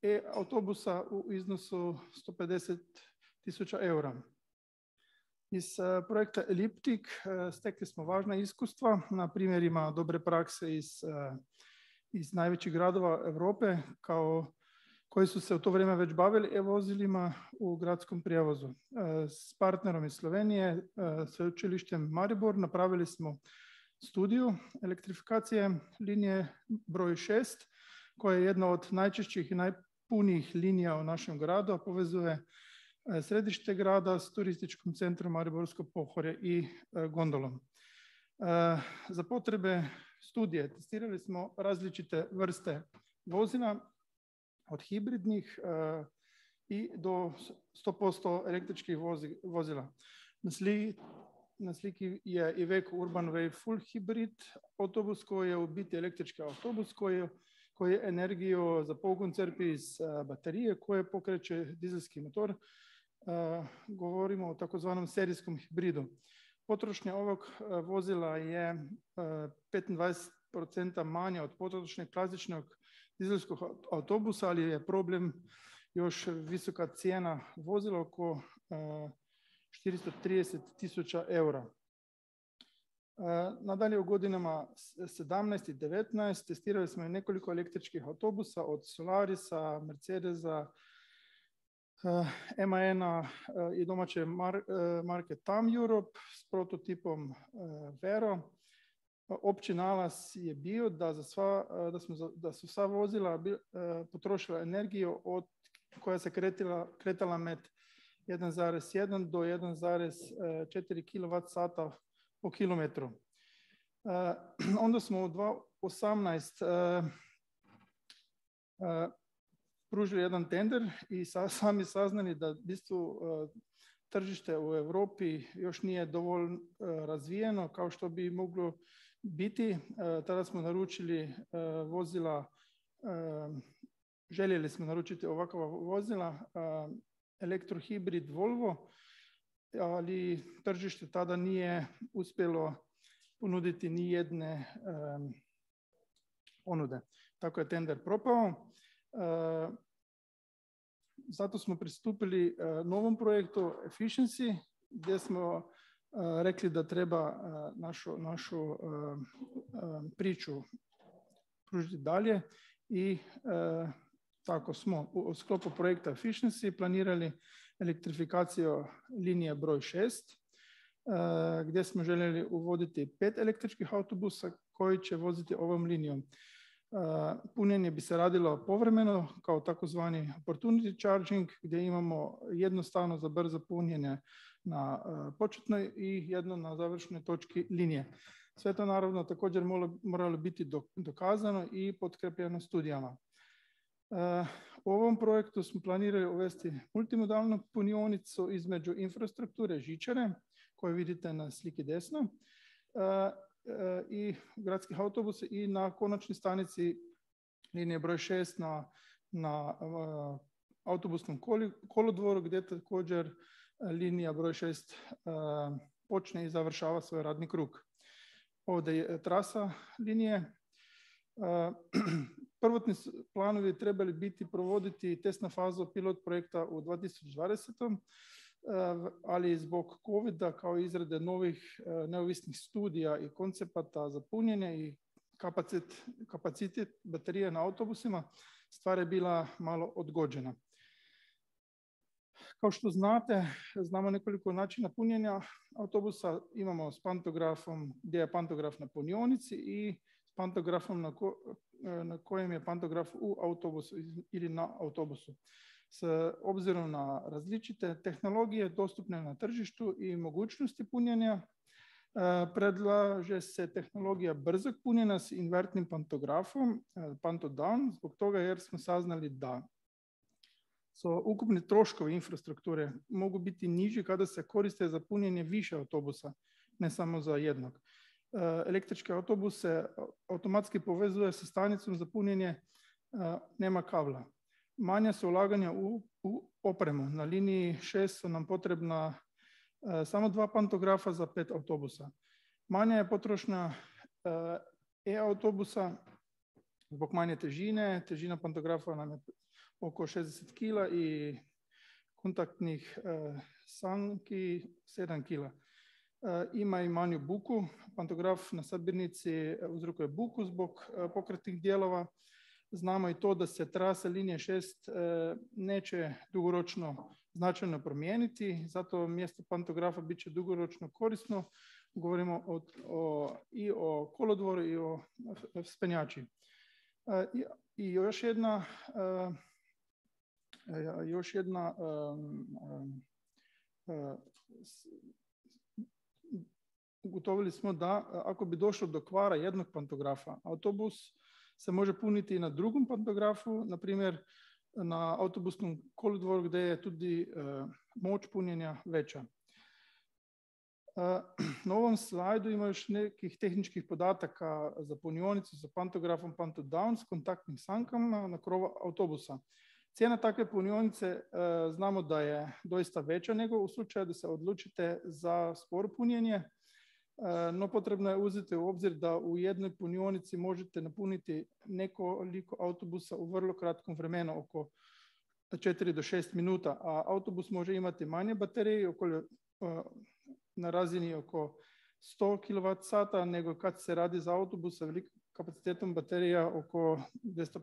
e-autobusa u iznosu sto pedeset tisuća eura. Iz projekta Eliptik stekli smo važna iskustva na primjerima dobre prakse iz, iz najvećih gradova Europe kao koji su se u to vrijeme već bavili e-vozilima u gradskom prijevozu. S partnerom iz Slovenije, sveučilištem Maribor, napravili smo studiju elektrifikacije linije broj šest, koja je jedna od najčešćih i najpunijih linija u našem gradu, a povezuje središte grada s turističkim centrom Mariborsko Pohorje i gondolom. Za potrebe studije testirali smo različite vrste vozila, od hibridnih i do sto posto električkih vozila. Na sliki, na sliki je Iveco Urban Wave Full Hybrid autobus koji je u biti električki autobus koji, koji energiju za pogon crpi iz baterije koje pokreće dizelski motor. Govorimo o takozvanom serijskom hibridu. Potrošnja ovog vozila je petnaest posto manja od potrošnje klasičnog dizelskog autobusa, ali je problem još visoka cijena vozila oko četiristo trideset tisuća eura. Nadalje u godinama sedamnaest i devetnaest testirali smo i nekoliko električkih autobusa od Solarisa, Mercedesa, M A N-a i domaće marke Tam Europe s prototipom Vero. Opći nalaz je bio da, za sva, da, smo, da su sva vozila potrošila energiju od, koja se kretila, kretala med jedan zarez jedan do jedan zarez četiri kilovat sata po kilometru. Onda smo u dva tisuće osamnaest pružili jedan tender i sa, sami saznali da isto tržište u Europi još nije dovoljno razvijeno kao što bi moglo biti. Tada smo naručili vozila, željeli smo naručiti ovakva vozila, elektrohibrid Volvo, ali tržište tada nije uspjelo ponuditi ni jedne ponude. Tako je tender propao. Zato smo pristupili novom projektu Efficiency, gdje smo rekli da treba našu, našu priču pružiti dalje i tako smo u sklopu projekta Efficiency planirali elektrifikaciju linije broj šest, gdje smo željeli uvoditi pet električkih autobusa koji će voziti ovom linijom. Punjenje bi se radilo povremeno kao takozvani opportunity charging, gdje imamo jednostavno za brzo punjenje na početnoj i jedno na završnoj točki linije. Sve to naravno također moralo biti dokazano i potkrepljeno studijama. U ovom projektu smo planirali uvesti multimodalnu punionicu između infrastrukture žičare, koju vidite na sliki desno, i gradskih autobusa i na konačnoj stanici linije broj šest na, na uh, autobusnom kolodvoru gdje također linija broj šest uh, počne i završava svoj radni krug. Ovdje je trasa linije. Uh, prvotni planovi trebali biti provoditi testna faza pilot projekta u dva tisuće dvadesetom ali zbog covida kao izrade novih neovisnih studija i koncepata za punjenje i kapacitet, kapacitet baterije na autobusima stvar je bila malo odgođena. Kao što znate, znamo nekoliko načina punjenja autobusa. Imamo s pantografom gdje je pantograf na punionici i s pantografom na, ko, na kojem je pantograf u autobusu ili na autobusu. S obzirom na različite tehnologije dostupne na tržištu i mogućnosti punjenja, predlaže se tehnologija brzog punjenja s invertnim pantografom, pantodown, zbog toga jer smo saznali da so ukupni troškovi infrastrukture mogu biti niži kada se koriste za punjenje više autobusa, ne samo za jednog. Električki autobus se automatski povezuje sa stanicom za punjenje, nema kabla. Manja su ulaganja u, u opremu. Na liniji šest su nam potrebna uh, samo dva pantografa za pet autobusa. Manja je potrošnja uh, e-autobusa zbog manje težine. Težina pantografa nam je oko šezdeset kila i kontaktnih uh, sanki sedam kila. Uh, ima i manju buku. Pantograf na sabirnici uzrokuje buku zbog uh, pokretnih dijelova. Znamo i to da se trasa linije šest uh, neće dugoročno značajno promijeniti, zato mjesto pantografa bit će dugoročno korisno. Govorimo o, o, i o kolodvoru i o spenjači. Uh, i, I još jedna uh, još jedna um, um, ugotovili smo da ako bi došlo do kvara jednog pantografa, autobus se može puniti i na drugom pantografu, na primjer na autobusnom kolodvoru gdje je tudi uh, moć punjenja veća. Uh, na ovom slajdu ima još nekih tehničkih podataka za punionicu sa pantografom Pantodown s kontaktnim sankama na krovu autobusa. Cijena takve punionice e, znamo da je doista veća nego u slučaju da se odlučite za sporo punjenje, e, no potrebno je uzeti u obzir da u jednoj punionici možete napuniti nekoliko autobusa u vrlo kratkom vremenu, oko četiri do šest minuta, a autobus može imati manje baterije, oko, e, na razini oko sto kilovat sata, nego kad se radi za autobus sa velikim kapacitetom baterija oko dvjesto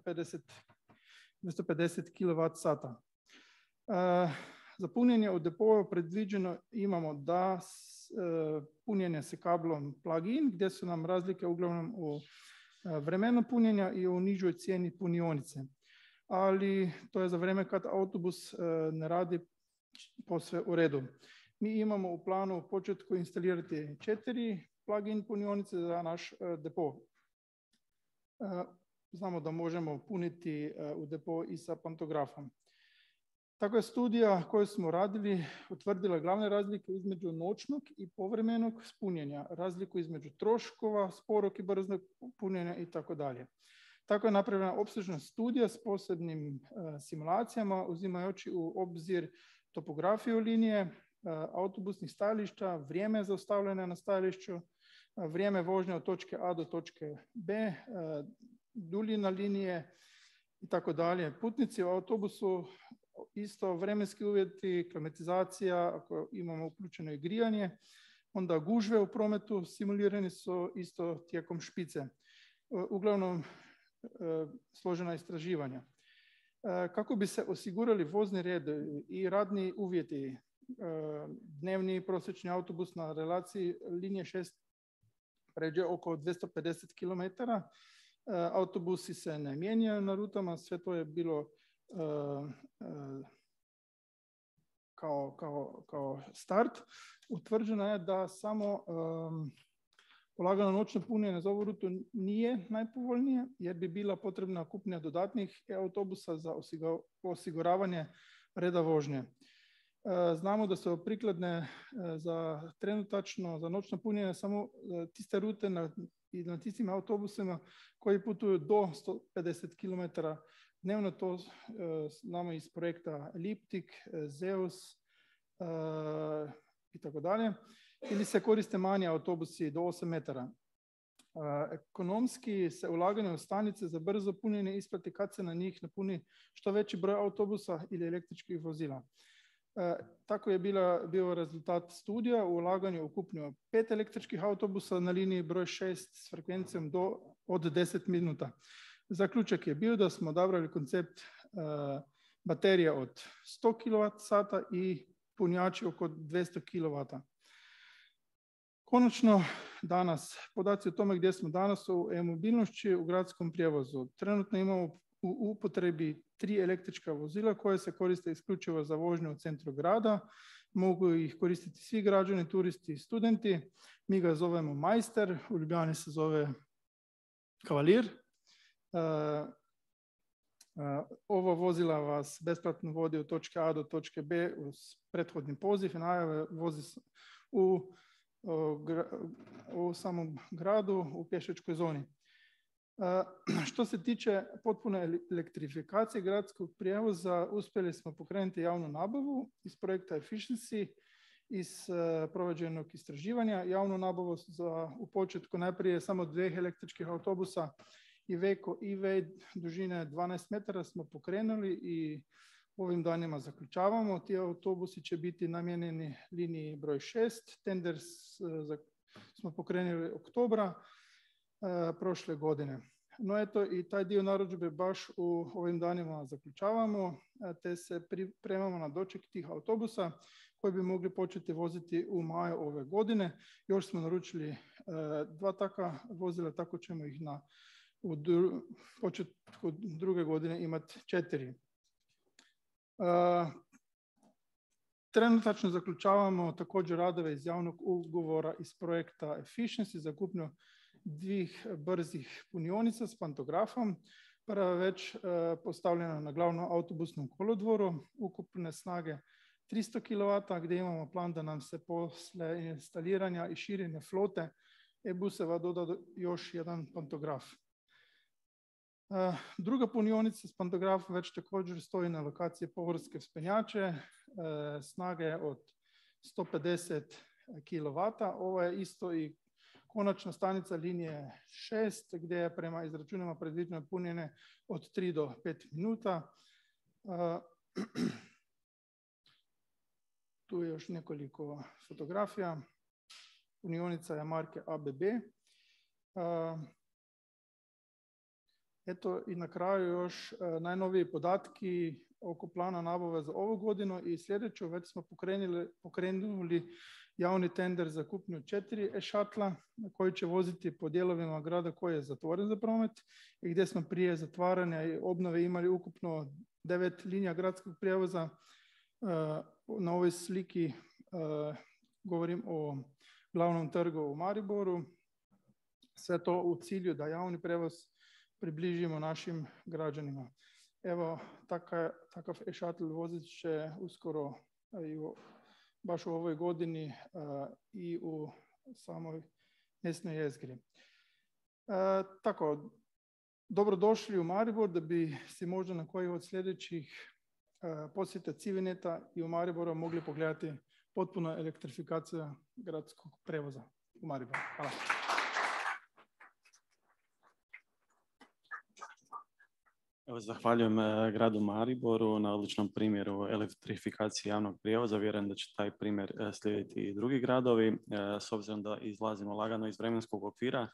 pedeset kilovat sata. E, za punjenje u depoju predviđeno imamo da s, e, punjenje se kablom plug-in, gdje su nam razlike uglavnom u e, vremenu punjenja i u nižoj cijeni punionice. Ali to je za vrijeme kad autobus e, ne radi posve u redu. Mi imamo u planu u početku instalirati četiri plug-in punionice za naš e, depo. E, Znamo da možemo puniti u depo i sa pantografom. Tako je studija koju smo radili utvrdila glavne razlike između noćnog i povremenog punjenja, razliku između troškova, sporog i brzog punjenja i tako dalje. Tako je napravljena opsežna studija s posebnim uh, simulacijama, uzimajući u obzir topografiju linije, uh, autobusnih stajališta, vrijeme zaustavljanja na stajališću, uh, vrijeme vožnje od točke A do točke B, uh, duljina linije i tako dalje. Putnici u autobusu, isto vremenski uvjeti, klimatizacija, ako imamo uključeno i grijanje, onda gužve u prometu simulirani su isto tijekom špice. Uglavnom složena istraživanja. Kako bi se osigurali vozni red i radni uvjeti, dnevni prosječni autobus na relaciji linije šest pređe oko dvjesto pedeset kilometara, autobusi se ne mijenjaju na rutama, sve to je bilo uh, uh, kao, kao, kao start. Utvrđeno je da samo um, polagano noćno punjenje za ovu rutu nije najpovoljnije, jer bi bila potrebna kupnja dodatnih autobusa za osiguravanje reda vožnje. Znamo da su prikladne za trenutačno, za noćno punjenje samo tiste rute na, i na tistim autobusima koji putuju do sto pedeset kilometara dnevno. To znamo iz projekta Elliptic, Zeus uh, i tako dalje. Ili se koriste manji autobusi do osam metara. Uh, ekonomski se ulaganje u stanice za brzo punjenje isplati kad se na njih napuni što veći broj autobusa ili električkih vozila. E, tako je bila, bio rezultat studija u ulaganju u kupnju pet električkih autobusa na liniji broj šest s frekvencijom do, od deset minuta. Zaključak je bio da smo odabrali koncept e, baterija od sto kilovat sata i punjači oko dvjesto kilovata. Konačno, danas, podaci o tome gdje smo danas u e-mobilnošću u gradskom prijevozu. Trenutno imamo u upotrebi tri električka vozila koje se koriste isključivo za vožnju u centru grada. Mogu ih koristiti svi građani, turisti i studenti. Mi ga zovemo Majster, u Ljubljani se zove Kavalir. Uh, uh, ovo vozila vas besplatno vodi od točke A do točke B uz prethodni poziv i najave vozi u, u, u samom gradu u pješačkoj zoni. Uh, što se tiče potpune elektrifikacije gradskog prijevoza, uspjeli smo pokrenuti javnu nabavu iz projekta Efficiency, iz uh, provođenog istraživanja. Javnu nabavu za u početku najprije samo dveh električkih autobusa Iveco E-Way dužine dvanaest metara smo pokrenuli i ovim danima zaključavamo. Ti autobusi će biti namijenjeni liniji broj šest. Tender smo pokrenuli oktobra e, prošle godine. No eto, i taj dio narudžbe baš u ovim danima zaključavamo, te se pripremamo na doček tih autobusa koji bi mogli početi voziti u maju ove godine. Još smo naručili e, dva takva vozila, tako ćemo ih na u dru, početku druge godine imati četiri. E, trenutačno zaključavamo također radove iz javnog ugovora iz projekta Efficiency za kupnju dvih brzih punionica s pantografom. Prva je već e, postavljena na glavnom autobusnom kolodvoru, ukupne snage tristo kilovata, gdje imamo plan da nam se posle instaliranja i širenja flote e-buseva doda još jedan pantograf. E, druga punionica s pantografom već također stoji na lokaciji Pohorske Vzpenjače, e, snage od sto pedeset kilovata. Ovo je isto i konačna stanica linije šest, gdje je prema izračunima predviđeno punjenje od tri do pet minuta. Uh, tu je još nekoliko fotografija. Punionica je marke A B B. Uh, eto i na kraju još uh, najnoviji podatki oko plana nabave za ovu godinu i sljedeću. Već smo pokrenuli, pokrenuli javni tender za kupnju četiri e-šatla koji će voziti po dijelovima grada koji je zatvoren za promet i gdje smo prije zatvaranja i obnove imali ukupno devet linija gradskog prijevoza. Na ovoj sliki govorim o glavnom trgu u Mariboru. Sve to u cilju da javni prijevoz približimo našim građanima. Evo, takav, takav e-šatl vozit će uskoro i u baš u ovoj godini uh, i u samoj mjesnoj jezgri. Uh, tako, dobrodošli u Maribor da bi si možda na koji od sljedećih uh, posjeta Civineta i u Mariboru mogli pogledati potpuno elektrifikacija gradskog prevoza u Mariboru. Hvala. Evo, zahvaljujem gradu Mariboru na odličnom primjeru elektrifikacije javnog prijevoza. Vjerujem da će taj primjer slijediti i drugi gradovi. S obzirom da izlazimo lagano iz vremenskog okvira,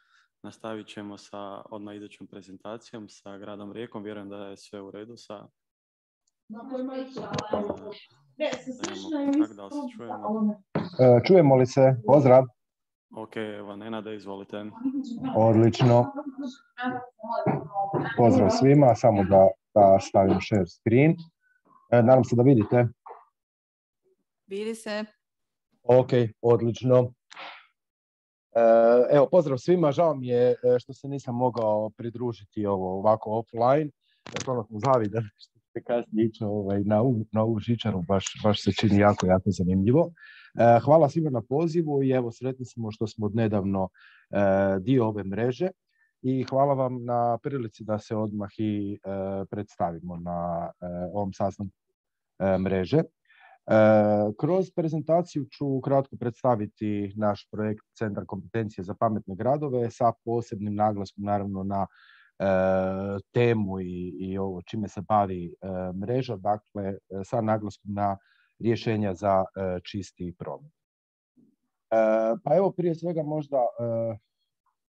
nastavit ćemo sa odmah idućom prezentacijom sa gradom Rijekom. Vjerujem da je sve u redu sa... Čujemo li se? Pozdrav. Ok, evo, Nenade, izvolite. Odlično. Pozdrav svima, samo da, da stavim share screen. E, nadam se da vidite. Vidi se. Ok, odlično. E, evo, pozdrav svima. Žao mi je što se nisam mogao pridružiti ovo ovako offline. Stvarno smo zavidali što ste kasnije ići ovaj, na, na ovu žičaru. Baš, baš se čini jako, jako zanimljivo. E, hvala svima na pozivu i evo, sretni smo što smo odnedavno e, dio ove mreže. I hvala vam na prilici da se odmah i e, predstavimo na e, ovom sastanku e, mreže. E, kroz prezentaciju ću kratko predstaviti naš projekt Centar kompetencije za pametne gradove sa posebnim naglaskom naravno na e, temu i, i ovo čime se bavi e, mreža, dakle sa naglaskom na rješenja za e, čisti promet. E, pa evo prije svega možda e,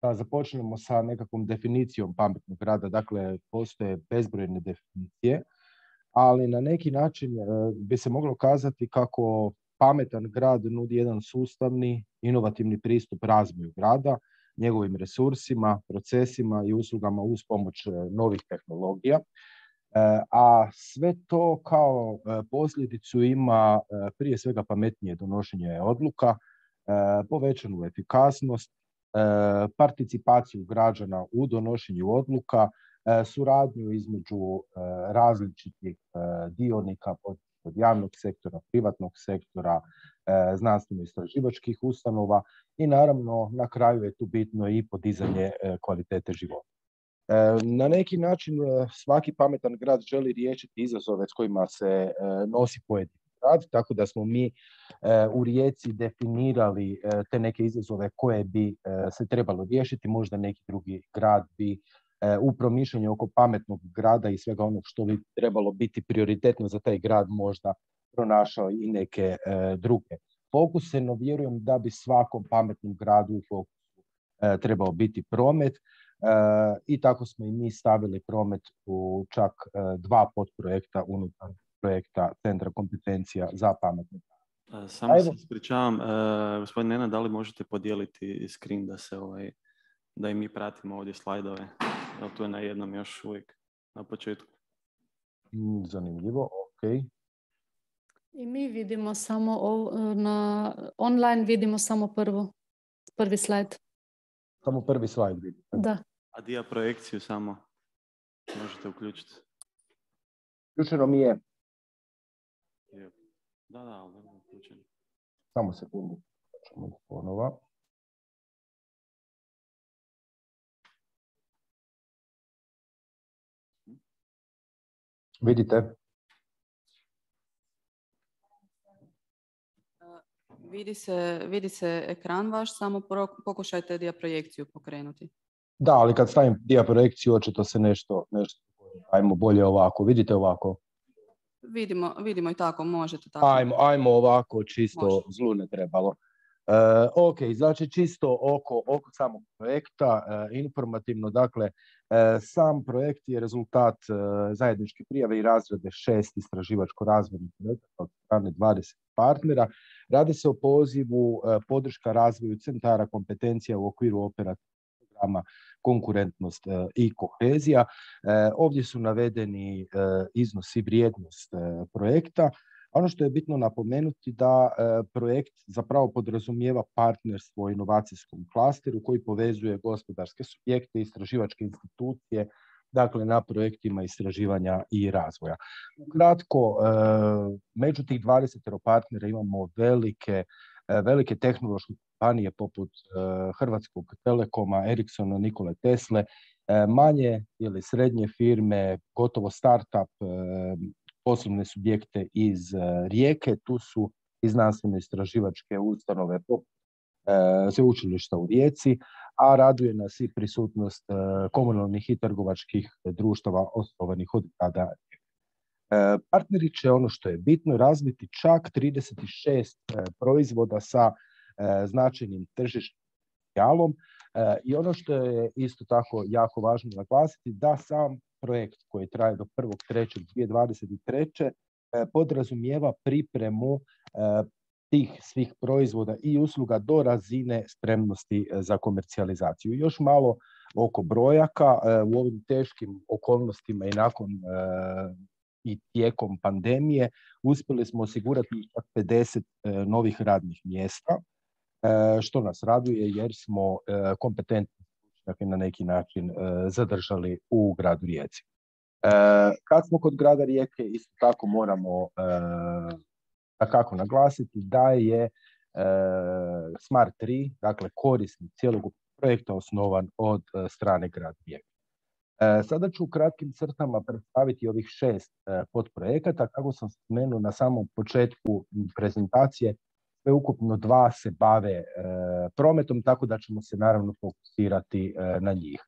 da započnemo sa nekakvom definicijom pametnog grada. Dakle, postoje bezbrojne definicije, ali na neki način e, bi se moglo kazati kako pametan grad nudi jedan sustavni, inovativni pristup razvoju grada, njegovim resursima, procesima i uslugama uz pomoć novih tehnologija. E, a sve to kao e, posljedicu ima e, prije svega pametnije donošenje odluka, e, povećanu efikasnost, participaciju građana u donošenju odluka, suradnju između različitih dionika od javnog sektora, privatnog sektora, znanstveno-istraživačkih ustanova i naravno na kraju je tu bitno i podizanje kvalitete života. Na neki način svaki pametan grad želi riješiti izazove s kojima se nosi pojedini grad, tako da smo mi u Rijeci definirali te neke izazove koje bi se trebalo riješiti. Možda neki drugi grad bi u promišljanju oko pametnog grada i svega onog što bi trebalo biti prioritetno za taj grad možda pronašao i neke druge fokuse, no vjerujem da bi svakom pametnom gradu u fokusu trebao biti promet. I tako smo i mi stavili promet u čak dva podprojekta unutar projekta Centra kompetencija za pametne grade. Samo se ispričavam, gospodin Nenad, da li možete podijeliti screen da se ovaj, da i mi pratimo ovdje slajdove? Evo, tu je na jednom još uvijek na početku. Zanimljivo, ok. I mi vidimo samo na online vidimo samo prvo, prvi slajd. Samo prvi slajd vidite. Da. A dia projekciju samo možete uključiti. Uključeno mi je. Da, da, ali da uključeno. Samo sekundu. Ćemo ponova. Vidite? Vidi se, vidi se ekran vaš, samo pokušajte dia projekciju pokrenuti. Da, ali kad stavim dia projekciju, očito se nešto, nešto, ajmo bolje ovako. Vidite ovako? Vidimo, vidimo i tako, možete tako. Ajmo, ajmo ovako, čisto Može. Zlu ne trebalo. E, ok, znači čisto oko, oko samog projekta, e, informativno, dakle, e, sam projekt je rezultat e, zajedničke prijave i razrade šest istraživačko-razvojnih projekata od strane dvadeset partnera. Radi se o pozivu e, podrška razvoju centara kompetencija u okviru operativnog programa konkurentnost e, i kohezija. E, ovdje su navedeni e, iznos i vrijednost e, projekta. Ono što je bitno napomenuti da e, projekt zapravo podrazumijeva partnerstvo u inovacijskom klasteru koji povezuje gospodarske subjekte i istraživačke institucije, dakle na projektima istraživanja i razvoja. Kratko, e, među tih dvadeset partnera imamo velike, e, velike tehnološke kompanije poput e, Hrvatskog Telekoma, Ericssona, Nikole Tesle, e, manje ili srednje firme, gotovo startup, e, poslovne subjekte iz uh, Rijeke, tu su i znanstveno istraživačke ustanove uh, sveučilišta u Rijeci, a raduje nas i prisutnost uh, komunalnih i trgovačkih društava osnovanih od grada. Uh, partneri će, ono što je bitno, razviti čak trideset šest uh, proizvoda sa uh, značajnim tržišnim potencijalom. Uh, I ono što je isto tako jako važno naglasiti, da sam projekt koji traje do prvog trećeg dvije tisuće dvadeset treće podrazumijeva pripremu tih svih proizvoda i usluga do razine spremnosti za komercijalizaciju. Još malo oko brojaka. U ovim teškim okolnostima i nakon i tijekom pandemije uspjeli smo osigurati pedeset novih radnih mjesta, što nas raduje jer smo kompetentni dakle na neki način e, zadržali u gradu Rijeci. E, kad smo kod grada Rijeke, isto tako moramo e, takako naglasiti da je e, Smart tri, dakle korisnik cijelog projekta osnovan od e, strane grada Rijeke. E, sada ću u kratkim crtama predstaviti ovih šest e, podprojekata. Kako sam spomenuo na samom početku prezentacije, sveukupno dva se bave e, prometom, tako da ćemo se naravno fokusirati e, na njih.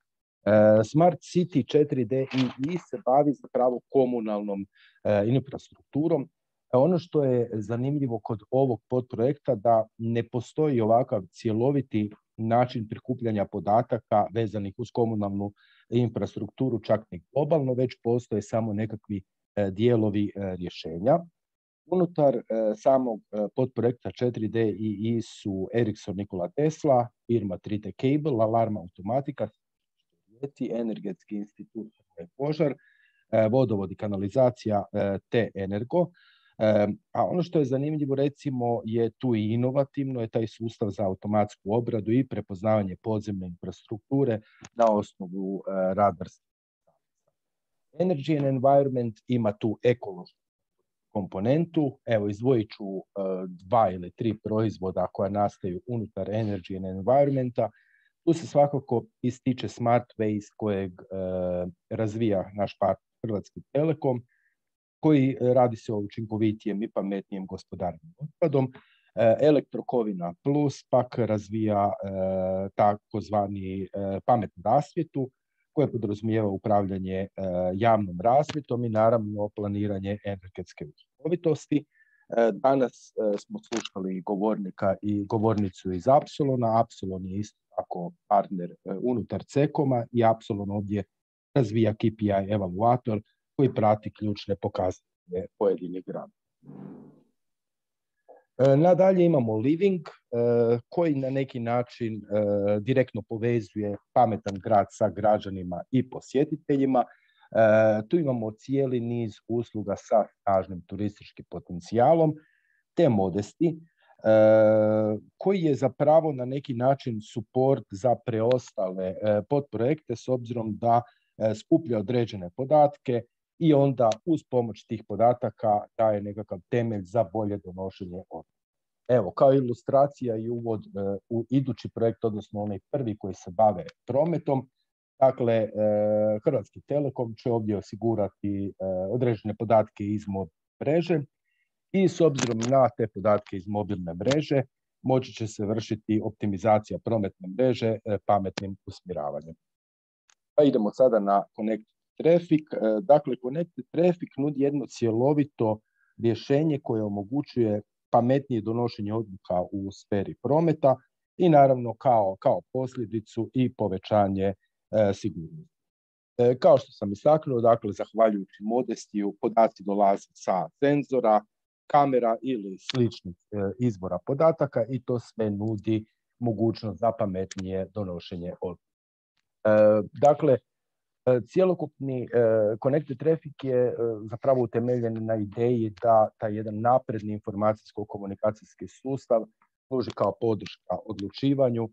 E, Smart City četiri D I I se bavi zapravo komunalnom e, infrastrukturom. E, ono što je zanimljivo kod ovog podprojekta da ne postoji ovakav cjeloviti način prikupljanja podataka vezanih uz komunalnu infrastrukturu, čak ni globalno, već postoje samo nekakvi e, dijelovi e, rješenja. Unutar e, samog e, podprojekta četiri D I I su Ericsson, Nikola Tesla, firma tri T Cable, Alarm Automatika, Energetski institut Požar, e, vodovod i kanalizacija e, te Energo. E, a ono što je zanimljivo recimo je tu i inovativno je taj sustav za automatsku obradu i prepoznavanje podzemne infrastrukture na osnovu e, radarskih. Energy and Environment ima tu ekološku komponentu. Evo, izdvojit ću uh, dva ili tri proizvoda koja nastaju unutar Energy and Environmenta. Tu se svakako ističe Smart Waste kojeg uh, razvija naš partner Hrvatski Telekom, koji radi se o učinkovitijem i pametnijem gospodarenju otpadom. Uh, Elektrokovina Plus pak razvija uh, takozvani uh, pametnu rasvjetu, koje podrazumijeva upravljanje javnom rasvjetom i naravno planiranje energetske učinkovitosti. Danas smo slušali govornika i govornicu iz Apsolona. Apsolon je isto tako partner unutar CECOM-a i Apsolon ovdje razvija K P I evaluator koji prati ključne pokazatelje pojedinih gradova. Nadalje imamo Living koji na neki način direktno povezuje pametan grad sa građanima i posjetiteljima. Tu imamo cijeli niz usluga sa snažnim turističkim potencijalom, te Modesti, koji je zapravo na neki način suport za preostale podprojekte s obzirom da skuplja određene podatke i onda uz pomoć tih podataka daje nekakav temelj za bolje donošenje odluka. Evo, kao ilustracija i uvod u idući projekt, odnosno onaj prvi koji se bave prometom. Dakle, Hrvatski Telekom će ovdje osigurati određene podatke iz mobilne mreže i s obzirom na te podatke iz mobilne mreže moći će se vršiti optimizacija prometne mreže pametnim usmjeravanjem. Pa idemo sada na Connected Traffic. Dakle, Connected Traffic nudi jedno cjelovito rješenje koje omogućuje pametnije donošenje odluka u sferi prometa i naravno kao, kao posljedicu i povećanje e, sigurnosti. E, kao što sam istaknuo, dakle, zahvaljujući Modestiju, podaci dolaze sa senzora, kamera ili sličnih e, izvora podataka i to sve nudi mogućnost za pametnije donošenje odluka. E, dakle, Cijelokupni uh, Connected Traffic je uh, zapravo utemeljen na ideji da taj jedan napredni informacijsko-komunikacijski sustav služi kao podrška odlučivanju uh,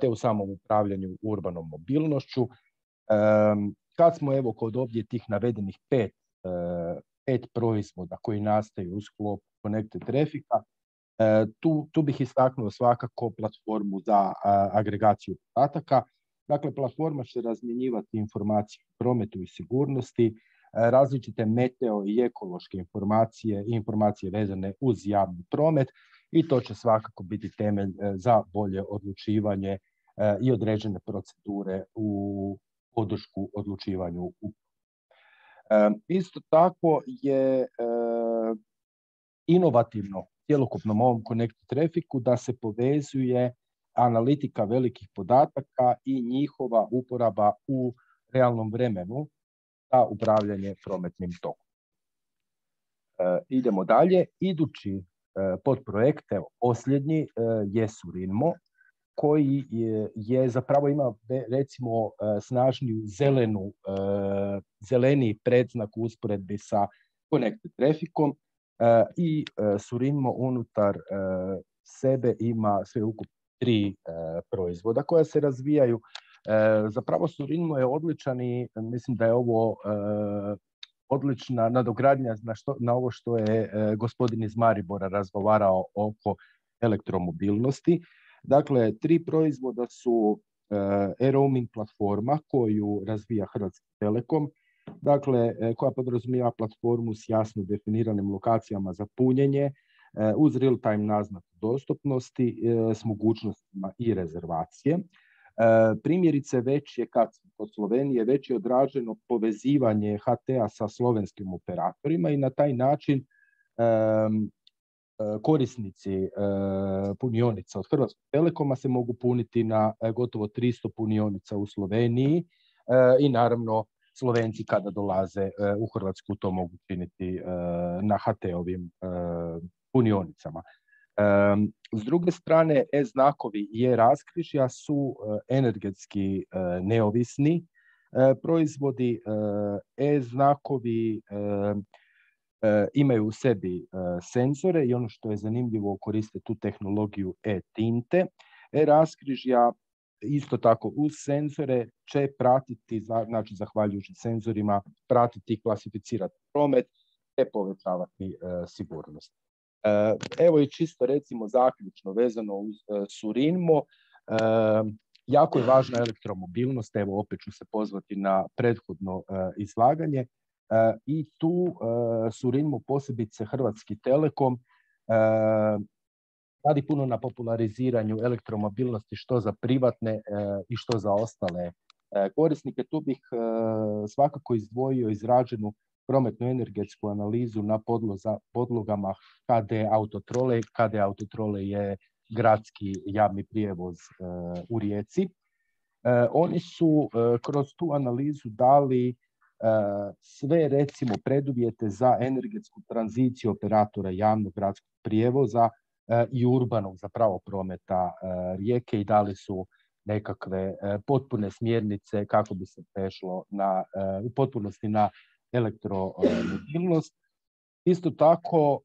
te u samom upravljanju urbanom mobilnošću. Um, kad smo evo kod ovdje tih navedenih pet, uh, pet proizvoda koji nastaju u sklopu Connected Traffica, uh, tu, tu bih istaknuo svakako platformu za uh, agregaciju podataka. Dakle, platforma će razmjenjivati informacije o prometu i sigurnosti, različite meteo i ekološke informacije i informacije vezane uz javni promet i to će svakako biti temelj za bolje odlučivanje i određene procedure u podršku odlučivanju. Isto tako je inovativno cjelokupnom ovom Connected Trafficu da se povezuje analitika velikih podataka i njihova uporaba u realnom vremenu za upravljanje prometnim tokom. E, idemo dalje. Idući e, podprojekt, evo, posljednji, e, je Surinmo, koji je, je zapravo ima recimo e, snažniju zelenu, e, zeleniji predznak u usporedbi sa Connected Trafficom e, i e, Surinmo unutar e, sebe ima sve ukupno tri e, proizvoda koja se razvijaju. E, zapravo Surinmo je odličan i mislim da je ovo e, odlična nadogradnja na, što, na ovo što je e, gospodin iz Maribora razgovarao oko elektromobilnosti. Dakle, tri proizvoda su e, e-roaming platforma koju razvija Hrvatski Telekom, dakle, e, koja podrazumijeva platformu s jasno definiranim lokacijama za punjenje, uz real-time naznaku dostupnosti s mogućnostima i rezervacije. Primjerice, već je, kad od Slovenije, već je odrađeno povezivanje H T-a sa slovenskim operatorima i na taj način korisnici punionica od Hrvatskog Telekoma se mogu puniti na gotovo tristo punionica u Sloveniji i naravno Slovenci kada dolaze u Hrvatsku to mogu činiti na H T-ovim punionicama. Um, s druge strane, e-znakovi i e-raskrižja su uh, energetski uh, neovisni uh, proizvodi. Uh, e-znakovi uh, uh, imaju u sebi uh, senzore i ono što je zanimljivo, koriste tu tehnologiju e-tinte. E-raskrižja isto tako uz senzore će pratiti, znači zahvaljujući senzorima, pratiti i klasificirati promet te povećavati uh, sigurnost. Evo i čisto recimo zaključno vezano uz Surinmo, jako je važna elektromobilnost, evo opet ću se pozvati na prethodno izlaganje i tu Surinmo, posebice Hrvatski Telekom, radi puno na populariziranju elektromobilnosti što za privatne i što za ostale korisnike. Tu bih svakako izdvojio izrađenu prometnu energetsku analizu na podloza, podlogama K D Autotrole. K D Autotrole je gradski javni prijevoz u Rijeci. Oni su kroz tu analizu dali sve, recimo, preduvjete za energetsku tranziciju operatora javnog gradskog prijevoza i urbanog zapravo prometa Rijeke i dali su nekakve potpune smjernice kako bi se prešlo na, u potpunosti na elektromobilnost. Isto tako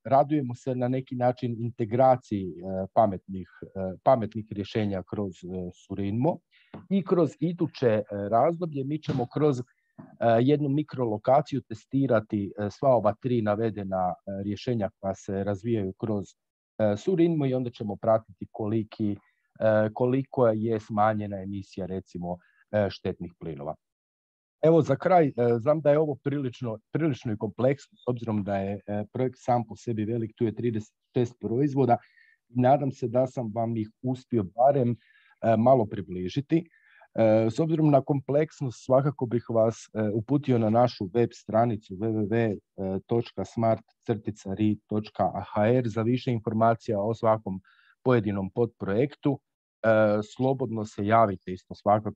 radujemo se na neki način integraciji pametnih, pametnih rješenja kroz Surinmo i kroz iduće razdoblje mi ćemo kroz jednu mikrolokaciju testirati sva ova tri navedena rješenja koja se razvijaju kroz Surinmo i onda ćemo pratiti koliki, koliko je smanjena emisija, recimo, štetnih plinova. Evo, za kraj, znam da je ovo prilično, prilično i kompleksno, s obzirom da je projekt sam po sebi velik, tu je trideset šest proizvoda. Nadam se da sam vam ih uspio barem malo približiti. S obzirom na kompleksnost, svakako bih vas uputio na našu web stranicu w w w točka smart dash ri točka h r za više informacija o svakom pojedinom podprojektu. Slobodno se javite isto svakako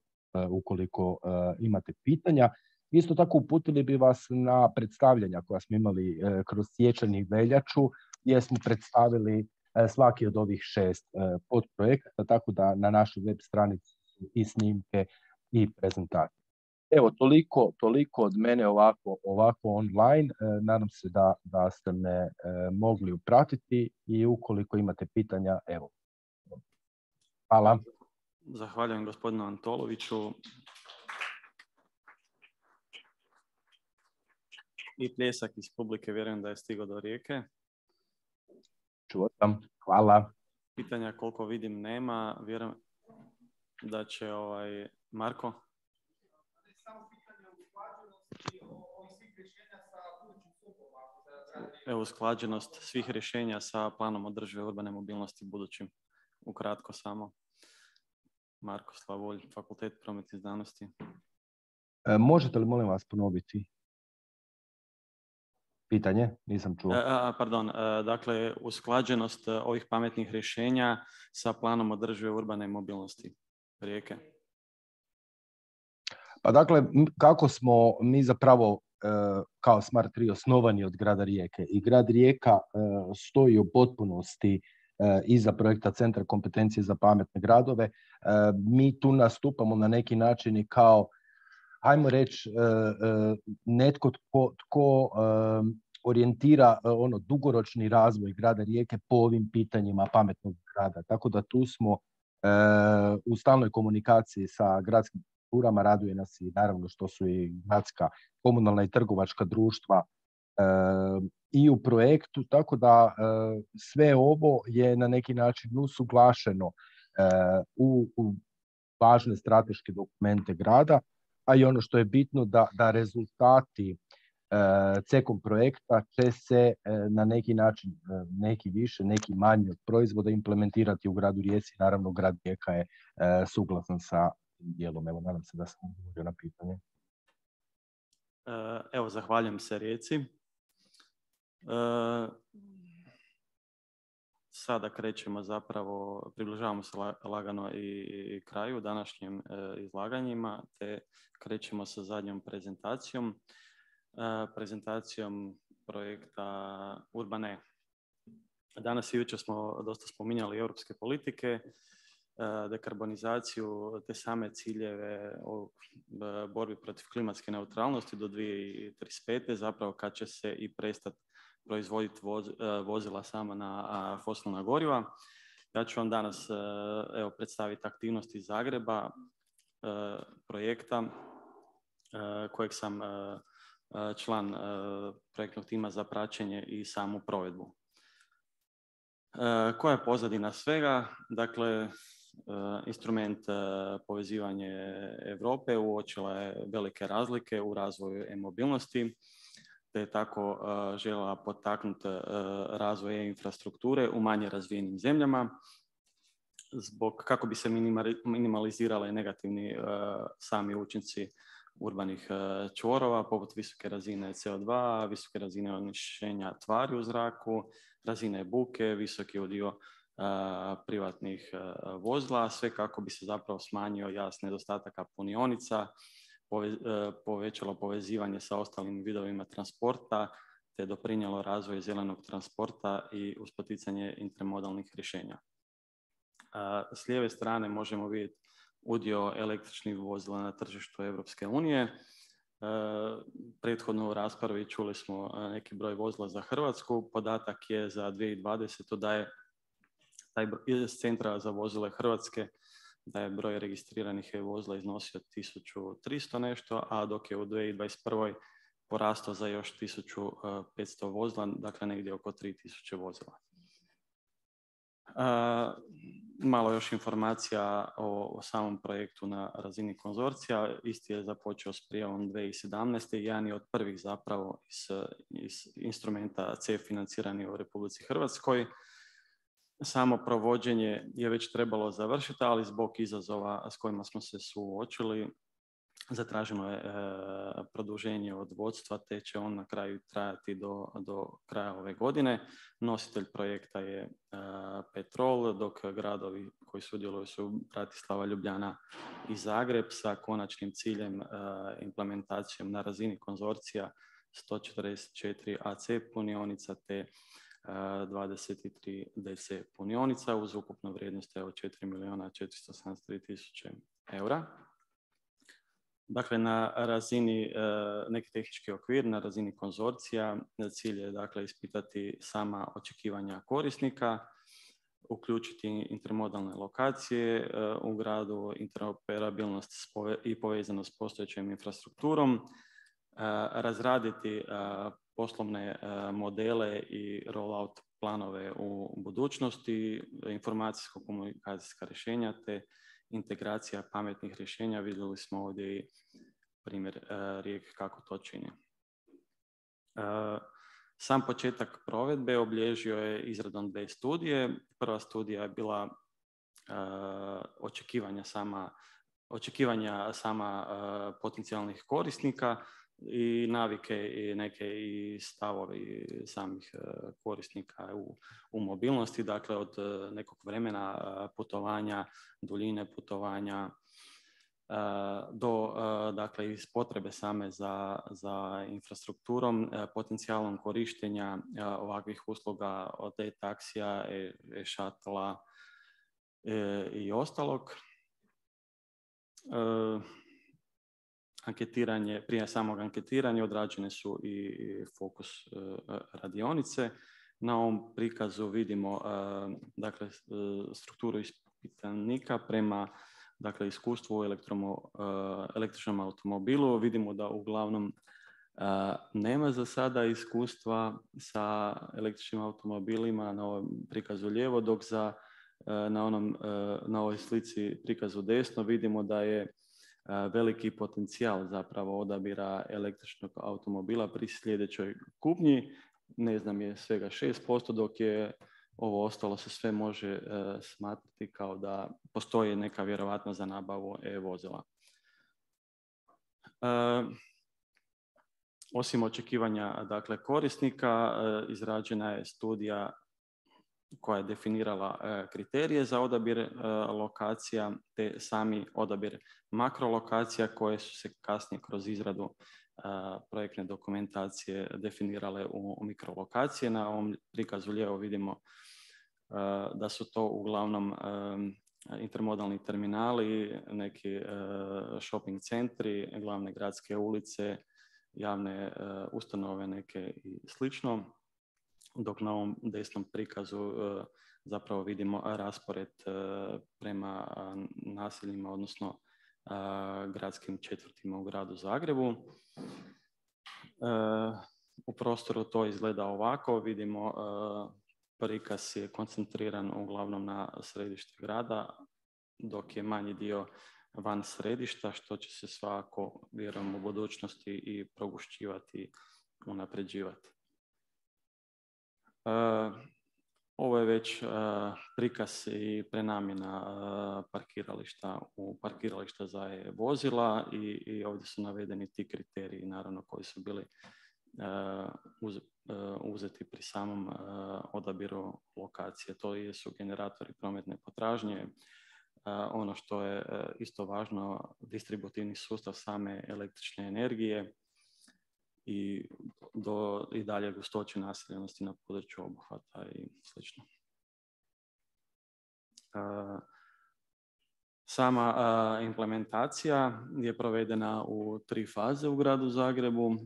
ukoliko imate pitanja. Isto tako uputili bi vas na predstavljanja koja smo imali kroz siječanj i veljaču, gdje smo predstavili svaki od ovih šest podprojekata, tako da na našoj web stranici i snimke i prezentacije. Evo, toliko, toliko od mene ovako, ovako online. Nadam se da, da ste me mogli upratiti i ukoliko imate pitanja, evo. Hvala. Zahvaljujem gospodinu Antoloviću. I pljesak iz publike, vjerujem da je stigao do Rijeke. Čuo sam. Hvala. Pitanja koliko vidim nema. Vjerujem da će ovaj Marko. Evo, usklađenost svih rješenja sa planom održive urbane mobilnosti budućim. Ukratko samo. Marko Slavolj, Fakultet prometnih znanosti. E, možete li, molim vas, ponoviti pitanje? Nisam čuo. E, a, pardon, e, dakle, usklađenost ovih pametnih rješenja sa planom održive urbane mobilnosti Rijeke. Pa dakle, kako smo mi zapravo e, kao Smart tri osnovani od grada Rijeke i grad Rijeka e, stoji u potpunosti iza projekta Centra kompetencije za pametne gradove. Mi tu nastupamo na neki način i kao, hajmo reći, netko tko, tko orijentira ono dugoročni razvoj grada Rijeke po ovim pitanjima pametnog grada. Tako da tu smo u stalnoj komunikaciji sa gradskim strukturama, raduje nas i naravno što su i gradska, komunalna i trgovačka društva i u projektu, tako da sve ovo je na neki način usuglašeno u, u važne strateške dokumente grada, a i ono što je bitno da, da rezultati cekom projekta će se na neki način, neki više, neki manje od proizvoda implementirati u gradu Rijeci. Naravno, grad Rijeka je suglasan sa dijelom. Evo, nadam se da sam odgovorio na pitanje. Evo, zahvaljujem se Rijeci. Sada krećemo zapravo, približavamo se lagano i kraju današnjim izlaganjima, te krećemo sa zadnjom prezentacijom, prezentacijom projekta Urbane. Danas i jučer smo dosta spominjali europske politike, dekarbonizaciju, te same ciljeve o borbi protiv klimatske neutralnosti do dvije tisuće trideset pete, zapravo kad će se i prestati proizvoditi voz, vozila sama na fosilna goriva. Ja ću vam danas evo, predstaviti aktivnosti iz Zagreba, projekta kojeg sam član projektnog tima za praćenje i samu provedbu. Koja je pozadina svega? Dakle, instrument povezivanje Europe uočila je velike razlike u razvoju e-mobilnosti, te je tako željela potaknuti razvoj e-infrastrukture u manje razvijenim zemljama. zbog kako bi se minimalizirale negativni sami učinci urbanih čvorova, poput visoke razine C O dva, visoke razine onečišćenja tvari u zraku, razine buke, visoki udio privatnih vozila, sve kako bi se zapravo smanjio jaz nedostataka punionica, povećalo povezivanje sa ostalim vidovima transporta, te doprinijelo razvoju zelenog transporta i uz poticanje intermodalnih rješenja. S lijeve strane možemo vidjeti udio električnih vozila na tržištu Europske unije. Prethodno u raspravi čuli smo neki broj vozila za Hrvatsku. Podatak je za dvije tisuće dvadesete da je taj iz Centra za vozile Hrvatske da je broj registriranih vozila iznosio tisuću tristo nešto, a dok je u dvije tisuće dvadeset prve porastao za još tisuću petsto vozila, dakle negdje oko tri tisuće vozila. Uh, malo još informacija o, o samom projektu na razini konzorcija. Isti je započeo s prijavom dvije tisuće sedamnaeste. Jedan je od prvih zapravo iz, iz instrumenta C E F financirani u Republici Hrvatskoj. Samo provođenje je već trebalo završiti, ali zbog izazova s kojima smo se suočili zatraženo je e, produženje od vodstva, te će on na kraju trajati do, do kraja ove godine. Nositelj projekta je e, Petrol, dok gradovi koji sudjeluju su Bratislava, Ljubljana i Zagreb sa konačnim ciljem e, implementacijom na razini konzorcija sto četrdeset četiri A C punionica te e, dvadeset tri D C punionica uz ukupnu vrijednost od četiri milijuna četiristo sedamdeset tri tisuće eura. Dakle, na razini, neki tehnički okvir, na razini konzorcija, cilj je dakle ispitati sama očekivanja korisnika, uključiti intermodalne lokacije u gradu, interoperabilnost i povezanost s postojećom infrastrukturom, razraditi poslovne modele i rollout planove u budućnosti, informacijsko-komunikacijska rješenja te integracija pametnih rješenja. Vidjeli smo ovdje i primjer uh, Rijeke kako to čini. Uh, sam početak provedbe obilježio je izradom dvije studije. Prva studija je bila uh, očekivanja sama, očekivanja sama uh, potencijalnih korisnika i navike i neke i stavovi samih uh, korisnika u, u mobilnosti, dakle od uh, nekog vremena uh, putovanja, duljine putovanja uh, do uh, dakle iz potrebe same za, za infrastrukturom, uh, potencijalom korištenja uh, ovakvih usluga od e-taksija, e-šatla e, i ostalog. Uh, Anketiranje, prije samog anketiranja odrađene su i fokus radionice. Na ovom prikazu vidimo dakle, strukturu ispitanika prema dakle, iskustvu u električnom automobilu. Vidimo da uglavnom nema za sada iskustva sa električnim automobilima na ovom prikazu lijevo, dok za, na, onom, na ovoj slici prikazu desno vidimo da je veliki potencijal zapravo odabira električnog automobila pri sljedećoj kupnji. Ne znam, je svega šest posto, dok je ovo ostalo se sve može uh, smatrati kao da postoji neka vjerovatnost za nabavu e-vozila. Uh, osim očekivanja dakle, korisnika, uh, izrađena je studija koja je definirala uh, kriterije za odabir uh, lokacija te sami odabir makrolokacija koje su se kasnije kroz izradu uh, projektne dokumentacije definirale u, u mikrolokacije. Na ovom prikazu lijevo vidimo uh, da su to uglavnom um, intermodalni terminali, neki uh, shopping centri, glavne gradske ulice, javne uh, ustanove neke i slično. Dok na ovom desnom prikazu uh, zapravo vidimo raspored uh, prema uh, naseljima, odnosno uh, gradskim četvrtima u gradu Zagrebu. Uh, u prostoru to izgleda ovako. Vidimo uh, prikaz je koncentriran uglavnom na središte grada, dok je manji dio van središta, što će se svakako, vjerujem, u budućnosti i progušćivati, unapređivati. Uh, Ovo je već uh, prikaz i prenamjena uh, parkirališta u parkirališta za vozila i, i ovdje su navedeni ti kriteriji, naravno, koji su bili uh, uz, uh, uzeti pri samom uh, odabiru lokacije. To jesu generatori prometne potražnje. Uh, ono što je uh, isto važno, distributivni sustav same električne energije i do i dalje gustoće naseljenosti na području obuhvata i slično. Uh, sama uh, implementacija je provedena u tri faze u gradu Zagrebu. Uh,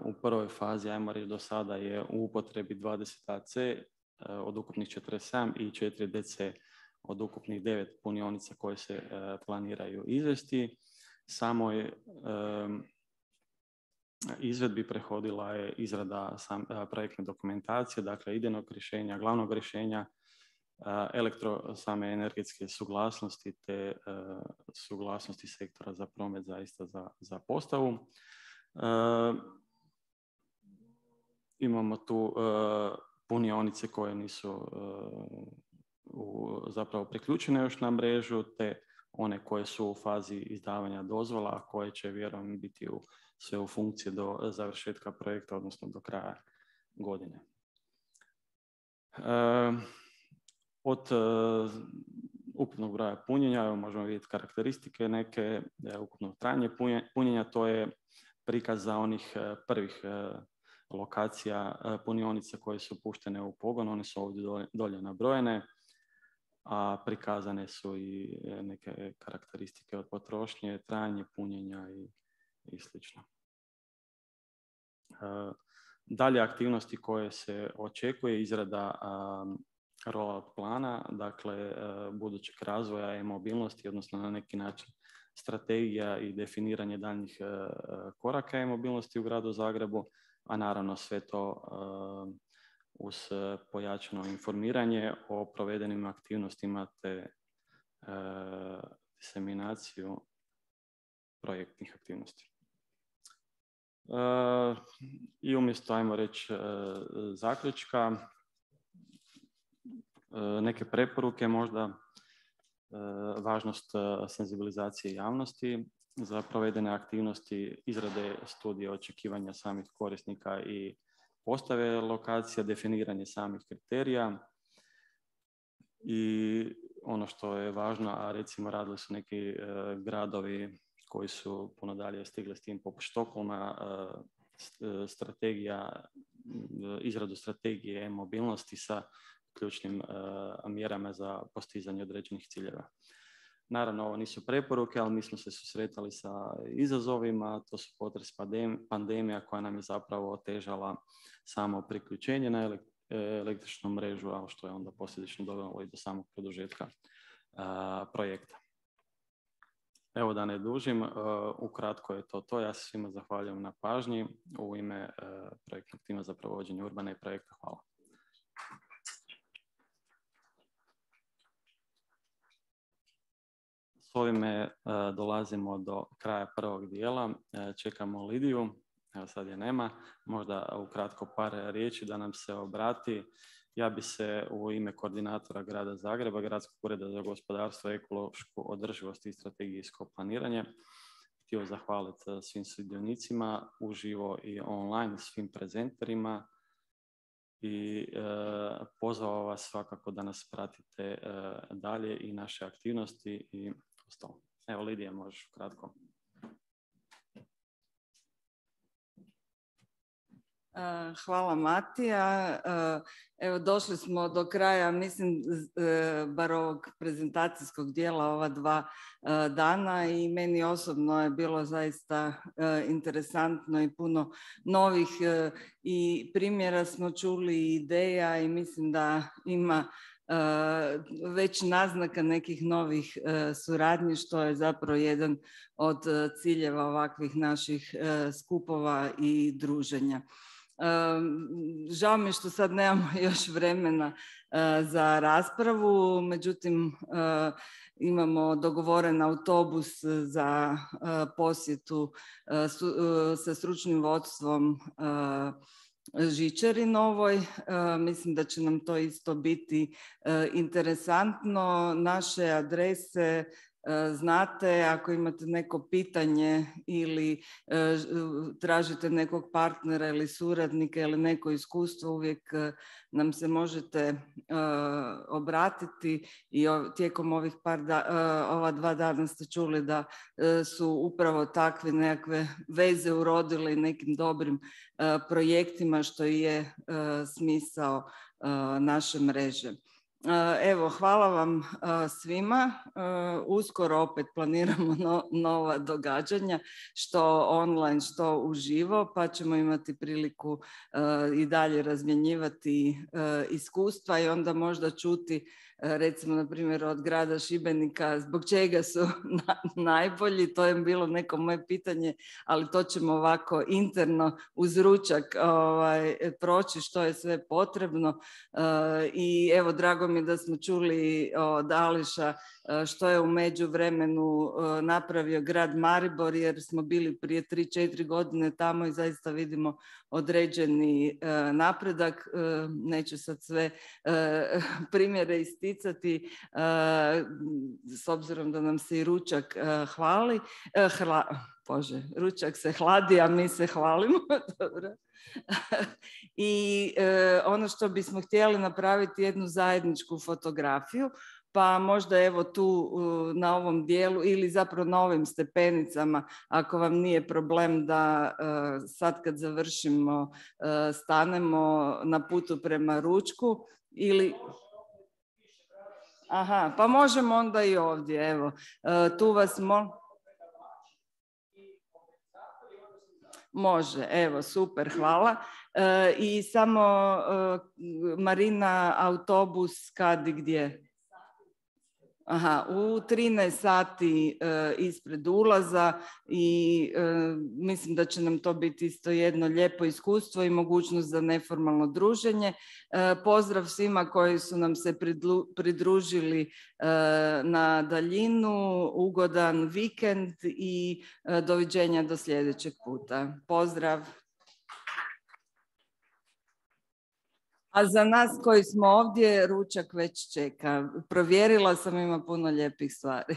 u prvoj fazi, ajmo reći, do sada je u upotrebi dvadeset A C uh, od ukupnih četrdeset sedam i četiri D C od ukupnih devet punionica koje se uh, planiraju izvesti. Samo je um, izvedbi prehodila je izrada sam, projektne dokumentacije, dakle idejnog rješenja, glavnog rješenja, elektro same energetske suglasnosti te uh, suglasnosti sektora za promet zaista za, za postavu. Uh, imamo tu uh, punionice koje nisu uh, u, zapravo priključene još na mrežu, te one koje su u fazi izdavanja dozvola, a koje će vjerujem biti u, sve u funkciji do završetka projekta, odnosno do kraja godine. Uh, Od uh, ukupnog broja punjenja, evo možemo vidjeti karakteristike neke, uh, ukupno trajanje punjenja, to je prikaz za onih uh, prvih uh, lokacija uh, punionica koje su puštene u pogon, one su ovdje dolje, dolje nabrojene, a prikazane su i neke karakteristike od potrošnje, trajanje punjenja i, i slično. Uh, dalje aktivnosti koje se očekuje, izrada um, rollout plana, dakle budućeg razvoja e-mobilnosti, odnosno na neki način strategija i definiranje daljnjih koraka e-mobilnosti u gradu Zagrebu, a naravno sve to uz pojačano informiranje o provedenim aktivnostima te diseminaciju projektnih aktivnosti. I umjesto, ajmo reći, zaključka, neke preporuke, možda važnost senzibilizacije javnosti za provedene aktivnosti, izrade studije očekivanja samih korisnika i postave lokacija, definiranje samih kriterija i ono što je važno, a recimo radili su neki gradovi koji su puno dalje stigli s tim, poput Štokholma, strategija, izradu strategije e-mobilnosti sa ključnim uh, mjerama za postizanje određenih ciljeva. Naravno, ovo nisu preporuke, ali mi smo se susretali sa izazovima, to su potres pandemija koja nam je zapravo otežala samo priključenje na električnu mrežu, a što je onda posljedično dovelo i do samog produžetka uh, projekta. Evo, da ne dužim, uh, ukratko je to to. Ja se svima zahvaljujem na pažnji u ime uh, projektnog tima za provođenje urbane projekta. Hvala. S ovime uh, dolazimo do kraja prvog dijela. Uh, čekamo Lidiju, evo sad je nema, možda ukratko par riječi da nam se obrati. Ja bi se u ime koordinatora grada Zagreba, Gradskog ureda za gospodarstvo, ekološku održivost i strategijsko planiranje htio zahvaliti svim sudionicima uživo i online, svim prezenterima i e, pozvao vas svakako da nas pratite e, dalje i naše aktivnosti i ostalo. Evo, Lidija, možeš kratko. Hvala, Matija. Evo, došli smo do kraja, mislim, bar ovog prezentacijskog dijela ova dva dana i meni osobno je bilo zaista interesantno i puno novih i primjera smo čuli i ideja i mislim da ima već naznaka nekih novih suradnji, što je zapravo jedan od ciljeva ovakvih naših skupova i druženja. Žao mi je što sad nemamo još vremena za raspravu, međutim imamo dogovoren autobus za posjetu sa stručnim vodstvom žičari novoj. Mislim da će nam to isto biti interesantno. Naše adrese znate, ako imate neko pitanje ili tražite nekog partnera ili suradnika ili neko iskustvo, uvijek nam se možete obratiti i tijekom ovih par da, ova dva dana ste čuli da su upravo takve nekakve veze urodile nekim dobrim projektima, što je smisao naše mreže. Evo, hvala vam svima. Uskoro opet planiramo no, nova događanja, što online, što uživo, pa ćemo imati priliku i dalje razmjenjivati iskustva i onda možda čuti, recimo, na primjer, od grada Šibenika, zbog čega su na, najbolji. To je bilo neko moje pitanje, ali to ćemo ovako interno uz ručak ovaj, proći što je sve potrebno. I evo, drago mi je da smo čuli od Ališa što je u međuvremenu napravio grad Maribor, jer smo bili prije tri četiri godine tamo i zaista vidimo određeni napredak. Neću sad sve primjere isticati, s obzirom da nam se i ručak hvali. Hla, Bože, ručak se hladi, a mi se hvalimo. Dobro. I ono što bismo htjeli napraviti jednu zajedničku fotografiju, pa možda evo tu na ovom dijelu ili zapravo na ovim stepenicama, ako vam nije problem da sad kad završimo stanemo na putu prema ručku ili... Aha, pa možemo onda i ovdje, evo. Tu vas molim... Može, evo, super, hvala. E, I samo e, Marina, autobus kad i gdje? Aha, u trinaest sati e, ispred ulaza i e, mislim da će nam to biti isto jedno lijepo iskustvo i mogućnost za neformalno druženje. E, pozdrav svima koji su nam se pridlu, pridružili e, na daljinu, ugodan vikend i e, doviđenja do sljedećeg puta. Pozdrav! A za nas koji smo ovdje, ručak već čeka. Provjerila sam, ima puno lijepih stvari.